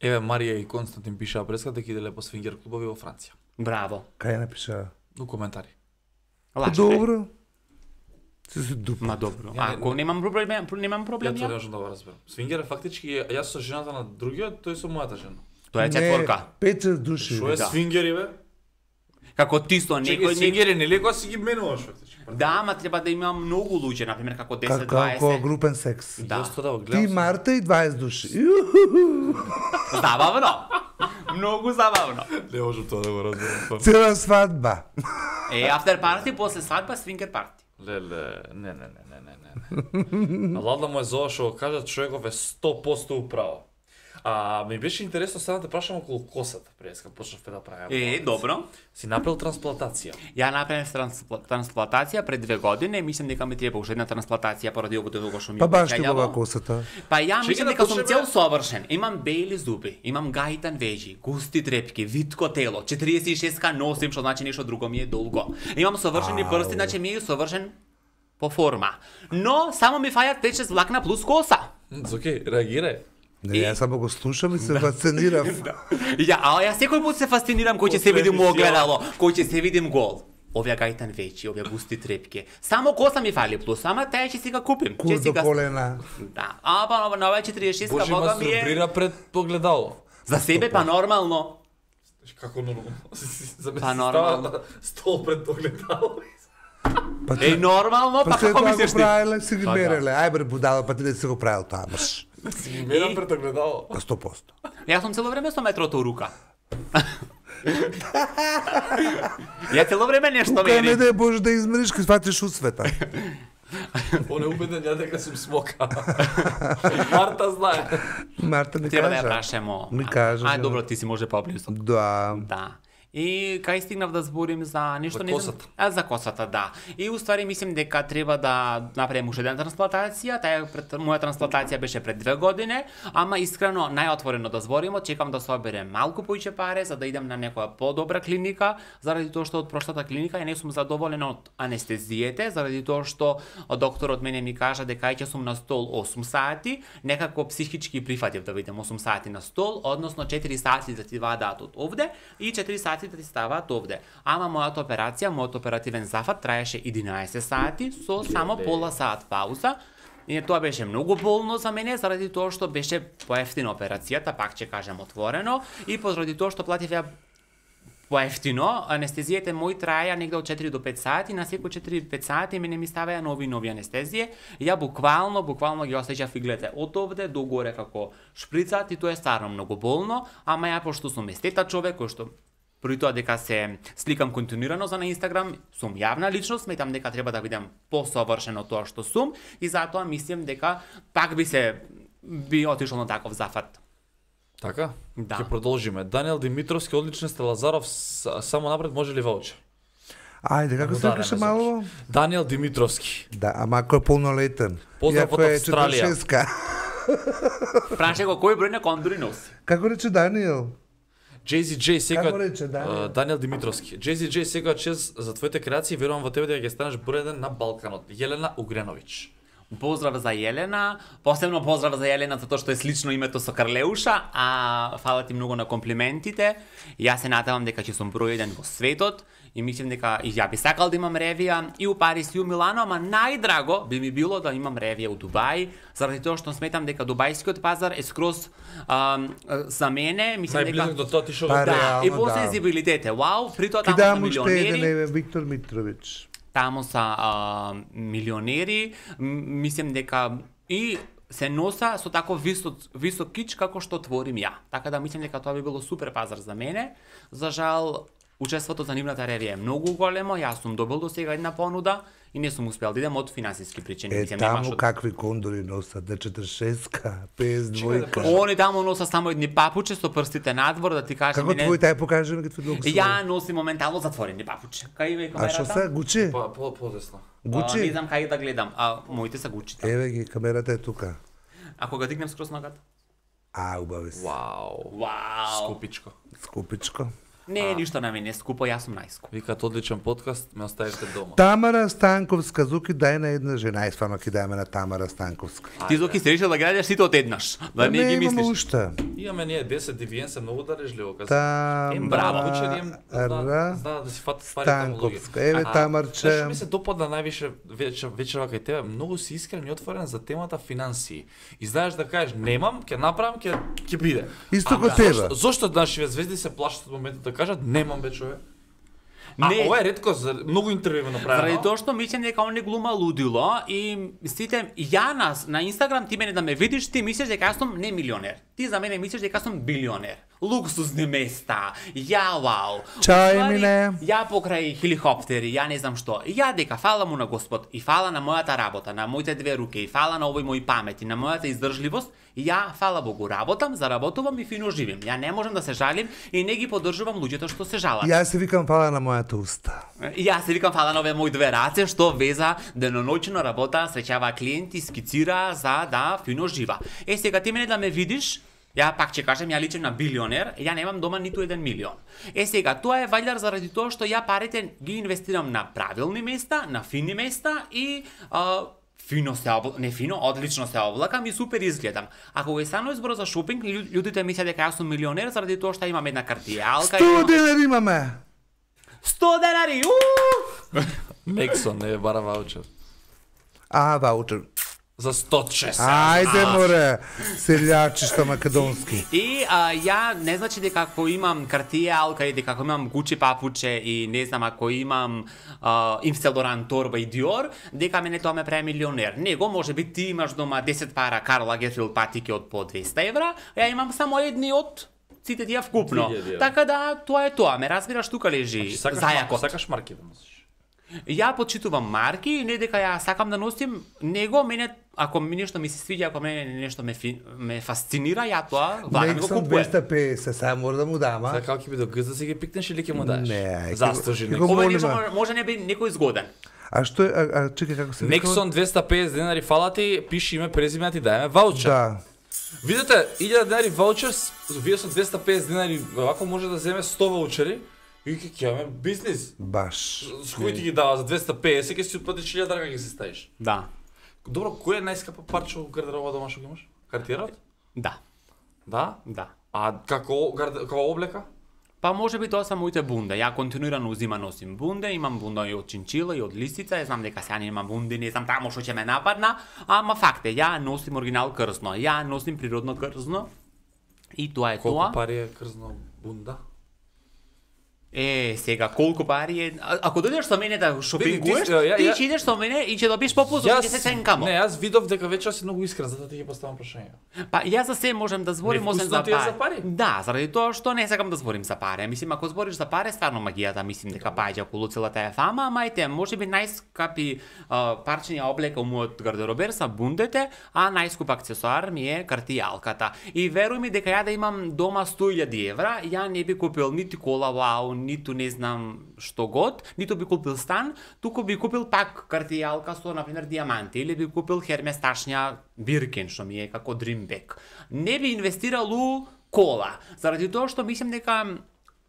Еве Марија и Константин пишаа преска дека иделе по свингер клубови во Франција. Браво. Кај напиша? У коментари. Лаче. Добро. Се се дуп. Ма добро. Ја не- Ако немам проблем, немам проблем Ја ја. тоа не можам да го разберам. Свингер е фактички јас со жената на другиот, тој со мојата жена. Тоа е четворка. Не, 5 души. Што е Да. свингери бе? Како ти со Чекај, некој сингерин или кога си ги менуваш фактички? Да, ама треба да има многу луѓе, например како 10, Како 20. групен секс. Да. Јас тоа да го Ти, гледам. Марта и 20 души. Забавно. Многу забавно. Не можам тоа да го разберам. Цела свадба. After party после свадба свингер парти. Леле, не. Ладно му е зова што го кажа, човеков е 100% управо. Ми беше интересно сега да те прашам околу косата, пред кога почнав да правам. Добро. Си направил трансплантација. Ја направив трансплантација пред 2 години, мислам дека ми треба уште една трансплантација поради овото долго што ми Па баш ти печелјаво. била косата. Па ја Чекај мислам да дека сум почнеме- цел совршен. Имам бели зуби, имам гајтан вежи, густи трепки, витко тело, 46 носим, што значи нешто друго ми е долго. Имам совршени прсти, значи ми е совршен по форма. Но само ми фајат 5-6 влакна плюс коса. Окей, реагирај. Не, јас само го слушам и се фасцинирав. Ја секој пат се фасцинирам кој ќе се видим у огледало, кој ќе се видим гол. Овие гајтан вечи, овие густи трепки. Само коса ми фали плюс, ама таа ќе си га купим. Кур до колена. Да. Па на оваа 46 Боже, бога ма ми е струпира пред погледало. за себе па нормално. Како нормално? Па нормално. Стол пред погледало. Па Нормално, па след како тоа мислиш го ти? правиле, си ги Па да. мереле. Ај бре будало, па ти не си го правил тоа, баш. Мерам пред огледало. Па 100%. Јас сум цело време со метрото у рука. Ја цело време нешто Тука не мерим. да можеш да измериш, кога сватиш у света. Он е убеден ја дека сум смока. Марта знае. Марта ми Треба да ја кажа. прашамо. Ми кажа. Ај добро, ти си може поблизо. Да. Да. И кај стигнав да зборим за нешто За не знам. косата. За косата, да. И уствари мислим дека треба да направим уште една трансплантација. Моја трансплантација беше пред 2 години, ама искрено најотворено да збориме, чекам да соберем малку поиќе пари за да идам на некоја подобра клиника, заради тоа што од прошлата клиника ја не сум задоволен од анестезиите, заради тоа што докторот мене ми кажа дека ќе сум на стол 8 сати, некако психички прифатив да видам 8 сати на стол, односно 4 сати да ти вадаат од овде и 4 сати да ти ставаат овде. Ама мојата операција, мојот оперативен зафат траеше 11 сати со само пола сат пауза. И тоа беше многу болно за мене, заради тоа што беше поевтина операцијата, пак ќе кажем отворено, и поради тоа што платив ја поевтино, анестезиите мои траја негде од 4 до 5 сати, на секој 4-5 сати мене ми ставаја нови анестезije. Ја буквално ги осеќав иглете од овде до горе како шприцат и тоа е стварно многу болно, ама ја пошто сум естета човек кој што при тоа дека се сликам континуирано за на Инстаграм, сум јавна личност, сметам дека треба да бидам посовршен од тоа што сум и затоа мислам дека пак би отишол на таков зафат. Така? Да. Ќе продолжиме. Даниел Димитровски, одличен сте, Лазаров, само напред може ли ваучер? Ајде, како се викаше мало? Даниел Димитровски. Да, ама ако е полнолетен. Поздрав од Австралија. 46-ка. Праше го кој број на кондори носи. Како рече Даниел? JZJ Како секоја рече Даниел? Даниел Димитровски. JZJ секоја чест за твоите креации, верувам во тебе дека ќе станеш број 1 на Балканот. Јелена Угреновиќ. Поздрав за Јелена, посебно поздрав за Јелена затоа што е слично името со Карлеуша, а фала ти многу на комплиментите. Јас се надевам дека ќе сум број 1 во светот и мислам дека и ја би сакал да имам ревија и у Париз и у Милано, ама најдраго би ми било да имам ревија у Дубај, заради тоа што сметам дека дубајскиот пазар е скроз за мене, мислам дека Најблизок до тоа ти што Па, го да, и реално, по да. сензибилитет е вау, при тоа Ти таму дам се уште милионери. еден, Виктор Митровиќ. Таму са милионери, мислам дека и се носа со тако висок кич како што творим ја. Така да мислам дека тоа би било супер пазар за мене. За жал, учеството за нивната ревија е многу големо, јас сум добил до сега една понуда и не сум успел да идем од финансиски причини. Мислам, Таму немаш од- какви кондори носат, D46-ка, PS2-ка. Они таму носа само едни папуче со прстите надвор, да ти кажам. Како твоите, ај покажи ми како твои долго Ја носим моментално затворени папуче. Кај е А што камерата? се, Гучи? Подесно. Не Гучи? знам кај да гледам, а моите се Гучите. Еве ги, камерата е тука. Ако го дигнем скроз ногата. Убави се. Вау. Вау. Скупичко. Скупичко. Не е ништо на мене скупо, јас сум најскуп. Викаат одличен подкаст, ме оставите дома. Тамара Станковска, Зуки, дај на една жена. Ај, стварно ќе дајме на Тамара Станковска. Ти Зоки се решил да гледаш сите одеднаш, да не ги имаме мислиш. уште. Имаме ние 10 дивиен се многу дарежливо. браво. Знаа да си фатат стварите таму луѓе. Станковска. Еве, Тамарче. Знаеш што ми се допадна највише вечерва кај тебе? Многу си искрен и отворен за темата финансии. И знаеш да кажеш немам, ќе направам, ќе биде. Исто Ама ко тебе. Зошто нашиве звезди се плашат од моментот да кажат немам бе човек? Не. ова е ретко, многу интервју направено. Заради тоа што мислам дека он не глума лудило и сите ја на Инстаграм ти мене да ме видиш, ти мислиш дека јас сум не милионер. Ти за мене мислиш дека сум билионер. Луксузни места, ја вау. Чао, Уствари, Емине. Ја покрај хеликоптери, ја не знам што. Ја дека фала му на Господ и фала на мојата работа, на моите две руке и фала на овој мој памет и на мојата издржливост, ја фала Богу работам, заработувам и фино живим. Ја не можам да се жалим и не ги поддржувам луѓето што се жалат. Јас се викам фала на мојата уста. Јас се викам фала на овие мои две раце што веза деноноќно работа, среќава клиенти, скицира за да фино жива. Сега ти мене да ме видиш, ја пак ќе кажем, ја личам на билионер, ја немам дома ниту 1 милион. Сега тоа е валјар заради тоа што ја парите ги инвестирам на правилни места, на фини места и фино се не фино, одлично се облакам и супер изгледам. Ако го станува збор за шопинг, луѓето мислат дека јас сум милионер заради тоа што имам една картијалка. 100 денари имаме. 100 денари! Нексон не бара ваучер. Ваучер. За 106. Ајде море, селјачишта македонски. И ја не значи дека ако имам картијалка и дека ако имам Гучи папуче и не знам ако имам Yves Saint Laurent торба и Dior, дека мене тоа ме прави милионер. Него може би ти имаш дома 10 пара Карл Лагерфелд патики од по 200 евра, ја имам само едни од сите тие вкупно. Така да тоа е тоа, ме разбираш, тука лежи зајакот. Сакаш марки да носиш? Ја почитувам марки и не дека ја сакам да носим него, мене ако ми нешто ми се свиѓа, ако мене нешто ме фасцинира, ја тоа влагам и го Нексон купувам. 250, сега мора да му дама. Сега како ќе би до гзда си ги пикнеш или ќе му даеш? Не, Застожи ќе некој. го Ова молиме. нешто може не би некој згоден. А што е, чекај како се вика? Нексон 250 денари фала ти, пиши име, презиме, ти даеме ваучер. Да. Видете, 1000 денари ваучер, вие со 250 денари, вако може да земе 100 ваучери и ќе имаме бизнис. Баш. С кој ти ги дава за 250, ќе си отплатиш 1000 драка ќе се ставиш. Да. Добро, кој е најскапо парче во гардероба дома што ги имаш? Картират? Да. Да? Да. А како облека? Па може би тоа се моите бунде. Ја континуирано носим бунде, имам бунда и од чинчила и од лисица, знам дека сега немам бунди, не знам таму што ќе ме нападна, ама факт е, ја носим оригинал крзно, ја носим природно крзно. И тоа е тоа. Колку пари е крзно бунда? Сега колку пари е? Ако дојдеш со мене да шопингуеш, Види, ти ќе идеш со мене и ќе добиеш попуст од 10 ценкамо. Не, јас видов дека вече си многу искрен, затоа ти ќе поставам прашање. Па јас за се можам да зборим освен Невкусно за ти е за пари? Да, заради тоа што не сакам да зборим за пари. Мислим ако збориш за пари, стварно магијата мислим дека паѓа околу целата е фама, ама ете, можеби најскапи парчиња облека у мојот гардеробер са бундете, а најскуп аксесоар ми е картијалката. И веруј ми дека ја да имам дома 100.000 евра, ја не би купил нити кола вау, ниту не знам што год, ниту би купил стан, туку би купил пак картијалка со например дијаманти или би купил Hermes ташња Birkin што ми е како dream bag. Не би инвестирал у кола, заради тоа што мислам дека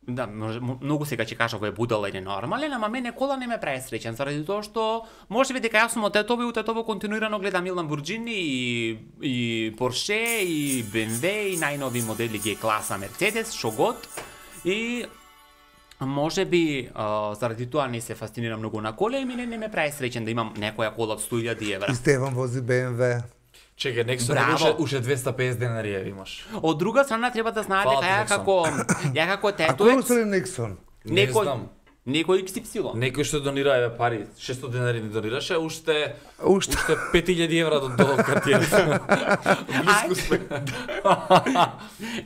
да, многу сега ќе кажа кој е будала или нормален, ама мене кола не ме прави среќен, заради тоа што можеби дека јас сум од тетово и у тетово континуирано гледам и Lamborghini и Porsche и BMW и најнови модели G-класа Mercedes, што год. И можеби заради тоа не се фасцинирам многу на коле и мене не ме прави среќен да имам некоја кола од 100.000 евра. И Стефан вози BMW. Чекај, Нексон уште 250 денари ја имаш. Од друга страна треба да знаете Фала дека ја како А кој тетуец, е Нексон? Не знам. некој XY. Некој што донира еве пари, 600 денари не донираше, уште Уште. 5000 евра до картијата. Близко сме.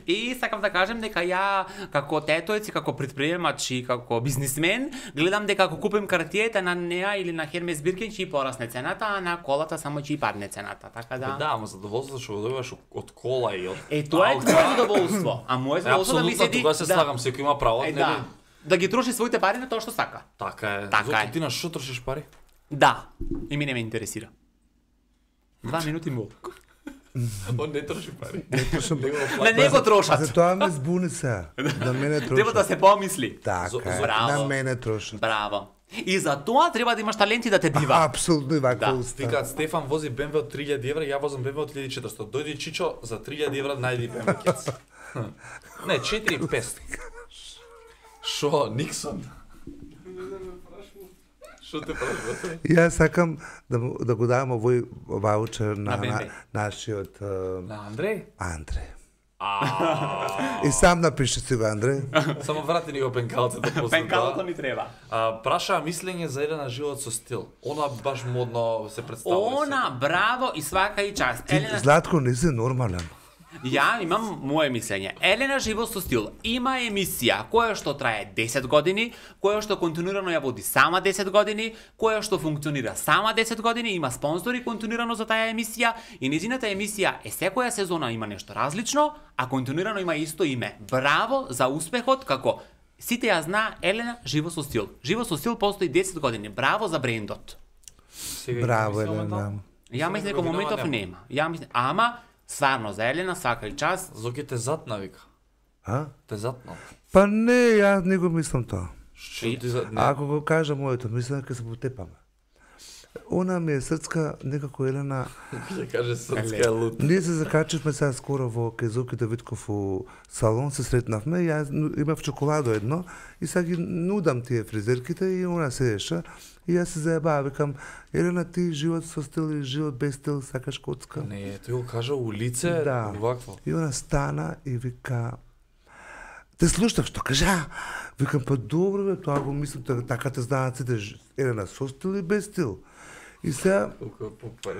И сакам да кажем дека ја како тетоец и како претприемач и како бизнисмен гледам дека ако купим картијата на неа или на Hermes Birkin ќе порасне цената, а на колата само ќе падне цената. Така да. Да, ама задоволството што го добиваш од кола и од Тоа е твое задоволство. А моето задоволство да ми апсолутно, седи. тога се слагам, секој има право, нели? Да. Да ги троши своите пари на тоа што сака. Така е. Така Зошто е. ти на што трошиш пари? Да. И мене ме интересира. 2 минути му. Он не троши пари. На него трошат. За тоа ме збуни се. На мене Треба да трошат. се помисли. Така е. Браво. На мене трошат. Браво. И за тоа треба да имаш таленти да те бива. Апсолутно и ваква Да. уста. Викаат Стефан вози BMW од 3000 евра, ја возам BMW од 1400. Дојди Чичо за 3000 евра најди BMW кец. Не, 4500. Шо, Никсон? Шо те прашувате? Јас сакам да го давам овој ваучер На на BMW. нашиот На Андреј? Андре. И сам напиши си го, Андре. Само врати ни го пенкалцето после Пенкалото тоа. ми треба. Прашаа мислење за Елена живот со стил. Она баш модно се представува. Она, браво и свака и час. Ти, Елена, Златко, не си нормален. ја имам мое мислење. Елена живот со стил има емисија која што трае 10 години, која што континуирано ја води сама 10 години, која што функционира сама 10 години, има спонзори континуирано за таа емисија и незината емисија е секоја сезона има нешто различно, а континуирано има исто име. Браво за успехот како сите ја зна Елена живот со стил. Живот со стил постои 10 години. Браво за брендот. Браво, Елена. Ја мислам дека моментов нема. Ја мислам, ама стварно за Елена свака и час. Зоки те затна, вика. А? Те затна. Па не, јас не го мислам тоа. Што ти за... Ако го кажа моето, мислам дека се потепаме. Она ми е срцка, некако Елена... Ќе каже срцка е лут. Ние се закачивме сега скоро во кај Зоки Давидков у салон, се сретнавме, јас имав чоколадо едно и сега ги нудам тие фризерките и она седеше и јас се заебава, викам, Елена, ти живот со стил и живот без стил, сакаш коцка? Не, тој го кажа у лице, Да. вакво. И она стана и вика, те слушав што кажа. Викам, па добро бе, тоа го мислам, така те знаат сите, Елена со стил и без стил. И сега, Колку попаре.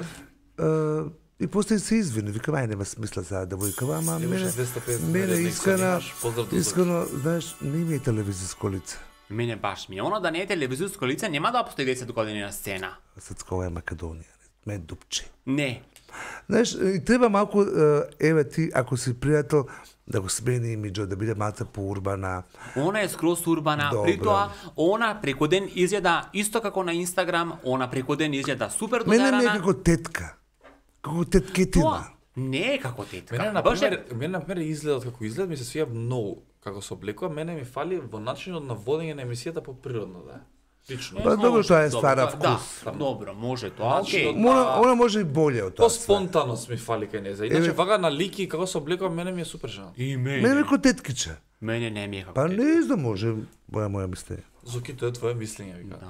и после се извини, викам, ај нема смисла сега да викам, ама Имаше мене, 250 мене Нексон искрено, имаш, поздрав до Зоки. искрено, знаеш, не ми е телевизиско лице. Мене баш ми. Оно да не е телевизијско лице нема да постои 10 години на сцена. Срцка, ова е Македонија, ме дупче. Не. Знаеш, и треба малку, еве ти, ако си пријател, да го смени имиджот, да биде малце поурбана. Она е скроз урбана, Добро. при тоа она преку ден изгледа исто како на Инстаграм, она преку ден изгледа супер Мене додарана. ми е како тетка. Како теткетина. Тоа не е како тетка. Мене на Баш е- пример, мене на пример изгледот како изглед ми се свија многу како се облекува, мене ми фали во начинот на водење на емисијата поприродно да е. Лично. Па добро, тоа е Добро, стара Да, вкус. добро, може тоа. Значи, Океј. Она може и боле од тоа. све. По-спонтаност ми фали кај неја. Иначе вага на лики како се обликува, мене ми е супер жена. И Мене мене. како теткиче. Мене не ми е како Па тетка. не знам, може, моја мислење. Зоки, тоа е твое мислење, вика. Да.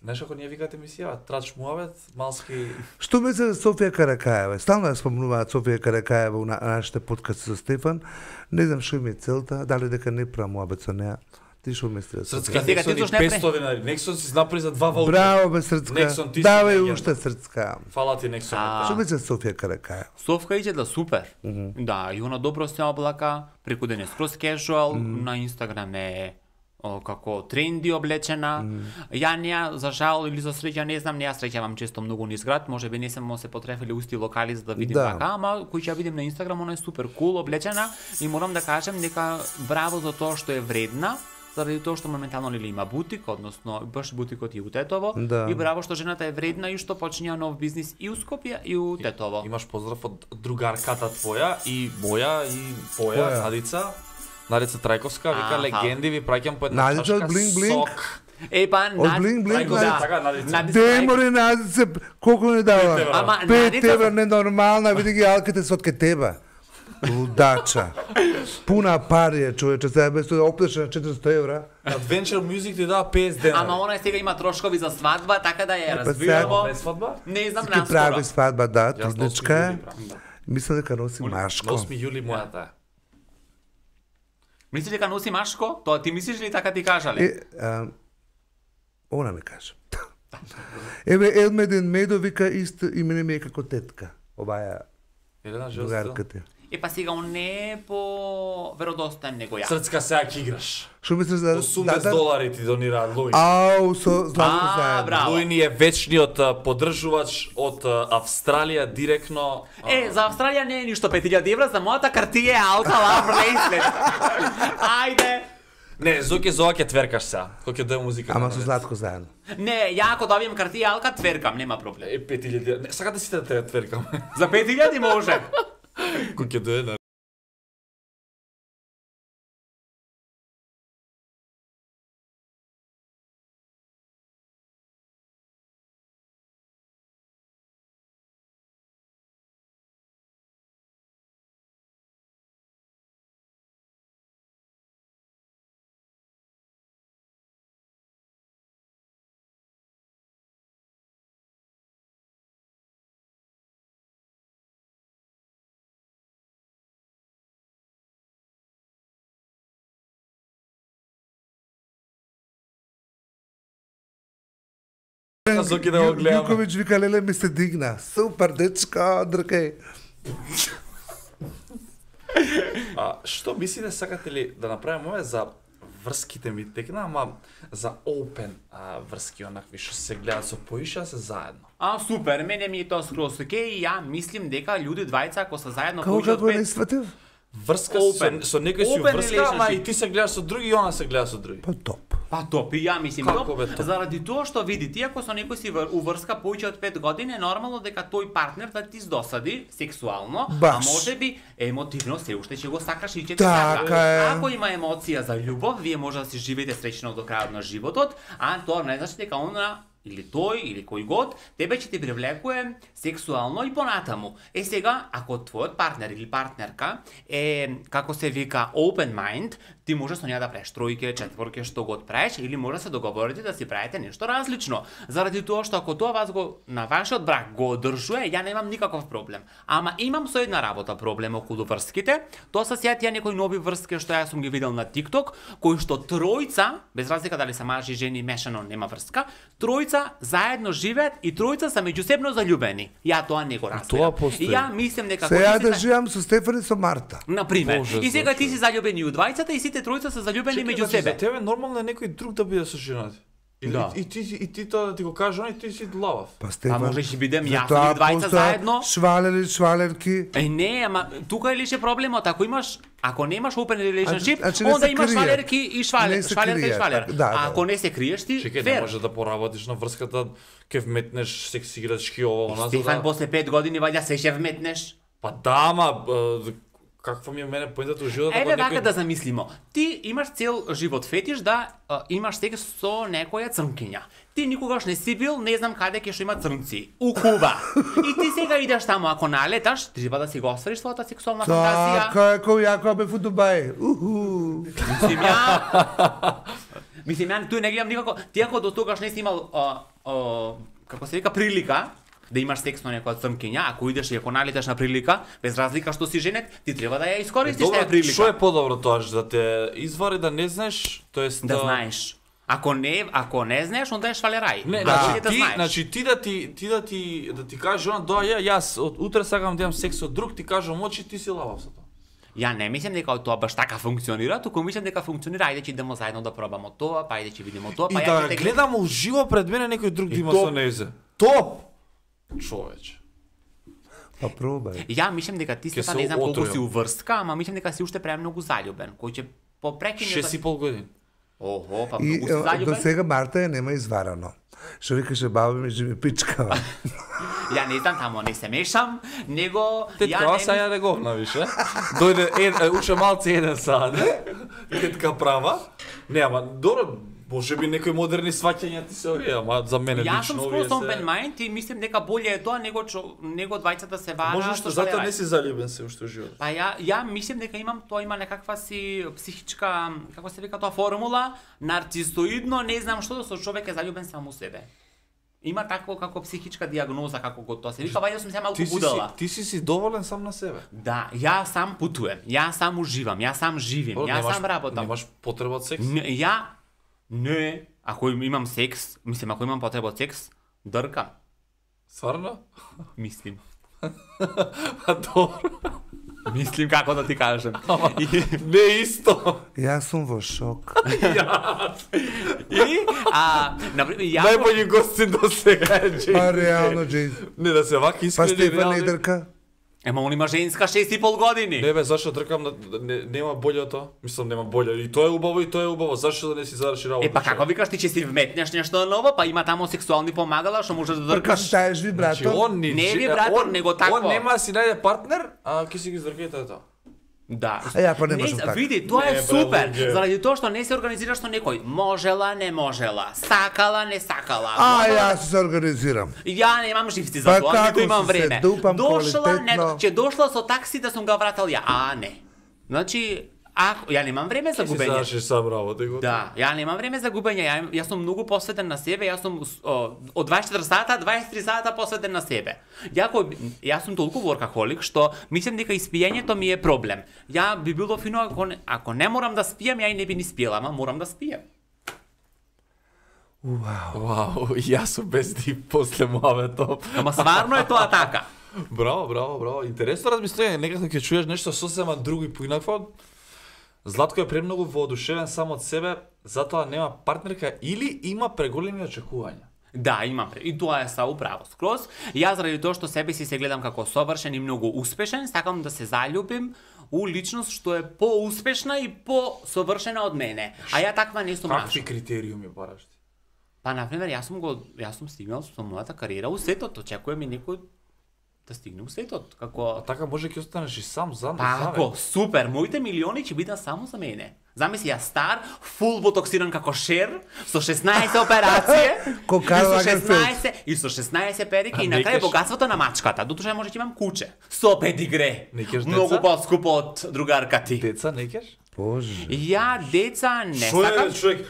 Знаеш ако ние викате емисија, трач муавет, малски... Што мисле за Софија Каракаева? Стално ја спомнуваат Софија Каракаева у нашите подкасти со Стефан. Не знам што им е целта, дали дека не правам муабет со неа. Ти што мислиш? Срцка, Сега ти Нексон и зошто не 500 денари. Нексон си направи за 2 ваучера. Браво бе Срцка. Нексон, ти си Давај легенда. уште Срцка. Фала ти Нексон. А. Што мислиш за Софија Каракаева? Совка иде да супер. Да, и она добро се облака, преку ден е скроз кежуал, на Инстаграм е како тренди облечена. Ја неа за жал или за среќа не знам, не ја среќавам често многу низ град, можеби не сме се потрефили усти локали за да видим Да. така, ама кој ќе ја видим на Инстаграм, она е супер кул облечена и морам да кажем дека браво за тоа што е вредна, заради тоа што моментално нели има бутик, односно баш бутикот и у Тетово, Да. и браво што жената е вредна и што почиња нов бизнис и у Скопје и у Тетово. Имаш поздрав од другарката твоја и моја и твоја, Која? Надица. Надица Трајковска, вика Аха. легенди ви праќам по една Надица од чашка Blink Blink? сок. Па, Од Блинк Блинк, Трајковска, Надица. така Надица. Надица Деморе Надице, колку не дава? 5 евра. Ама 5 Надица- евра ненормална, види ги алките со од ке тебе. Лудача. Пуна пари е, човече, сега без тоа да оплеше на 400 евра. Adventure Music ти дава 50 денари. Ама она сега има трошкови за свадба, така да ја Па разбирamo. Пред свадба? Не знам Ки наскоро. прави свадба, да, Јас на 8 трудничка е. јули правам, да. Мисля дека носи На машко. 8 јули мојата е. Мислиш дека носи машко? Тоа ти мислиш ли така ти кажале? Она ми каже. Еве Елмеден Медо вика исто име ми е како тетка. Оваа Елена Жостил. другарката. Па сега он не е по веродостоен него ја. Срцка сега ќе играш. Што мислиш за 80 долари ти донираат Луи. Ау, со Златко заедно. браво. Луи ни е вечниот подржувач од Австралија директно. За Австралија не е ништо 5000 евра, за мојата картија е Alta Love Bracelet. Ајде. Не, Зоки за ова ќе тверкаш сега. Кој ќе даде музика. Ама со Златко заедно. Не, ја ако добием картија Alka, тверкам, нема проблем. 5000. Не, сакате сите да те тверкам. За 5000 може. Кој ќе даде на Зоки да го гледаме. Јуковиќ вика, леле ми се дигна. Супер, дечко, дркај. Што мислите, сакате ли да направиме за врските ми текна, ама за open врски, онакви што се гледаат со поиша, се заедно. Супер, мене ми е тоа скроз окей, ја мислим дека луѓе двајца ако се заедно Како поише од како не 5, сватив? Врска Open. со некој си Open врска, ама и relationship. ти се гледаш со други и она се гледа со други. Па топ. па топ, и ја мислим Како топ, бе топ? заради тоа што види ти ако со некој си уврска повеќе од 5 години, е нормално дека тој партнер да ти здосади сексуално, Баш. а можеби емотивно се уште ќе го сакаш и ќе ти Така сака. е. Ако има емоција за љубов, вие може да си живеете среќно до крајот на животот, а тоа не значи дека она или тој, или кој год, тебе ќе ти привлекува сексуално и понатаму. Сега, ако твојот партнер или партнерка е, како се вика, open mind, ти може со неа да правиш тројке, четворке, што год правиш, или може да се договорите да си правите нешто различно. Заради тоа што ако тоа вас го на вашиот брак го одржува, ја немам никаков проблем. Ама имам со една работа проблем околу врските. Тоа се сеќа некои нови врски што ја сум ги видел на TikTok, кои што тројца, без разлика дали се мажи, жени, мешано, нема врска, тројца заедно живеат и тројца се меѓусебно заљубени. Ја тоа не го разбирам. Тоа постои. И ја мислам дека Се ја кој да живеам со Стефани со Марта. на пример. Боже, И сега ти зашо? си заљубен и у двајцата и сите тројца се заљубени меѓу За себе. тебе нормално е некој друг да биде со жената. Да. И ти тоа да ти го кажеш, и ти си длавав. Па Стефан. можеш и бидем јас затоа или двајца постојат заедно. Швалери, шваленки. Не, ама тука е лише проблемот, ако немаш open relationship, Значи не онда се имаш кријат. швалерки и Не се швалерка и кријат, швалер. да, А да. ако не се криеш ти, Чекај, не фер. може да поработиш на врската, ке вметнеш секси играчки ова, она, за Стефан, да... после 5 години ваѓа се ќе вметнеш. Па да, ама каква ми е мене поентата у животот, Еве ако вака некој... да замислимо. Ти имаш цел живот фетиш да имаш секс со некоја црнкиња. Ти никогаш не си бил, не знам каде ќе што има црнци. У Куба. И ти сега идеш таму, ако налеташ, треба да си го оствариш својата сексуална фантазија. Така е, кој јако бе фу Дубај. Уху. Мислим ја тој не гледам никако. Ти ако до тогаш не си имал како се вика прилика да имаш секс со некоја црнкиња, ако идеш и ако налеташ на прилика, без разлика што си женет, ти треба да ја искористиш таа прилика. Што е подобро тоа, да те извари да не знаеш, тоест Да знаеш. Ако не знаеш, онда е швалерај. Не, Значи значи знаеш. значи ти да ти кажеш она јас од утре сакам да имам секс со друг, ти кажам очи, ти си лавав со тоа. Ја не мислам дека тоа баш така функционира, туку мислам дека функционира, ајде ќе идемо заедно да пробамо тоа, па ајде ќе видиме тоа, И па ја да ќе те гледам уживо пред мене некој друг да има топ. со незе. Топ! Човече. Па пробај. Ја мислам дека ти Ќе Стефан се не знам колку отрујам. си уврска, ама мислам дека си уште премногу заљубен, кој ќе попрекине 6,5 години. Охо, па И многу си до заљубен. сега Марта ја нема изварано. Што викаше баба ми, ми пичкава. Ја не знам тамо, не се мешам, него Тетка, ова са ја не го навише. Дојде, уше малце 1 саат. Тетка права. Не, ама, добро, може би некои модерни сваќања ти се овие, ама за мене Јас лично сум овие скроз open mind и мислам дека боле е тоа него двајцата се вара. Може што затоа не си заљубен се уште живот. Па ја мислам дека тоа има некаква си психичка, како се вика тоа формула, нарцисоидно, не знам што со човек е заљубен само у себе. Има такво како психичка диагноза како го тоа се вика, вајде сум се малку будала. Ти си доволен сам на себе. Да, ја сам путувам, ја сам уживам, ја сам живим, ја сам работам. Немаш потреба од секс? Не, ако имам секс, мислам ако имам потреба од секс, дркам, Сварно? мислим. А добро. Мислим како да ти кажам. Не исто. Јас сум во шок. И, например, ја... Најбољи гостин до сега е Джейс. Па реално, Джейс. Не да се вака Па искрени Стефан не реални. дрка. Ема он има женска 6,5 години. Не бе, зашто тркам нема боле од тоа? Мислам нема боле. И тоа е убаво и тоа е убаво. Зашто да не си заврши работа? Па како викаш ти че си вметнеш нешто ново, па има таму сексуални помагала што можеш да Дркаш дркаш. таеш вибратор. Значи, он Не е вибратор, него такво. Он нема да си најде партнер, а ќе си ги издркете тоа. Да. А ја па не можам така. Види, тоа Не, е бре, супер. луѓе. Заради тоа што не се организираш со некој. Можела, не можела. Сакала, не сакала. А, Можела јас се организирам. Ја немам живци Па за тоа, како ниту имам си се време. дупам Дошла, не, квалитетно. ќе дошла со такси да сум га вратал ја. А, не. Значи, ако ја немам време за Ќе си губење. завршиш сам работа и готово. Да, ја немам време за губење, јас сум многу посветен на себе, јас сум од 24 сата, 23 сата посветен на себе. Јас сум толку воркахолик што мислам дека испијањето ми е проблем. Ја би било фино ако не морам да спијам, ја и не би ни спиела, ама морам да спијам. Вау, јас сум без ти после муабетов. Ама сварно е тоа така. Браво. Интересно размислување, некако ќе чуеш нешто сосема друго и поинакво. Златко е премногу воодушевен сам од себе, затоа нема партнерка или има преголеми очекувања. Да, имам. И тоа е са управо скроз. Јас заради тоа што себе си се гледам како совршен и многу успешен, сакам да се заљубим у личност што е поуспешна и посовршена од мене. А ја таква не сум Какви нашол. критериуми бараш ти? Па например, јас сум стигнал со мојата кариера у светот, очекувам и некој да стигне у светот, како Така може ќе останеш и сам за Ако, супер, моите милиони ќе бидат само за мене. Замисли ја стар, фул ботоксиран како Шер, со 16 операции, Ко Карл Лагерфелд. и со 16 перики и не на крај кеш- богатството на мачката. Дотуше може ќе имам куче, со педигре. Не кеш Многу деца? поскупо од другарка ти. Деца не кеш? Боже. Ја деца не Шо е сакам. човек?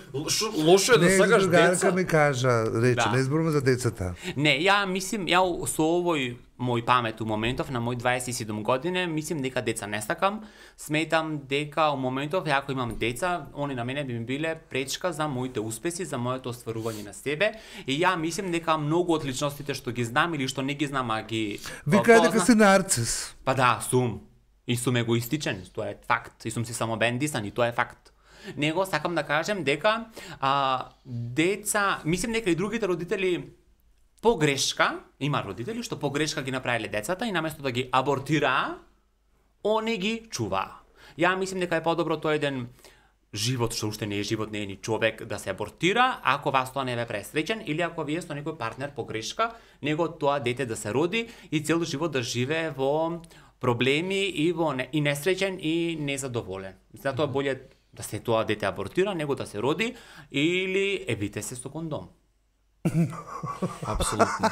Лошо е да Не, сакаш другарка деца? ми кажа, рече, Да. не зборуваме за децата. Не, ја мислим, ја со овој мој памет у моментов на мој 27 години, мислим дека деца не сакам. Сметам дека у моментов ако имам деца, они на мене би ми биле пречка за моите успеси, за моето остварување на себе. И ја мислим дека многу од личностите што ги знам или што не ги знам, а ги Вика дека познам- си нарцис. Па да, сум. И сум егоистичен, тоа е факт. И сум си само бендисан, и тоа е факт. Него сакам да кажем дека деца, мислим дека и другите родители погрешка, има родители што погрешка ги направиле децата и наместо да ги абортираа, они ги чуваа. Ја мислим дека е подобро тој еден живот што уште не е живот, не е ни човек да се абортира, ако вас тоа не ве пресреќен или ако вие со некој партнер погрешка, него тоа дете да се роди и цел живот да живее во проблеми и и несреќен и незадоволен. Затоа боле да се тоа дете абортира, него да се роди или евите се со кондом. Апсолутно.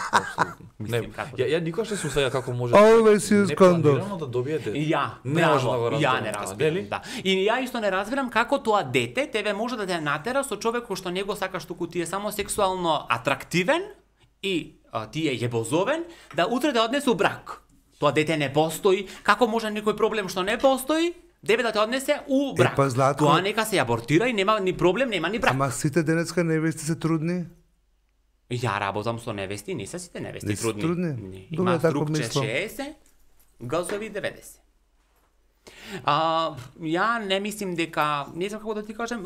Не, Мислим како ја никогаш не се усваја како може Always use condom. непланирано да добие дете. И ја, Не може да го браво, ја разберам не тоа, разбирам, нели? да. И ја исто не разбирам како тоа дете тебе може да те натера со човек кој што не го сакаш, туку ти е само сексуално атрактивен и ти е јебозовен, да утре да однесе у брак. Тоа дете не постои, како може некој проблем што не постои, тебе да те однесе у брак. па, Златко- Тоа нека се абортира и нема ни проблем, нема ни брак. Ама сите денеска невести се трудни. Ја работам со невести, не се сите невести Не се трудни. трудни? Не, Добре, има тако струкче мислам. 60, газови 90. Ја не мислим дека, не знам како да ти кажем,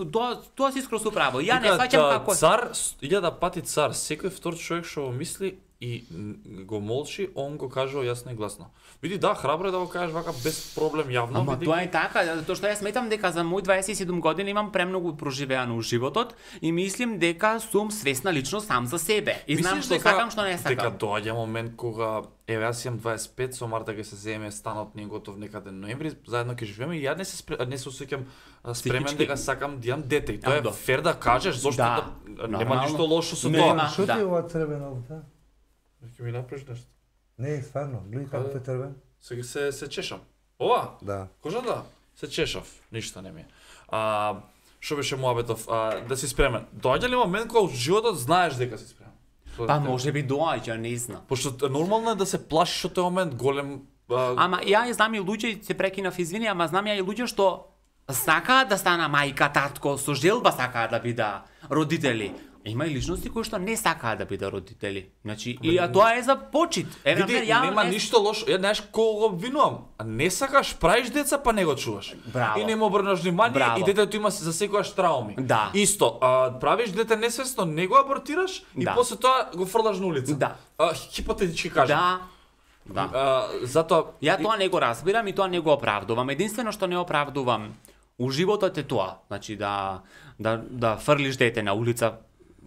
тоа си скроз управо. Ја не сваќам како Цар, 1000 пати цар, секој втор човек што го мисли и го молчи, он го кажува јасно и гласно. Види, да, храбро е да го кажеш вака без проблем јавно. Ама види тоа ги. е така, затоа што јас сметам дека за мој 27 години имам премногу проживеано у животот и мислим дека сум свесна личност сам за себе. И знам Мислиш што сакам, што не Дека сакам. доаѓа момент кога еве јас имам 25, со Марта ќе се земе станот ни е готов некаде ноември, заедно ќе живееме и ја не се осеќам спремен Психички. дека сакам да имам дете. И тоа Ама е да. фер да кажеш, зошто Да, нема нормално. ништо лошо со Нема. тоа. Што ти да. е ова црвено овде? Ќе ми направиш нешто. Не, стварно, гледај како е црвен. Сега се чешам. Ова? Да. Кожата? Се чешав, ништо не ми е. Што беше муабетов? Да си спремен. Доаѓа ли момент кога во животот знаеш дека си спремен? Па може би доаѓа, не знам. Пошто нормално е да се плашиш од тој момент голем. Ама ја знам и луѓе, се прекинав, извини, ама знам ја и луѓе што сакаат да стана мајка, татко, со желба сакаат да бида родители. Има и личности кои што не сакаат да бида родители. Значи, и тоа е за почит. Види, например, ја нема не- ништо лошо. Ја знаеш кого го обвинувам. А не сакаш, правиш деца, па не го чуваш. Браво. И не му обрнаш внимание Браво. и детето има за секојаш трауми. Да. Исто, правиш дете несвесно, не го абортираш и Да. после тоа го фрлаш на улица. Да. Хипотетички кажам. Да. Да. Затоа Ја тоа не го разбирам и тоа не го оправдувам. Единствено што не оправдувам у животот е тоа. Значи да фрлиш дете на улица,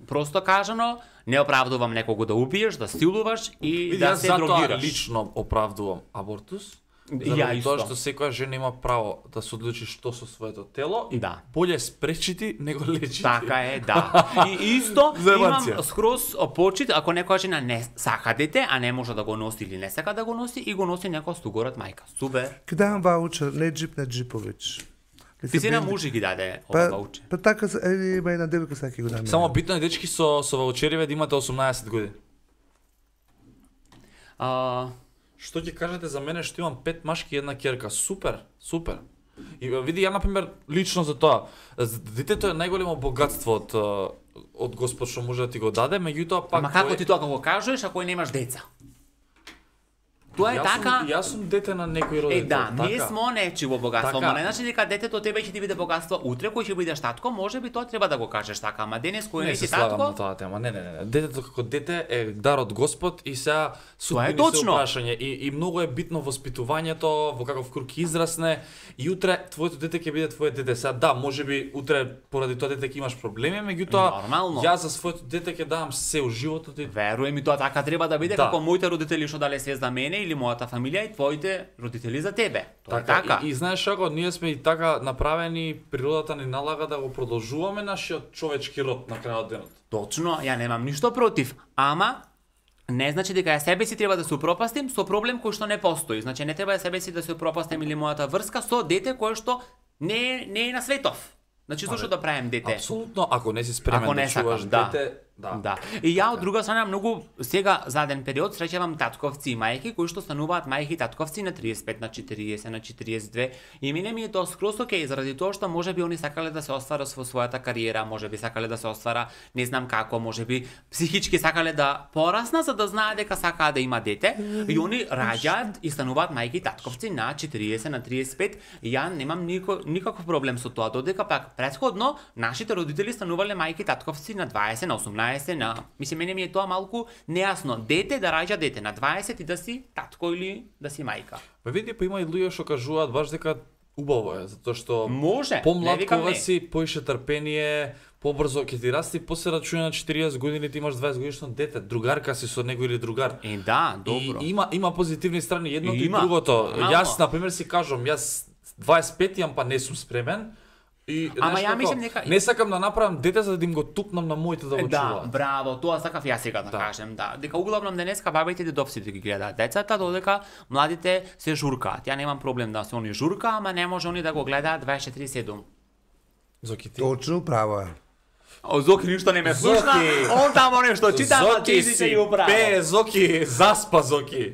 просто кажано, не оправдувам некого да убиеш, да силуваш и види, да јас се затоа дрогираш. лично оправдувам абортус. Ја Заради исто. тоа што секоја жена има право да се одлучи што со своето тело и Да. боле спречити него лечити. Така е, да. И исто Заебанција. имам скроз почит ако некоја жена не сака дете, а не може да го носи или не сака да го носи и го носи некоја стугорат мајка. Супер. Ке давам ваучер, не джип на Джиповиќ. Ти си на мужи ги даде ова Па, ваучер. па така, има една девојка сега ќе го дам. Само битно е дечки со ваучериве да имате 18 години. Што ќе кажете за мене што имам 5 машки и една ќерка? Супер, супер. И види, ја например лично за тоа, детето е најголемо богатство од Господ што може да ти го даде, меѓутоа пак Ама како ти тоа го кажеш ако немаш деца? Тоа е така. Јас сум дете на некој родител. Да, ние така. сме нечиво богатство, Така. ама не значи дека детето тебе ќе ти биде богатство утре, кој ќе бидеш татко, можеби тоа треба да го кажеш така, ама денес кој Не не се си слагам на татко, тоа тема. Не. Детето како дете е дар од Господ и сега судбини се точно. прашање и многу е битно воспитувањето, во каков круг ќе израсне и утре твоето дете ќе биде твое дете. Сега да, можеби утре поради тоа дете ќе имаш проблеми, меѓутоа Нормално. јас за своето дете ќе давам се у животот и веруем и тоа така треба да биде, Да. како моите родители што дале се за мене или мојата фамилија и твоите родители за тебе. Тоа е така. И знаеш како, ние сме и така направени, природата ни налага да го продолжуваме нашиот човечки род на крајот денот. Точно, ја немам ништо против, ама не значи дека ја себе си треба да се упропастим со проблем кој што не постои. Значи не треба ја себе си да се упропастим или мојата врска со дете кое што не е на светов. Значи зошто да правим дете? Апсолутно, ако не си спремен Ако не да чуваш сакам, да. дете, Да. И ја од друга страна многу сега заден период среќавам татковци и мајки кои што стануваат мајки и татковци на 35, на 40, на 42 и мене ми е тоа скроз окей заради тоа што можеби они сакале да се остварат во својата кариера, можеби сакале да се оствара не знам како, можеби психички сакале да порасна за да знаат дека сакаат да има дете и они раѓаат и стануваат мајки и татковци на 40, на 35 и ја немам никаков проблем со тоа додека пак претходно нашите родители станувале мајки и татковци на 20, на 18 мислам, мене ми е тоа малку нејасно. Дете да раѓа дете на 20 и да си татко или да си мајка. Па види, па има и луѓе што кажуваат баш дека убаво е, затоа што Може, не помлад викам кога не. си, поише трпение, побрзо ќе ти расти, после рачуна на 40 години ти имаш 20 годишно дете, другарка си со него или другар. Да, добро. И има позитивни страни едното и Има, другото. нормално. Јас на пример си кажам, јас 25 јам па не сум спремен. И Ама знаеш ја како, мислам дека- не сакам да направам дете за да им го тупнам на моите да го Да, чуваат. браво, тоа сакав ја сега да кажем, да. Дека углавном денеска бабите и дедовците ги гледаат децата, додека младите се журкаат. Ја немам проблем да се они журка, ама не може они да го гледаат 24/7. Зоки ти. Точно право е. О, Зоки ништо не ме слушна, Зоки. он тамо нешто чита, ама Зоки ти си ги управа. пе, Зоки, заспа Зоки.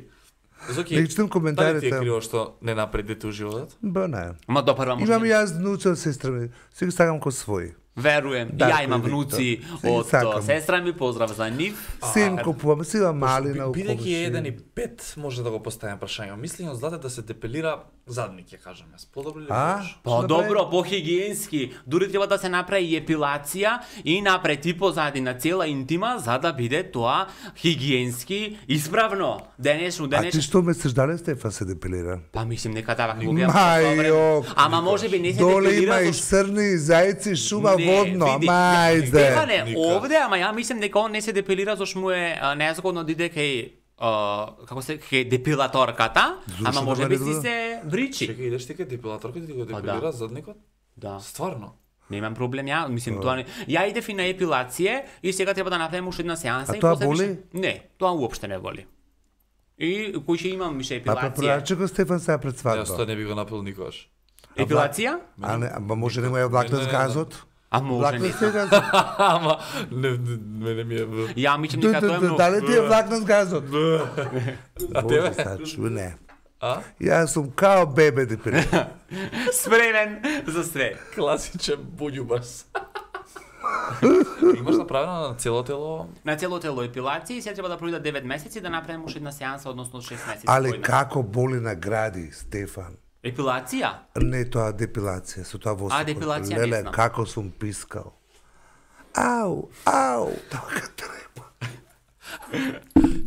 Зоки, Да читам дали ти е коментарите. криво што не напред дете у животот? Ба, не. Ма допрва може. Имам и јас внуци од сестра ми. Си ги сакам ко свој. Веруем. Да, Ја имам Виктор. внуци Се ги од сакам. сестра ми, поздрав за нив. Син купувам, си има малина у Бидејќи е комшија. 1,5 може да го поставим прашање. Мислам од злате да се депилира задник, ќе кажам јас. Подобро ли А? можеш? По-добро, по-хигиенски. Дури треба да се направи и епилација и напред и позадина цела интима за да биде тоа хигиенски исправно. Денешно, А ти денешно. што месец дали Стефан се депилира? Па мислим нека давак го гледам. Мајо! Ама може би не се Доле депилира има и зашто- црни зајци, шума Не, водно, види, ама ајде. Стефане, Никак. овде, ама ја мислам дека он не се депилира зашто му е незгодно да иде кај како се кај депилаторката, Зошто ама да може ме би не си дода? се бричи. Чекај, идеш ти кај депилаторка ти го да. депилира задникот? Да. Стварно? Немам проблем ја, мислим тоа не. Ја идев и на епилација и сега треба да направиме уште една сеанса А и тоа после боли? више- Не, тоа уопште не боли. И кој ќе имам више Па епилација. препораче го Стефан сега пред Јас свадба. тоа не би го направил никогаш. Епилација? А не, ама може да му ја влакнат Не, с не, не. газот? А може Влакнат не. се газот. Ама мене ми е Ја мислам дека тоа е многу. Дали ти е влакнат газот? А Боже, тебе? сега чуј, не. А? Јас сум као бебе депилиран. Спремен за све. Класичен буѓубас. Имаш направено на цело тело? На цело тело епилација и сега треба да пройдат 9 месеци да направиме уште една сеанса, односно 6 месеци. Але појме. како боли на гради, Стефан? Епилација? Не тоа депилација, со тоа восокот. депилација не Леле, знам. како сум пискал. Ау, ау, така треба.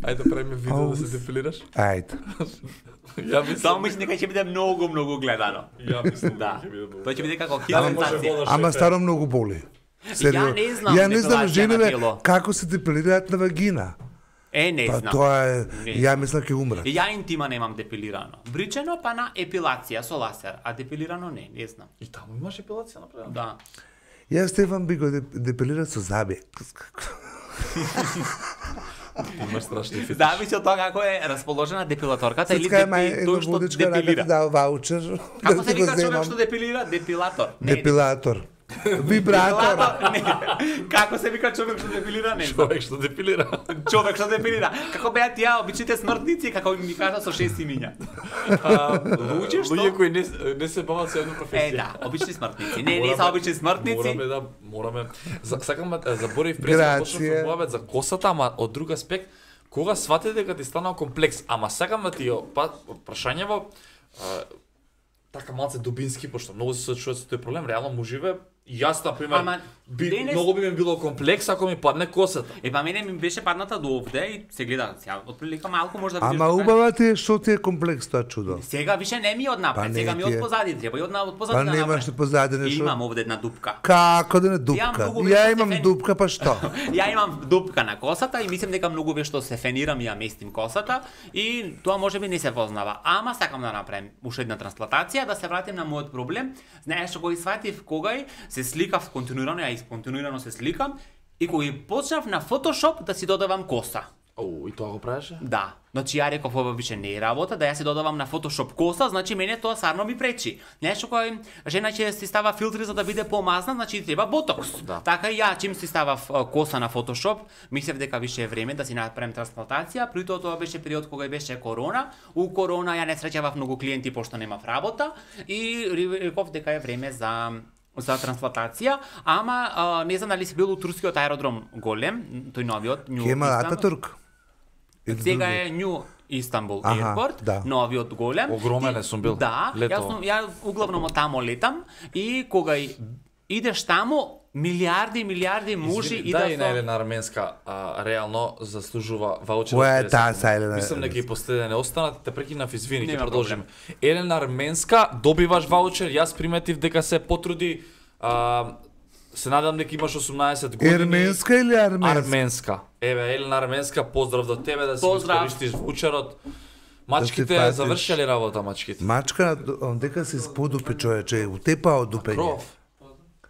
Ајде да правиме видео да се депилираш. Ајде. Ја мислам. Само мислам дека ќе биде многу гледано. Ја мислам Да. ќе биде добро. Тоа ќе биде како Ама може хилентација. вода Ама шефе. старо многу боли. Сериозно. не знам Ја не знам депилација на жениве тело. како се депилираат на вагина. Не Па знам. тоа е, Не ја мислам ќе умрат. И ја интима немам депилирано. Бричено па на епилација со ласер, а депилирано не знам. И таму имаш епилација направена? Да. Јас Стефан би го депилирал со заби. Имаш страшни фетиш. Зависи од тоа како е расположена депилаторката или Сецка мај едно тој што водичка рака ти депилира. дал ваучер. Како да се ти го вика човек земам. што депилира? Депилатор. Не, Депилатор. Вибратор. Не, како се вика човек што депилира, не знам. Човек што депилира. Човек што депилира. Како беа тие обичните смртници, како ми кажа со 6 имиња. Луѓе што Луѓе кои не се бават со една професија. да, обични смртници. Не се обични смртници. Мораме. Сакам да заборив пред Грација. почнав за косата, ама од друг аспект, кога свати дека ти станал комплекс, ама сакам да ти ја прашањево така малце дубински, пошто многу се сочуват со тој проблем, реално муживе, јас на пример, Ама, денес- многу би ми било комплекс ако ми падне косата. Па мене ми беше падната до овде и се гледа, сега отприлика малку може да видиш. Ама дека- убава ти е што ти е комплекс тоа чудо. Сега више не ми од напред, Па не сега ми ти е. од позади, треба и од позади Па да немаш направам. ли позади нешто? Имам овде една дупка. Како да не Ја дупка? многу Ја веќе имам се дупка, па што? Ја имам дупка на косата и мислам дека многу вешто се фенирам и ја местим косата и тоа можеби не се познава. Ама сакам да направам уште една трансплантација, да се вратим на мојот проблем. Знаеш што го сватив кога се сликав континуирано, ја континуирано се сликам и кога почнав на Photoshop да си додавам коса. И тоа го правеше? Да. Значи ја реков ова више не е работа, да ја се додавам на Photoshop коса, значи мене тоа сарно ми пречи. Нешто кој жена ќе си става филтри за да биде помазна, значи треба ботокс. Да. Така и ја чим си ставав коса на Photoshop, мислев дека више е време да си направам трансплантација, при тоа беше период кога беше корона. У корона ја не среќавав многу клиенти пошто немав работа и реков дека е време за трансплантација, ама не знам дали си бил у турскиот аеродром голем, тој новиот, Нью Кема Истанбул. Ататурк. Сега е Нью Истанбул Аха, Airport, да. новиот голем. Огромен е сум бил. Да, Летово. ја углавном од тамо летам и кога идеш тамо, милиарди мужи Извини, и дај на со... Елена Арменска, реално заслужува ваучер. Која е од 50 таа секунди. са Елена Мислам дека и Арменска? после не останат, те прекинав, извини, ќе Нема продолжиме. Елена Арменска, добиваш ваучер, јас приметив дека се потруди, се надам дека имаш 18 години. Ерменска или арменска? Арменска. Еве, Елена Арменска, поздрав до тебе да си Поздрав. користиш ваучерот. Мачките патиш. завршиле работа, мачките. Мачка, дека се сподупи човече, утепа од дупење. Кров.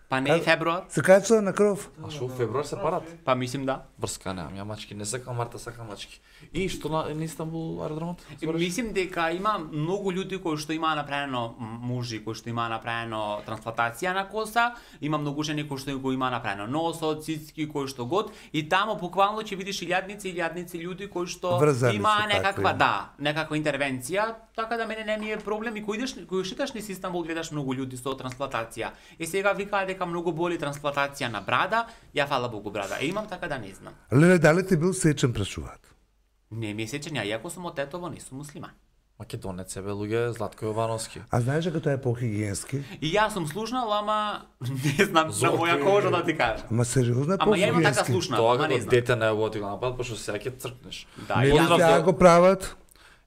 Па не е февруар, Се качува на кров. А шо, февруар се парат? па мислим да. Врска немам, ја мачки не сакам, Марта сака мачки. И што на Истанбул аеродромот? И мислим дека има многу луѓе кои што имаа направено мужи кои што имаа направено трансплантација на коса, има многу жени кои што го имаа направено носот, цицки кои што год и тамо буквално ќе видиш илјадници луѓе кои што Врзани имаа се некаква такви. некаква интервенција, така да мене не ми е проблем и кој шеташ низ Истанбул гледаш многу луѓе со трансплантација. И сега викаа дека многу боли трансплантација на брада, ја фала Богу брада. Имам така да не знам. Леле, дали ти бил сечен прашуваат? Не ми е сечен, ја иако сум од Тетово, не сум муслиман. Македонец е бе луѓе, Златко Јовановски. А знаеш дека тоа е похигиенски? И јас сум слушнал, ама не знам на Зорко моја е- кожа да ти кажам. Ама сериозно е Ама ја имам така похигиенски. слушнал, Тоа ама не како знам. дете на ево ти го напад, пошто сега ќе цркнеш. Да, Не и ли јас Поздрав таа до- го прават?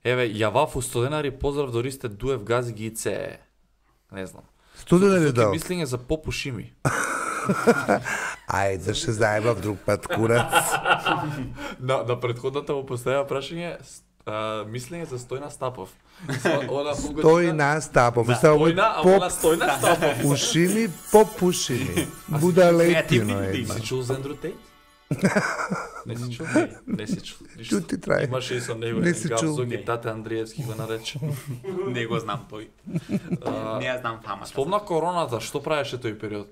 Еве, јавав у студенари, поздрав до Ристе Дуев Гази Гице. Не знам. Студена ли Соки дал? мислење за попушими. Ајде, ще заебав друг пат, курац. На претходната му поставија прашање, мислење за Стојна Стапов. Тој на стапов. Става Стојна, а поп она Стојна Стапов. ушими, попушими. Будалетино Креативни е. има. Си чул за Ендрю Тейт? Не си чул? Не си чул. Ништо. Чути трае. Имаше и со него Не еден си гав, чул. Зоги Тате Андриевски го нарече. Не го знам тој. Не ја знам фамата. Спомна короната, што правеше тој период?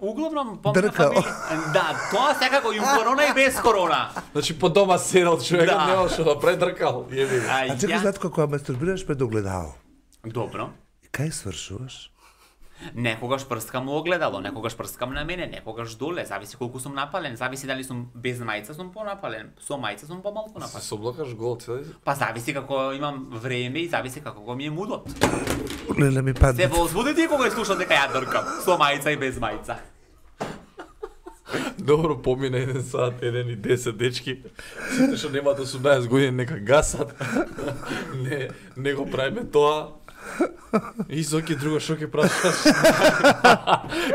Углавном помнам Дркал. Да, тоа секако и у корона и без корона. Значи по дома седел човекот, Да. немаше да предркал. Јеби го. А чекай, Златко, кога мастурбираш пред огледало, Добро. и кај свршуваш? Некогаш прскам у огледало, некогаш прскам на мене, некогаш доле, зависи колку сум напален, зависи дали сум без мајца сум понапален, со мајца сум помалку Се напален. соблакаш гол цели. Па зависи како имам време и зависи како ми е мудот. Леле ми Се падна. возбудите кога ја слушам дека ја дркам, со мајца и без мајца. Добро, помина 1 сат, 1 и 10 дечки. Сите што немаат 18 години нека гасат. Не го правиме тоа. И Зоки друго што ќе прашаш?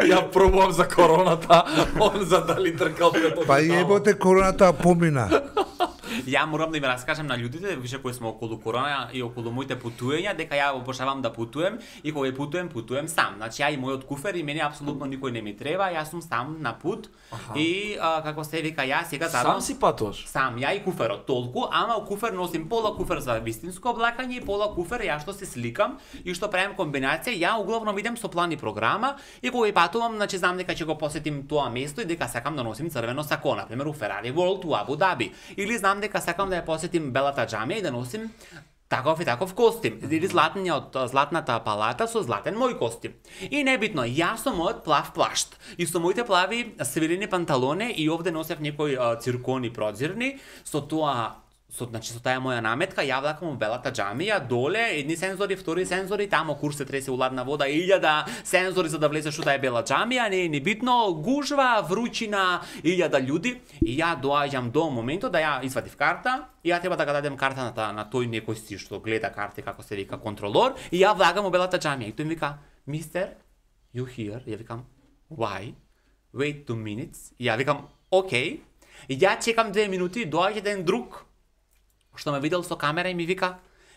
Ја пробувам за короната, он за дали дркал пред Па јеботе, короната помина. Ја морам да им раскажам на луѓето, више кои сме околу корона и околу моите путувања, дека ја обожавам да путувам и кога путувам сам. Значи ја и мојот куфер и мене апсолутно никој не ми треба, јас сум сам на пут и како се вика ја сега Сам си патуваш? Сам, ја и куферот толку, ама у куфер носим пола куфер за вистинско облакање и пола куфер ја што се сликам и што правам комбинација. Ја углавном идем со план и програма и кога патувам, значи знам дека ќе го посетим тоа место и дека сакам да носим црвено сако, на пример у Ferrari World у Абу Даби. Или знам дека сакам да ја посетим Белата џамија и да носим таков и таков костим. Или златната палата со златен мој костим. И небитно, јас со мојот плав плашт и со моите плави свилени панталоне и овде носев некои циркони продзирни со тоа со таа моја наметка, ја влакам у Белата џамија, доле, едни сензори, втори сензори, тамо курс се тресе у ладна вода, 1000 сензори за да влезеш у таа Бела џамија, не е ни битно, гужва, вручина, 1000 људи, и ја доаѓам до моментот да ја извадив карта, и ја треба да ga дадем карта на тој некој си што гледа карти, како се вика контролор, и ја влагам у Белата џамија, и тој ми вика, "Мистер, you here?" Ја викам, "Why? Wait 2 minutes." И ја викам, "Окей." И ја чекам 2 минути, доаѓа еден друг што ме видел со камера и ми вика,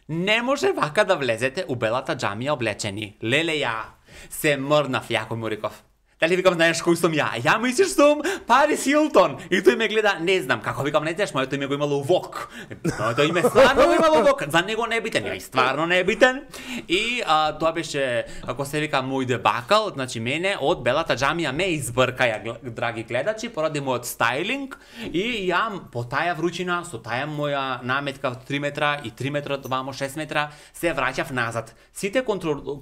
"Не може вака да влезете у Белата џамија облечени." Леле, ја се мрнав, јако му реков. Дали викам, знаеш кој сум ја? Ја мислиш сум Парис Хилтон. И тој ме гледа, не знам, како викам, не знаеш, моето име го имало Вок. Моето име стварно го имало Вок. За него не е битен, ја и стварно не е битен. И тоа беше, ако се вика, мој дебакал, значи мене од Белата џамија ме избрка, драги гледачи, поради мојот стайлинг и ја по таа вручина, со таа моја наметка 3 метра и 3 метра, вамо 6 метра, се враќав назад. Сите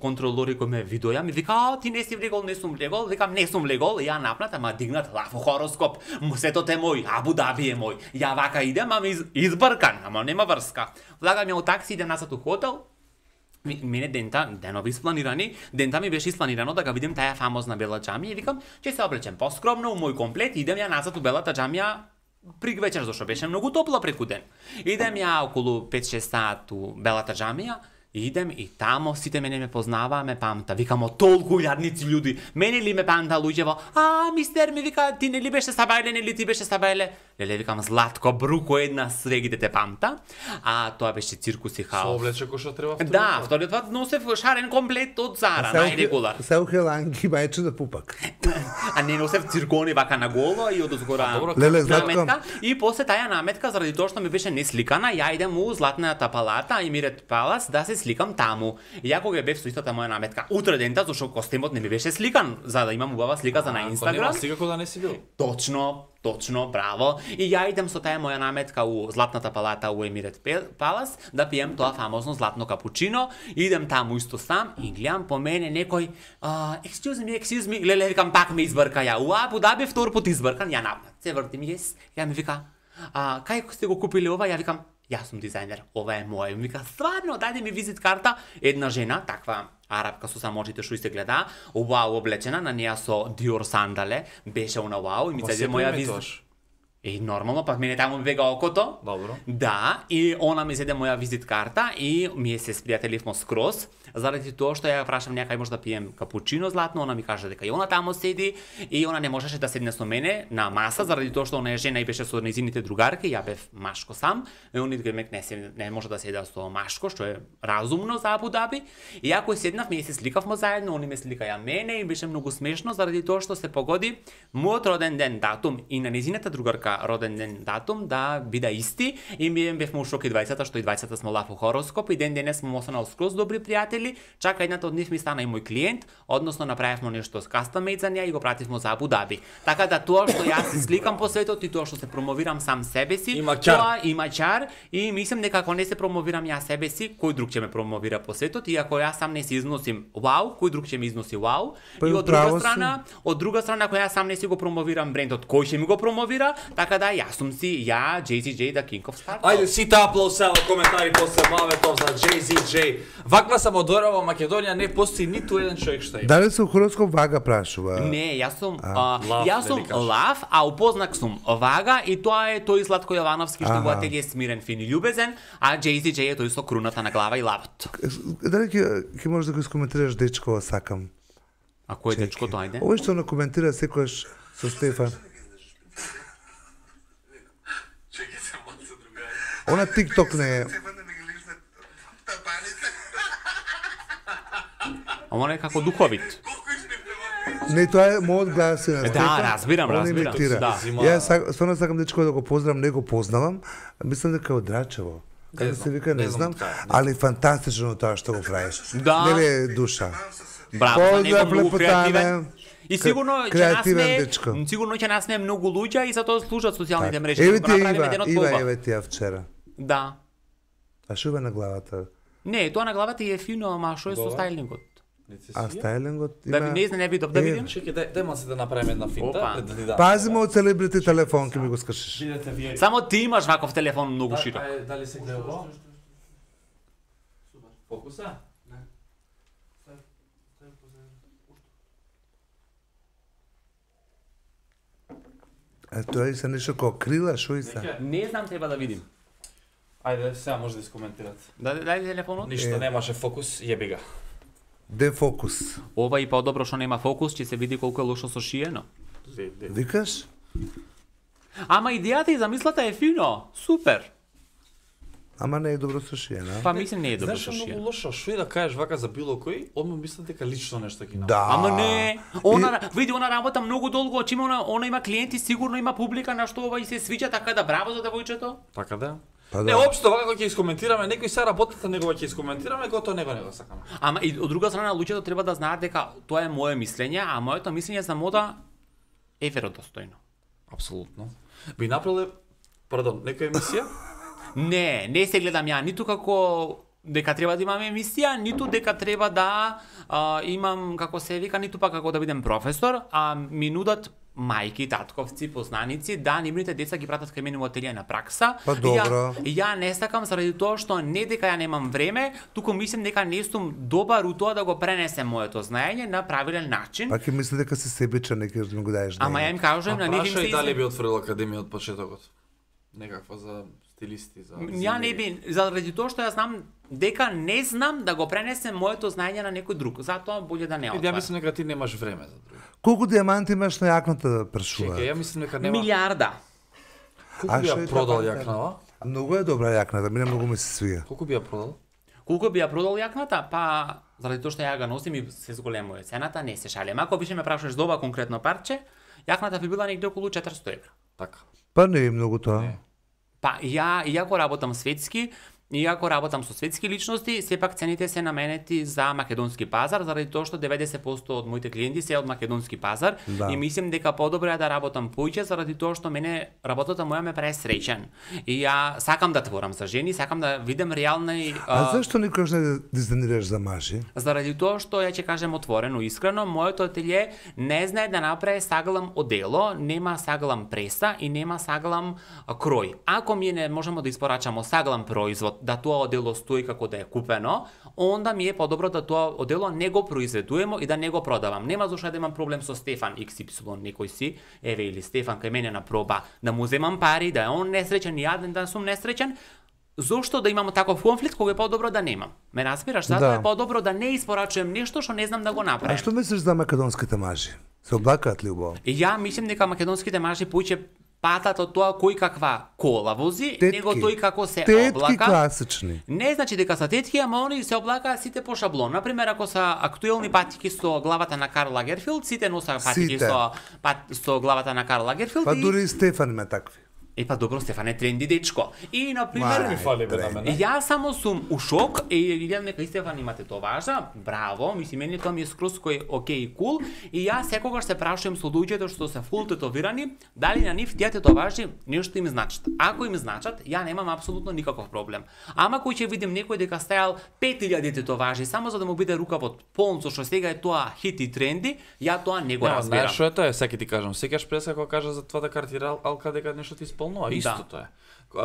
контролори кои ме видоја ми вика, "Ти не си влегол, не сум влегол." Викам, "Не сум влегол." Ја напнат, ама дигнат лафо хороскоп. Светот е мој, Абу Даби е мој. Ја вака идем, ама избркан, ама нема врска. Влагам ја у такси, идем назад у хотел. Мене денови испланирани, дента ми беше испланирано да га видим таа фамозна Бела џамија и викам, ќе се облечем поскромно у мој комплет, идем ја назад у Белата џамија при вечер, зашто беше многу топло преку ден. Идем ја околу 5-6 сат у Белата џамија, идем и тамо сите мене ме познаваа, ме памта. Викам, "О, толку јадници људи. Мене ли ме памта луѓево? Мистер, ми вика, ти не ли беше Сабајле, не ли ти беше Сабајле?" Леле, викам, "Златко, бруко една свегите те памта." Тоа беше циркус и хаос. Со облече кој што треба вториот Да, вториот пат носев шарен комплет од Зара, најрегулар. Се ухеланки мајче да пупак. А не носев циркони вака на голо и од озгора Леле, Златко. наметка. И после таа наметка, заради тоа што ми беше несликана, ја идем у Златната палата и Мирет Палас да се сликам таму. И ја кога бев со истата моја наметка, утре дента, зашто костимот не ми беше сликан, за да имам убава слика за на Инстаграм. Сега да не си бил. Точно, браво. И ја идем со таа моја наметка у Златната палата у Емирет Палас да пием тоа фамозно златно капучино. Идем таму исто сам и гледам по мене некој excuse me, леле, викам, пак ме избрка ја. У Абу Даби втор пат избркан, ја напнат. Се вртим, ја ми вика, "Кај сте го купили ова?" Ја викам, "Јас сум дизајнер, ова е мој." Ми вика, "Стварно, дајде ми визит карта." Една жена, таква арапка со самочите што и се гледа, вау облечена, на неа со Dior сандале, беше она вау и ми даде моја визит. И нормално, па мене таму ми бега окото. Добро. Да, и она ми зеде моја визит карта и ми се спријателивмо скроз, заради тоа што ја прашам некај може да пием капучино златно, она ми каже дека и она таму седи и она не можеше да седне со мене на маса заради тоа што она е жена и беше со нејзините другарки, ја бев машко сам, и они гремек не може да седа со машко, што е разумно за Абу Даби. И ја кој седнавме и се сликавме заедно, они ме сликаја мене и беше многу смешно заради тоа што се погоди мојот роден ден датум и на нејзината другарка роден ден датум да биде исти и ми бевме у шок и 20-та, што и 20-та смо лафо хороскоп и ден денес смо останал скроз добри пријатели, чака едната од нив ми стана и мој клиент, односно направивме нешто с custom made за неа и го пративме за Абу Даби. Така да тоа што јас се сликам по светот и тоа што се промовирам сам себе си, тоа има чар и мислам дека ако не се промовирам ја себе си, кој друг ќе ме промовира по светот и ако јас сам не се износим вау, кој друг ќе ми износи вау? И од друга страна, ако јас сам не си го промовирам брендот, кој ќе ми го промовира? Така да јас сум си ја JZJ the King of Sparkle. Ајде сите аплауса во коментари после маветов за JZJ. Ваква самодора во Македонија не постои ниту еден човек што има. Дали со хороскоп Вага прашува? Не, јас сум лав, а упознак сум Вага и тоа е тој Златко Јовановски што во ателие смирен, фин и љубезен, а JZJ е тој со круната на глава и лавот. Дали ќе можеш да го искоментираш дечко сакам? А кој е дечкото, ајде? Овој што на коментира секојаш со Стефан. Она TikTok не е. Ама не како духовит. Не, тоа е мојот глас на Да, разбирам. Да. Јас стварно сакам дечко да го поздравам, не го познавам. Мислам дека е од Драчево. Како се вика, не знам, али фантастично тоа што го правиш. Да. Нели душа. Браво, за него Поздрав, многу креативен. лепотане. И сигурно ќе Креативен дечко. нас не многу луѓе и затоа служат социјалните мрежи. Еве Да ти го направиме Ива, денот Ива, полба. еве ти ја вчера. Да. А шо има на главата? Не, тоа на главата е фино, ама што е со стајлингот? А стајлингот Да има... не знам, не видов да видим. Чекај, дај маси да направиме една финта Опа. пред да ти дам. Пазимо од целебрити телефон, ке ми го скршиш. Видете вие. Само ти имаш ваков телефон многу широк. Дали се гледа ово? Фокуса? А тоа и се нешто како крила, шо и се? Не знам, треба да видим. Ајде, сега може да искоментирате. Дај телефонот. Ништо немаше фокус, јеби га. Дефокус. Ова и подобро што нема фокус, ќе се види колку е лошо сошиено. Викаш? Ама идејата и замислата е фино. Супер. Ама не е добро сушиена. Па мислам не е добро Знаеш, е многу сошиено. лошо, што и да кажеш вака за било кој, одма мислам дека лично нешто ги направи. Да. Ама не, види она работа многу долго, очима она има клиенти, сигурно има публика на што ова и се свиѓа, така да браво за девојчето. Така да? Па Не, да. општо вака кога ќе искоментираме, некој се работата негова ќе искоментираме, готово него не го сакаме. Ама и од друга страна луѓето треба да знаат дека тоа е мое мислење, а моето мислење за мода е веродостојно. Апсолутно. Би направиле, пардон, некоја емисија? Не се гледам ја ниту како дека треба да имам емисија, ниту дека треба да имам, како се вика, ниту па како да бидем професор, а ми нудат мајки, татковци, познаници, да нивните деца ги пратат кај мене во ателије на пракса. Па добро. Ја не сакам заради тоа што не дека ја немам време, туку мислам дека не сум добар у тоа да го пренесем моето знаење на правилен начин. Пак ќе мисли дека си себичен, нека да ми го даеш. Ама ја им кажувам на нив им Прашај се дали би отворил академија од почетокот. Некаква за стилисти, за Ја не би, заради тоа што ја знам дека не знам да го пренесем моето знаење на некој друг. Затоа боле да не Ја отварам. мислам дека ти немаш време за друго. Колку дијаманти имаш на јакната да прашува? Чекај, ја мислам дека нема. Милиарда. Колку би што ја е продал така? јакнава? Многу е добра јакната, мене многу ми се свија. Колку би ја продал? Колку би ја продал јакната? Па, заради тоа што ја ga носим и се зголемува цената, не се шалем. Ако беше ме прашаш за ова конкретно парче, јакната би била негде околу 400 евра. Така. Па не е многу тоа. Не. Па, иако работам светски, иако работам со светски личности, сепак цените се наменети за македонски пазар, заради тоа што 90% од моите клиенти се од македонски пазар Да. и мислам дека подобро е да работам поиќе заради тоа што мене работата моја ме прави среќен. И ја сакам да творам за жени, сакам да видам реални А зашто никогаш не дизајнираш за мажи? заради тоа што ја ќе кажем отворено, искрено, моето ателје не знае да направи саглам одело, нема саглам преса и нема саглам крој. Ако ми не можеме да испорачамо саглам производ, да тоа одело стои како да е купено, онда ми е подобро да тоа одело не го произведуваме и да не го продавам. Нема зошто да имам проблем со Стефан XY некој си, еве или Стефан кај мене на проба, да му земам пари, да е он несреќен и јаден да сум несреќен. Зошто да имамо таков конфликт кога е подобро да немам? Ме разбираш? Затоа Да. е подобро да не испорачувам нешто што не знам да го А направам. што мислиш за македонските мажи? Се облакаат ли убаво? И ја мислам дека македонските мажи поиќе патат од тоа кој каква кола вози, него тој како се Тетки облака. класични. Не значи дека се тетки, ама они се облакаат сите по шаблон. Например, ако се актуелни патики со главата на Карл Лагерфилд, сите носат патики Сите. со главата на Карл Лагерфилд. Па и... дури и Стефан има такви. Па добро, Стефан е тренди дечко. И на пример, Ми фали бе на мене. Јас само сум у шок и гледам дека и Стефан имате тоа важа. Браво, мислам мене тоа ми е скроз кој окей и кул. И јас секогаш се прашувам со луѓето што се фул тетовирани, дали на нив тие тетоважи нешто им значат. Ако им значат, ја немам апсолутно никаков проблем. Ама кој ќе видим некој дека стајал 5000 тетоважи само за да му биде рукавот полн со што сега е тоа хит и тренди, ја тоа не го разбирам. Знаеш што е тоа? Сега ти кажам. Секогаш преска кога кажа за това да картира алка дека нешто ти исполнува, истото е.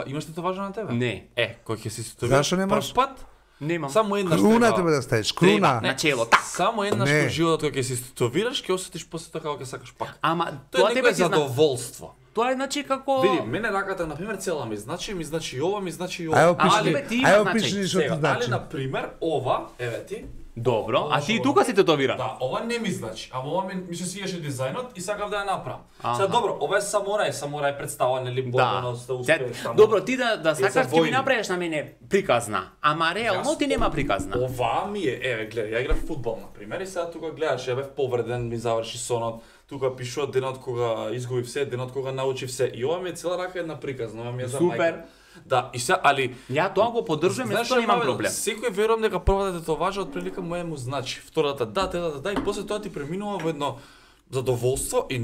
Имаш ли тоа важно на тебе? Не. Кој ќе си стовира? Зашо немаш? Прв пат? Немам. Само еднаш Круна треба. тебе да ставиш, Треба, круна. на чело, так. Само еднаш Не. во животот кога ќе си стовираш, ќе осетиш после тоа како ќе сакаш пак. Ама Тоа тоа е тебе некое ти зна... задоволство. Тоа е значи како Види, мене раката на пример цела ми значи и ова ми значи и ова. Ајде Али, опишни, бе, ти има ајде значење. опишни што ти Сега, значи. дали на пример ова, еве ти, Добро, а ти и тука си тетовиран? Да, ова не ми значи, ама ова ми се свиеше дизајнот и сакав да ја направам. Аха. Сега добро, ова е самурај представа, нели борбеност да успееш таму. Добро, ти да сакаш ти ми војни. направиш на мене приказна, ама реално ти нема приказна. Ова ми е, еве гледај, ја играв фудбал на пример и сега тука гледаш, ја бев повреден, ми заврши сонот, тука пишува денот кога изгубив се, денот кога научив се и ова ми е цела рака една приказна, ова ми е за Супер. мајка. Да, и сега, али Ја тоа го поддржувам, знаеш, тоа немам Маве, проблем. Секој верувам дека првата тетоважа од прилика му значи, втората да, третата да и после тоа ти преминува во едно задоволство и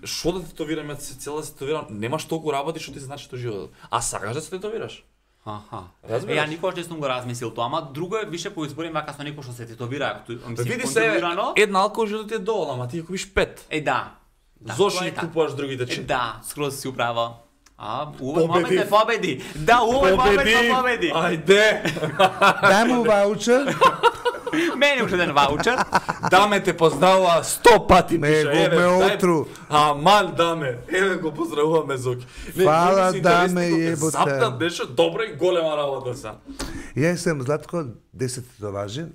што да тетовирам, јас цела се тетовирам, немаш толку работи што ти значи тоа животот. А сакаш да се тетовираш? Аха. Разбираш? Ја никогаш не сум го размислил тоа, ама друго е више поизборим вака со некој што се тетовира, Види се, една алкохол животот ти е доволно, ама ти ја купиш 5. Да. Зошто тоа ги е така. купуваш другите 4? Да, скроз си управа. Увој Победив. момент победи. Да, увој момент победи. Ајде! Дај му ваучер, Мене уште еден ваучер. Даме те поздравува 100 пати ме пише. го Еве, ме дај- отру. Аман даме. Еве го поздравуваме Зоки. Фала, мислите, даме, вестникот е јеботе. Запнат беше добра и голема работа са. Јас сум Златко 10 тетоважи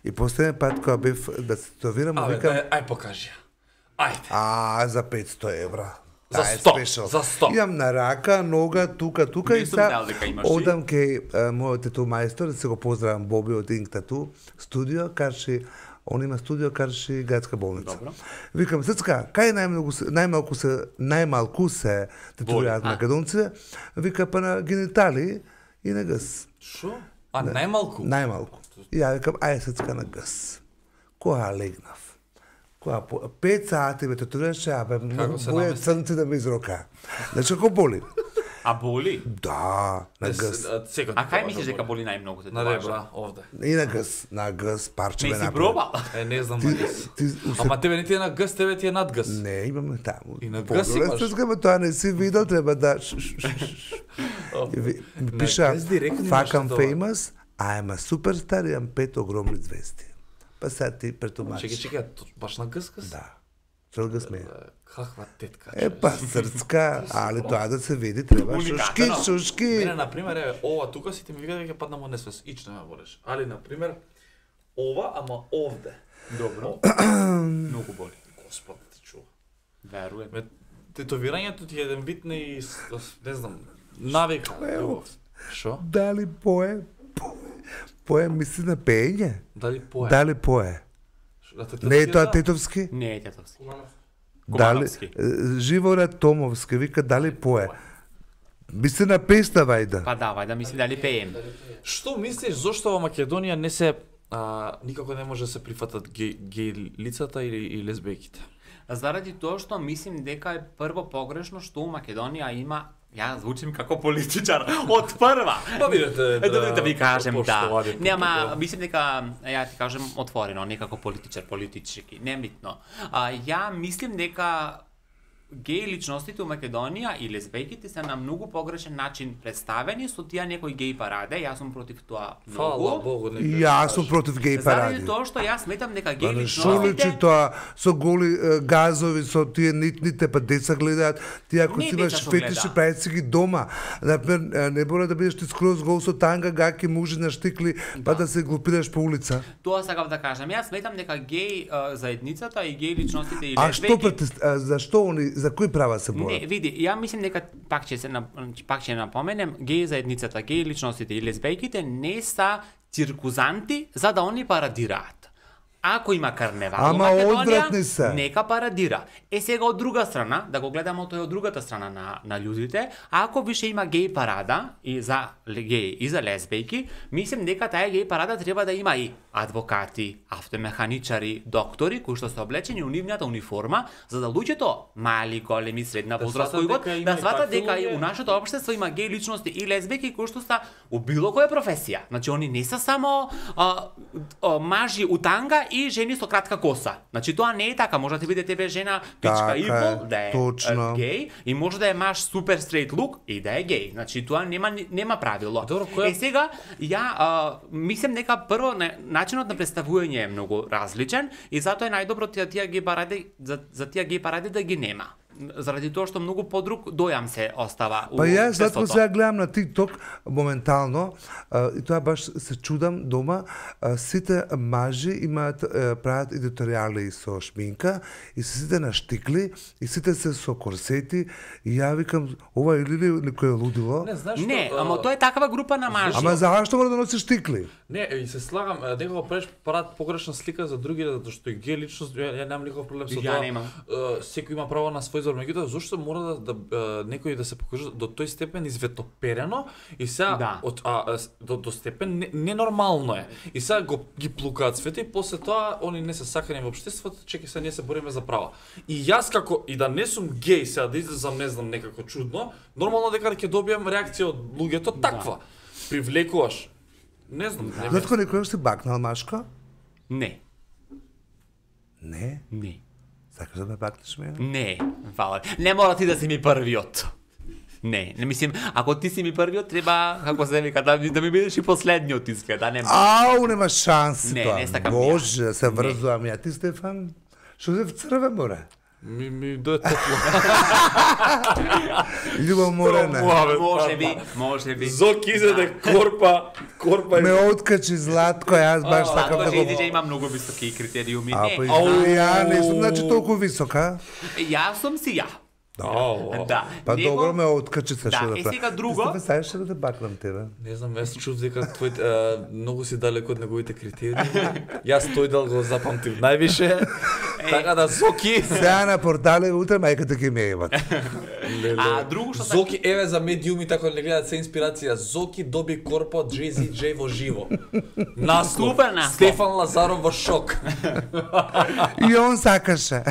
и последен пат кога бев да се тетовирам, Абе, викам, ај покажи ја. Ајде. за 500 евра. За Таа е 100, спешал. за 100. Имам на рака, нога, тука Не и сум са знаел дека имаш ти. одам кај мојот тату мајстор, да се го поздравам Боби од Инк Тату, студио, карши, он има студио, карши градска болница. Добро. Викам, Сецка, кај најмалку се тетовираат Воли, македонците? Вика, па на генитали и на гъс. Шо? А најмалку? Најмалку. И ја викам, ај Сецка на гъс. Кога легнав? Кога 5 сати ме тетовираше, абе, се моја намести? црнци да ме изрока. Значи, како боли? А боли? Да, на гъс. А кај мислиш дека боли најмногу те На ребра, овде. И на гъс, парче Не ме си направи. пробал? Не знам дали. Ти, Ама тебе не ти е на гъс, тебе ти е над гъс. Не, имаме таму. И на гъс Подоле имаш? стискаме, тоа не си видел, треба да... И ми пиша, гъс директно имаш fuck I'm тоа. famous, I'm a superstar, имам 5 огромни звезди. Па сега ти претумачиш. Чекай, баш на гъс? Да. Цел гъс ме е. Каква тетка. Па срцка, али тоа да се види, треба шушки, Уникатно. шушки. Мене, например, еве, ова тука си ти ми вика дека падна во несвес. Ич не ме болеш. Али, например, ова, ама овде. Добро. Многу боли. Господ ти чува. Веруем. Ме, тетовирањето ти е еден вид не знам, навика, љубов. Шо? Дали пое? Пое мисли на пеење? Дали пое? Дали пое? Не е тоа тетовски? Не е тетовски. Дали Кумановски. Живорад Томовски вика дали пое? Мисли на песна вајда. Па давај да мисли дали пеем. Што мислиш зошто во Македонија не се никако не може да се прифатат геј лицата и лесбијките? Заради тоа што мислим дека е прво погрешно што у Македонија има, ја звучим како политичар од прва. Па видете, Да ви кажем, да. поштовани Нема, публика. мислим дека, ја ти кажем отворено, некако политичар, политички, небитно. Ја мислим дека геј личностите у Македонија и лесбијките се на многу погрешен начин представени со тие некои геј параде. Јас сум против тоа Фала многу. Богу, нека. Јас сум против геј Заради паради. тоа што јас сметам дека Па геј не шо личи личностите тоа со голи газови, со тие нитните, па деца гледаат. Ти ако Не си имаш деца што фетиши, гледаат. прави си ги дома. Например, не мора да бидеш ти скроз гол со танга, гаки, мужи на штикли, па да се глупираш по улица. Тоа сакав да кажам. Јас сметам дека геј заедницата и геј личностите и А што зашто они, за кои права се Не, борат? види, ја мислим дека пак ќе напоменем, геј заедницата, геј личностите и лесбијките не се циркузанти за да они парадираат. Ако има карневал во Ама одвратни се. Македонија, нека парадира. Сега од друга страна, да го гледаме тој од другата страна на луѓите, ако више има геј парада и за геј и за лесбијки, мислим дека таа геј парада треба да има и адвокати, автомеханичари, доктори кои што се облечени у нивната униформа, за да луѓето, мали, големи, средна возраст, сватат кој год, дека има да и сватат такви дека и луѓе. у нашето општество има геј личности и лесбијки кои што се у било која професија. Значи они не се само мажи у танга и жени со кратка коса. Значи тоа не е така, може да ти биде тебе жена пичка Така и пол, е, да е точно. геј, и може да е маж супер стрейт лук и да е геј. Значи тоа нема правило. Добро, која- Сега ја мислам дека прво начинот на представување е многу различен и затоа е најдобро тие геј паради за тие геј паради да ги нема. заради тоа што многу подруг дојам се остава у Па јас затоа средството. сега гледам на TikTok моментално и тоа баш се чудам дома, сите мажи имаат прават едиторијали со шминка и се сите на штикли и сите се со корсети и ја викам ова или некој лудило? Не, знаеш Не, што, ама тоа е такава група на мажи. Ама зашто мора да носи штикли? Не, и се слагам, некако прават погрешна слика за други, затоа што и ге личност, ја немам никаков проблем со Ја тоа. немам. Секој има право на свој избор, меѓутоа зошто мора да некој да се покаже до тој степен изветоперено и сега Да. до степен ненормално е. И сега ги плукаат свете и после тоа они не се сакани во општеството, чеки се ние се бориме за права. И јас како и да не сум геј сега да излезам не знам некако чудно, нормално дека ќе добијам реакција од луѓето таква. Привлекуваш. Не знам, не Затко некој се бакнал машко? Не, Не. не. Сакаш да ме бакнеш мене? Не, фала. Не мора ти да си ми првиот. Не мислим, ако ти си ми првиот, треба, како се вика, да ми бидеш и последниот изгледа, нема. Ау, нема шанси Не, тоа. не сакам Боже, ја. се врзувам ја. Ти, Стефан, што се вцрве, море? ми дое топло. Љубоморена. Може би. Зок изеде корпа Ме откачи Златко, јас баш сакам да Сакам го... да има многу високи критериуми. А, па Не, ја не сум значи толку висока. јас сум си ја. Ау. Да. Па Него- добро ме откачи се Да, што да е правам. сега друго. Ти сакаш да те бакнам тебе? Не знам, јас чув дека твој многу си далеко од неговите критериуми. Јас тој дел го запамтив највише. Така да Зоки. Сега на портале утре мајката ќе ме еват. А друго што Зоки еве за медиуми така не гледаат се инспирација. Зоки доби корпо од Jay-Z J во живо. Наслов. Супер наслов. Стефан Лазаров во шок. И он сакаше.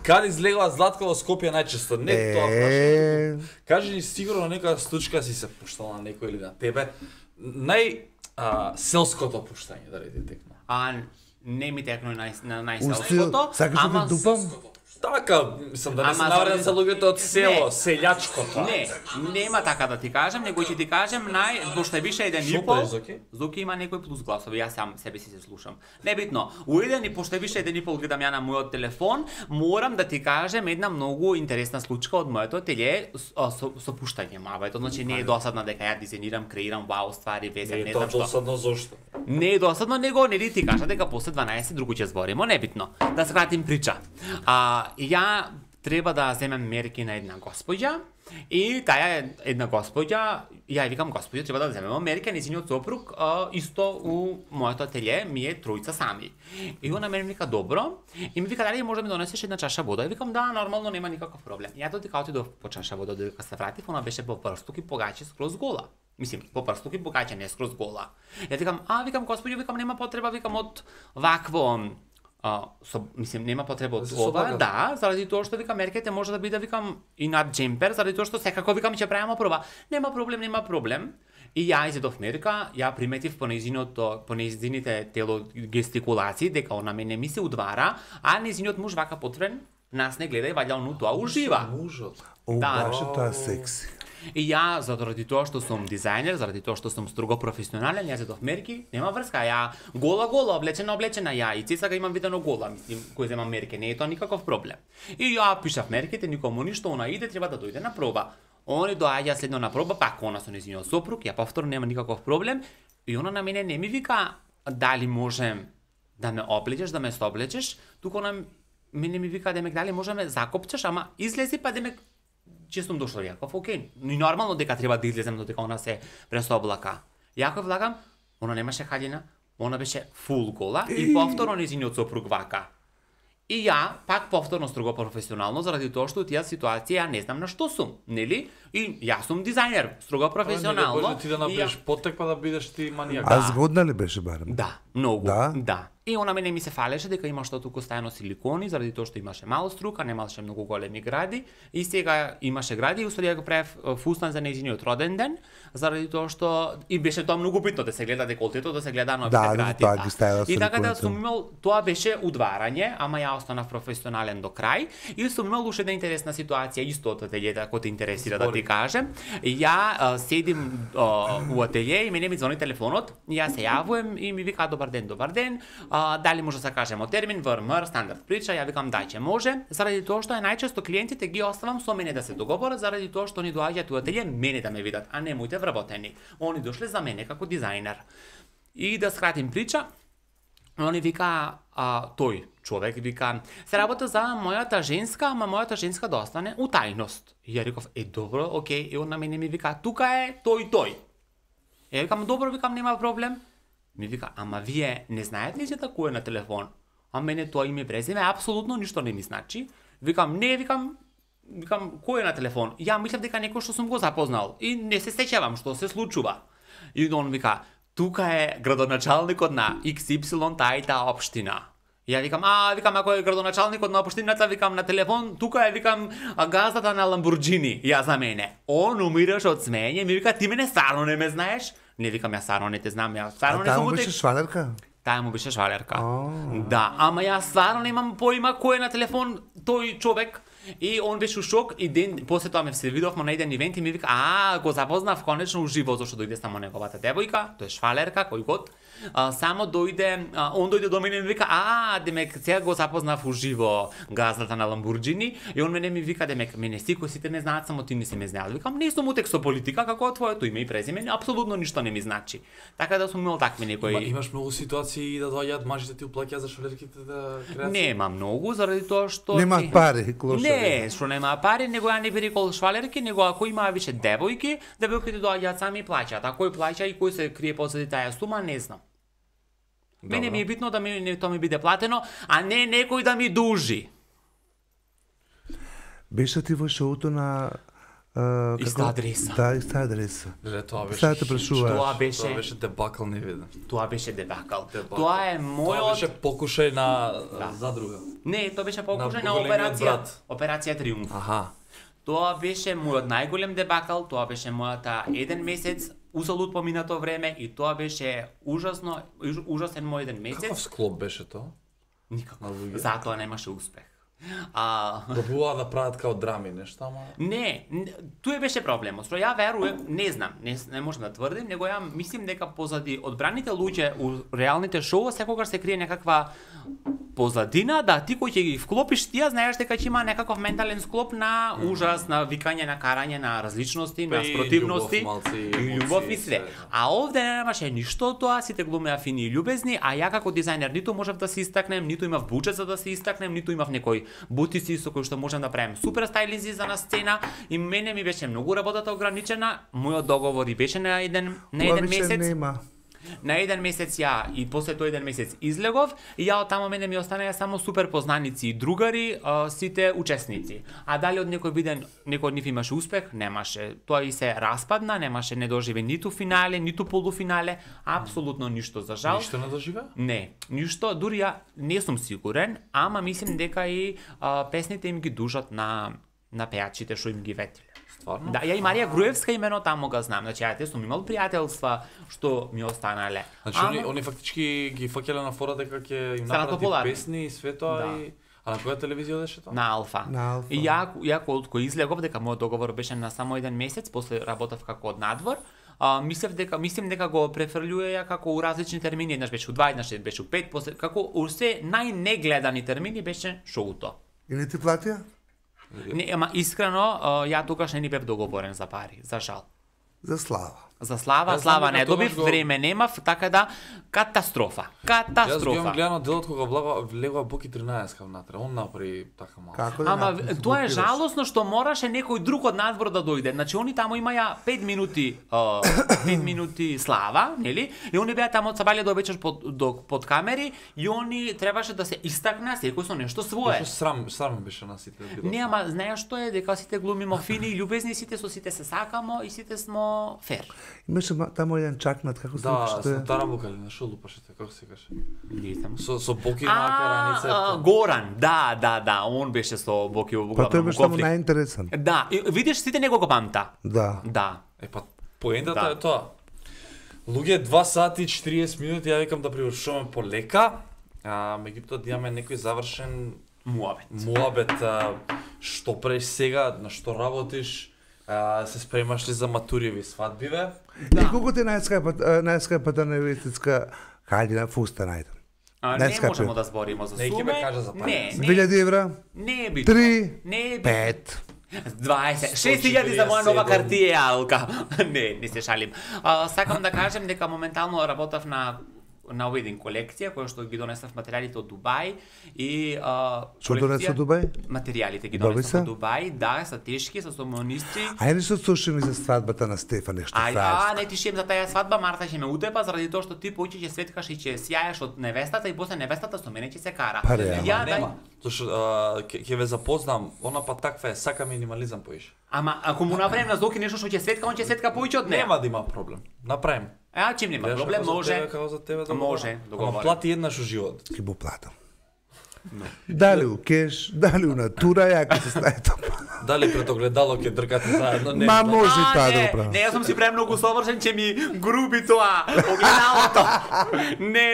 Каде излегува Златко во Скопје најчесто? Не тоа прашам. Кажи ни сигурно нека случка си се пуштала на некој или на тебе. Селското пуштање да реди текна. не ми текно на Устил, најселското, сакаш да те дупам? Така, мислам да не се Ама навредат за заради- луѓето од село, Не. селјачкото. Не, нема така да ти кажам, него ќе ти кажем пошто е више еден Шо и пол. правиш, Зоки? Зоки има некои плюс гласови, јас сам себе си се слушам. Небитно, у еден и пошто е више еден и пол гледам ја на мојот телефон, морам да ти кажем една многу интересна случка од моето ателје со пуштање мавето, значи не е досадна дека ја дизајнирам, креирам вау ствари, везем, Не не е тоа знам што. досадно зошто. Не е досадно, него не ти кажа дека после 12 друго ќе зборимо, небитно. Да скратим прича. Ја треба да земем мерки на една госпоѓа и таа е една госпоѓа, ја викам госпоѓа, треба да земеме мерки, нејзиниот сопруг исто у моето ателје ми е тројца сами. И она мене ми вика добро и ми вика дали може да ми донесеш една чаша вода. И викам да, нормално, нема никаков проблем. Ја додека отидов по чаша вода, додека се вратив, она беше по прстук и погаче скроз гола. Мислим, по прстук и погаче, не скроз гола. Ја викам, викам госпоѓо, викам нема потреба, викам од вакво мислим нема потреба од се ова, соблагат. да, заради тоа што викам мерките може да биде викам и над джемпер, заради тоа што секако викам ќе правиме проба. Нема проблем. И ја изедов мерка, ја приметив по нејзините телогестикулации дека она мене ми се удвара, а нејзиниот муж вака потврен нас не гледа и ваѓа ону тоа ужива. Мужот. О, Да. баш е тоа секси. И ја, заради тоа што сум дизајнер, заради тоа што сум строго професионален, ја зедов мерки, нема врска, ја гола, облечена, ја и цеца имам видено гола, мислим, кој земам мерки, не е тоа никаков проблем. И ја пишав мерките, никому ништо, она иде, треба да дојде на проба. Они доаѓа следно на проба, пак она со нејзиниот сопруг, ја повторно нема никаков проблем, и она на мене не ми вика дали можем да ме облечеш, да ме соблечеш, туку она мене ми вика демек дали можеме закопчеш, ама излези па демек че сум дошол Јаков, окей. И нормално дека треба да излезем додека она се пресоблака. Јаков влагам, она немаше хаљина, она беше фул гола и повторно нејзиниот сопруг вака. И ја, пак повторно строго професионално, заради тоа што тие ситуација ја не знам на што сум, нели? И јас сум дизајнер, строго професионално. Може ти да и ја- направиш потек па да бидеш ти манијак. А згодна ли беше барем? Да, многу. Да? Да. И она мене ми се фалеше дека има што туку стајано силикони, заради тоа што имаше мало струка, немаше многу големи гради, и сега имаше гради и уствари ја го правев фустан за нејзиниот роден ден, заради тоа што и беше тоа многу битно да се гледа деколтето, да се гледа новите Да, гради. тоа ги ставила И така да силиконите. сум имал, тоа беше удварање, ама ја останав професионален до крај и сум имал уште една интересна ситуација исто од ателјето, ако те интересира да ти кажем. Ја седим у ателје и мене ми звони телефонот, и јас се јавувам и ми вика добар ден, дали може да се кажемо термин ВРМР, стандард прича, ја викам дајче може, заради тоа што најчесто клиентите ги оставам со мене да се договорат, заради тоа што они доаѓаат у ателје мене да ме видат, а не моите вработени. Они дошле за мене како дизајнер. И да скратим прича, они вика, тој човек вика, се работа за мојата женска, ама мојата женска да остане у тајност. И ја реков, добро, окей, и он на мене ми вика, тука е тој. Ја викам, добро, викам, нема проблем. Ми вика, ама вие не знаете ли за кој е на телефон? А мене тоа име презиме апсолутно ништо не ми значи. Викам, не, викам, кој е на телефон? Ја мислам дека некој што сум го запознал и не се сеќавам што се случува. И он вика, тука е градоначалникот на XY таа и таа општина. Ја викам, викам, ако е градоначалникот на општината, викам на телефон, тука е, викам, газдата на Ламбурџини, ја за мене. Он умираш од смење, ми вика, ти мене стварно не ме знаеш? Не, викам, ја стварно не те знам, ја стварно не сум му беше швалерка? Таа му беше швалерка. Да, ама ја стварно немам поима кој е на телефон тој човек. И он беше у шок и ден после тоа ме се видовме на еден ивент и ми вика, го запознав конечно уживо зашто дојде само неговата девојка, тоа е швалерка, кој год. Само дојде, он дојде до мене и ми вика, демек сега го запознав уживо газдата на Ламбурџини и он мене ми вика, демек мене сите сите ме знаат, само ти не си ме знаел. Викам, не сум утек со политика, како твоето име и презиме, апсолутно ништо не ми значи. Така да сум имал такви некои. Имаш многу ситуации да доаѓаат мажите ти уплаќаат за швалерките да креација? Нема многу заради тоа што немаат пари, клошари. Не, што нема пари, него ја не би рекол швалерки, него ако има више девојки доаѓаат сами и плаќаат. А кој плаќа и кој се крие позади таа сума, не знам. Мене ми е битно да тоа ми биде платено, а не некој да ми дужи. Беше ти во шоуто на Иста адреса. Да, иста адреса. Тоа беше. Тоа беше дебакл невиден. Тоа беше дебакл. Тоа е мојот. Тоа беше покушај на задруга. Не, тоа беше покушај на операција Триумф. Аха. Тоа беше мојот најголем дебакл, тоа беше мојата еден месец узалуд поминато време и тоа беше ужасен мој еден месец. Каков склоп беше тоа? Никако. Затоа немаше успех. Пробуваа да прават као драми, нешто, ама... Не, туе беше проблемот, што ја верувам, не знам, не можам да тврдим, него ја мислим дека позади одбраните луѓе у реалните шоу секогаш се крие некаква позадина, да ти кој ќе ги вклопиш, ти ја знаеш дека ќе има некаков ментален склоп на ужас, на викање, на карање, на различности, на спротивности, и љубов и све. А овде немаше ништо тоа, сите глумеа фини и љубезни, а ја како дизајнер ниту можев да се истакнем, ниту имав буџет за да се истакнем, ниту имав некој бутици со кои што можам да правим супер стајлинзи за на сцена и мене ми беше многу работата ограничена, мојот договор и беше на еден месец. На еден месец ја и после тој еден месец излегов и ја од таму мене ми останаа само супер познаници и другари, сите учесници. А дали од некој од нив имаше успех? Немаше. Тоа и се распадна, немаше, не доживе ниту финале, ниту полуфинале, апсолутно ништо за жал. Ништо не доживе? Не, ништо, дури ја не сум сигурен, ама мислим дека и песните им ги дужат на пејачите што им ги ветиле. Стварно? Да, ја и Марија Груевска имено таму го знам. Значи, ја сум имал пријателства што ми останале. Значи, они фактички ги фаќале на фора дека ќе им направи песни и све тоа и... А на која телевизија одеше тоа? На Алфа. И ја кога излегов дека мојот договор беше на само еден месец, после работев како од надвор, мислим дека го префрлюе ја како у различни термини, еднаш беше у 2, еднаш беше у 5, после како усе најнегледани термини беше шоуто. И не ти платија? Не, ама искрено, ја тогаш не ни бев договорен за пари, за жал. За слава. За слава не добив, време немав, така да катастрофа. Јас го имам гледано делот кога влегува Боки 13 внатре, он направи така малку. Ама тоа е жалосно што мораше некој друг од надвор да дојде. Значи они таму имаја 5 минути слава, нели? И они беа таму од сабајле до вечер под камери и они требаше да се истакнаа секој со нешто свое. Срам беше на сите. Не, ама знаеш што е дека сите глумимо фини и љубезни, сите со сите се сакамо и сите смо фер. Имаше таму еден чакнат, како се викаше? Да, со Тарабука или на шо лупаше, како се каже? Не знам. Со Боки на караница. Горан, да, он беше со Боки во главно. Па тој беше таму најинтересен. Да, видиш сите него го памта. Да. Поентата е тоа. Луѓе 2 сати и 40 минути, ја викам да привршуваме полека, меѓутоа да имаме некој завршен муабет, што правиш сега, на што работиш, се спремаш ли за матуриви свадбиве? И колку ти најскапата невеститска халина фуста најден? Не Најскапи. можемо да збориме за Не, ќе суме. ме кажа за пари. Не, 2000 евра, не е битно. 3, Не е битно. 5. 20, 6000 за моја нова 147. картијалка. Не се шалим. Сакам да кажем дека моментално работав на Wedding колекција, која што ги донесав материјалите од Дубај и Што донесе од Дубај? Материјалите ги Добри донесав се? од Дубај, да, се тешки, со сомонисти. Ајде нешто слушай ми за свадбата на Стефан, нешто фраерско. Не ти шием за таа свадба, Марта ќе ме утепа заради тоа што ти поќе ќе светкаш и ќе сјаеш од невестата и после невестата со мене ќе се кара. Па, реално. Ја Нема. Зашто ќе ве запознам, она па таква е, сака минимализам поише. Ама ако му направим на Зоки нешто што ќе светка, он ќе светка поиќе од неа. Нема да има проблем. Направим. Чим нема проблем, може. Како за тебе да Може, Ама договорено. плати еднаш у живот. Ќе го платам. Дали у кеш, дали у натура, ја ќе се стави тоа. Дали пред огледало ќе дркате заедно? Не. Ма може и таа да не, го правам. не, јас сум си премногу совршен, ќе ми груби тоа огледалото. Не.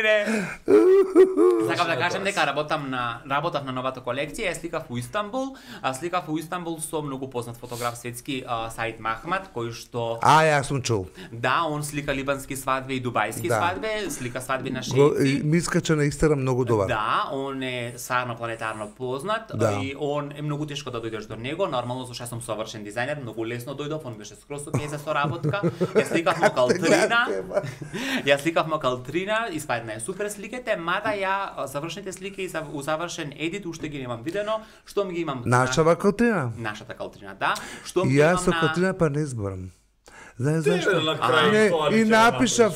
Сакам да кажам дека работав на новата колекција, ја сликав у Истанбул, сликав у Истанбул со многу познат фотограф светски Саид Махмад, кој што Јас сум чул. да, он слика либански свадби и дубајски Да. свадби, слика свадби на Го- шејци. Ми искача на Инстаграм многу добар. Да, он е сарно планетарно познат Да. и он е многу тешко да дојдеш до него. Нормално зашто сум совршен дизајнер, многу лесно дојдов, он беше скроз окей за соработка. Ја сликавме калтрина. Ја сликавме калтрина, испадна е супер сликите, мада ја завршените слики и у завршен едит уште ги немам видено, штом ги имам Нашава Калтрина. нашата калтрина, да. Штом И ги јас имам со на Калтрина па не зборам. Знаеш Тебе зашто? на крај Не, тоа и ќе напишав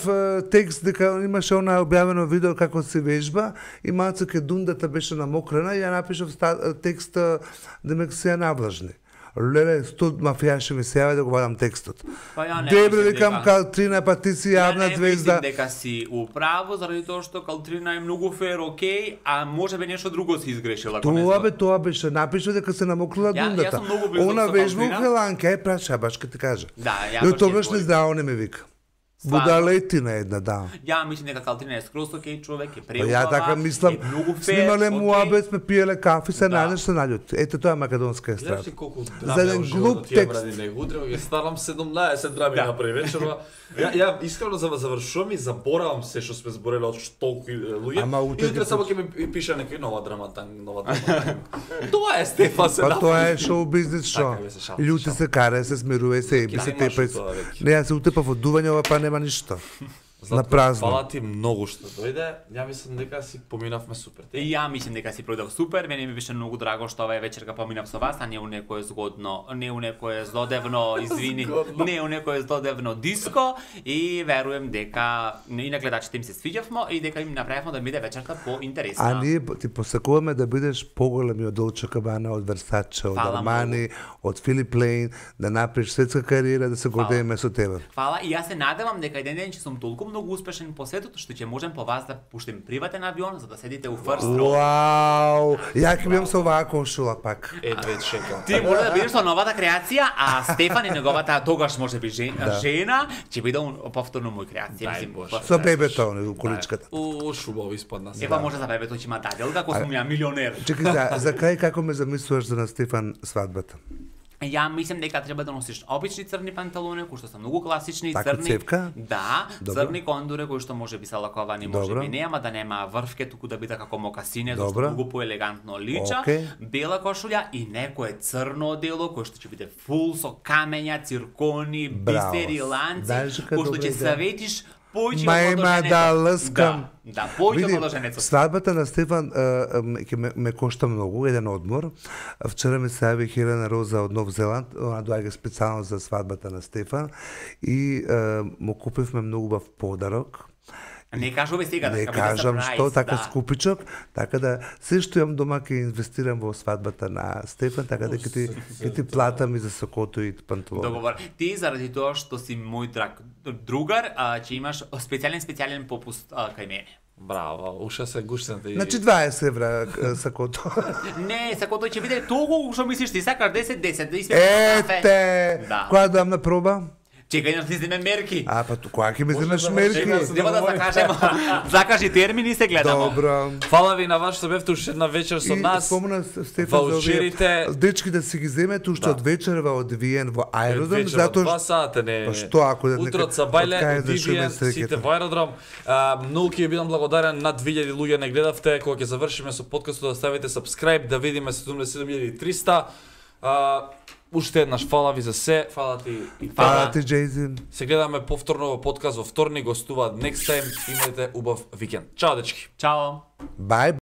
текст дека имаше она објавено видео како се вежба и малце ке дундата беше намокрена и ја напишав текст да ме се ја навлажни. Леле, 100 мафијаши ми се јави да го вадам текстот. Па ја не Дебре, мислам викам дека- Калтрина, па ти си јавна Ја звезда. не мислим дека си управо, заради тоа што Калтрина е многу фер, окей, а може би нешто друго си изгрешила. ако не Тоа знам. тоа беше, напишав дека се намокрила Ја дундата. сум многу близок Она со вежба у Калтрина. Хеланка, праша, баш ке ти кажа. Да, ја И баш тогаш ќе не зборим. здраво не ме вика. Стварно? Будалетина една, да. Ја мислам дека Калтрина е скроз окей човек, е Па преубава. ја така мислам, е многу фер, снимале окей. муабет, сме пиеле кафи, се Да. најдеш се наљути. Ето тоа е македонска Знаеш естрада. ли колку За драми еден во животот глуп тие текст. бради него? Утре ќе ставам 17 драми Да. направи вечерва. Ја искрено завршувам и заборавам се што сме збореле од толку луѓе. Ама утре И утре ќе само ќе ми пише некој нова драма. Тоа е Стефан се Па тоа е шоу бизнес шо. Така, бе, се шалам, Лјути шалам. се каре, се смирува, се еби, се Нема што тепа. тоа веќе. Не, ја се утепав од дување, ова па нема ништо. На празно. Фала ти многу што дојде. Ја мислам дека си поминавме супер. И ја мислам дека си продав супер, мене ми беше многу драго што оваа вечерка поминав со вас, а не у некое згодно, не у некое злодевно, извини, Згодно. не у некое злодевно диско и верувам дека и на гледачите им се свиѓавме и дека им направивме да биде вечерта поинтересна. А ние ти посакуваме да бидеш поголеми од Dolce Gabbana, од Versace, од Фала Armani, од Philip Plein, да направиш светска кариера, да се гордееме со тебе. Фала и јас се надевам дека еден ден ќе сум толку многу успешен по светот што ќе можем по вас да пуштим приватен авион за да седите у first row. Вау! Ја ќе бидам со оваа кошула пак. Едве чекам. Ти може да бидеш со новата креација, а Стефан и неговата тогаш може би жена ќе биде повторно мој креација. Дај Мислим, Боже. Со бебето, у количката. Шубаво испадна се. Ева може за бебето ќе има даделка, ако сум ја милионер. Чекај, за крај како ме замислуваш за на Стефан свадбата? Ја мислам дека треба да носиш обични црни панталони, кои што се многу класични, Така, црни. цевка? Да, Добро. црни кондури кои што може би се лаковани, може Добро. би не, ама да нема врвке, туку да биде како мокасине, зашто Добро. многу поелегантно лича. Окей. Бела кошулја и некое црно одело кој што ќе биде фул со камења, циркони, Браво. бисери, ланци, Знаеш дека кој што добра ќе идеја. светиш појче Ма од има младоженецот. да лъскам. Да, појче од Види, младоженецот. свадбата на Стефан ќе ме кошта многу, еден одмор. Вчера ми се јави Хелена Роза од Нов Зеланд, она доаѓа специјално за свадбата на Стефан и му купивме многу убав подарок. Не кажуваме сега да Не ќе биде кажам surprise, што, така да. скупичок, така да се што имам дома ќе инвестирам во свадбата на Стефан, така да ќе ти платам и за сокото и панталони. Договор. Ти заради тоа што си мој драг другар, ќе имаш специјален попуст кај мене. Браво, уша се гушната и... Значи 20 евра сакото. Не, сакото ќе биде толку што мислиш ти сакаш 10 да испиеш кафе. Ете! Да. Која дам на проба? Чекај да си земе мерки. А, па кога ќе ме Може земеш да мерки? врши, Нема да закажемо. Закажи термин и се гледамо. Добро. Фала ви на вас што бевте уште една вечер со И нас. спомна Стефан за овие Ваучерите дечки да си ги земете уште од вечерва од Виен во аеродром, вечер од 2 затоа сата не. Па што ако да Утро некад- са бајле, од кај од да шуме Вивиен, среќата? сите во аеродром. Многу ќе ви бидам благодарен, над 2000 луѓе не гледавте, кога ќе завршиме со подкастот да ставите subscribe, да видиме 77.300. Уште еднаш фала ви за се, фала ти и Фала ти, Джейзин. Се гледаме повторно во подкаст во вторник, гостуваат next time, имајте убав викенд. Чао дечки. Чао. Бај.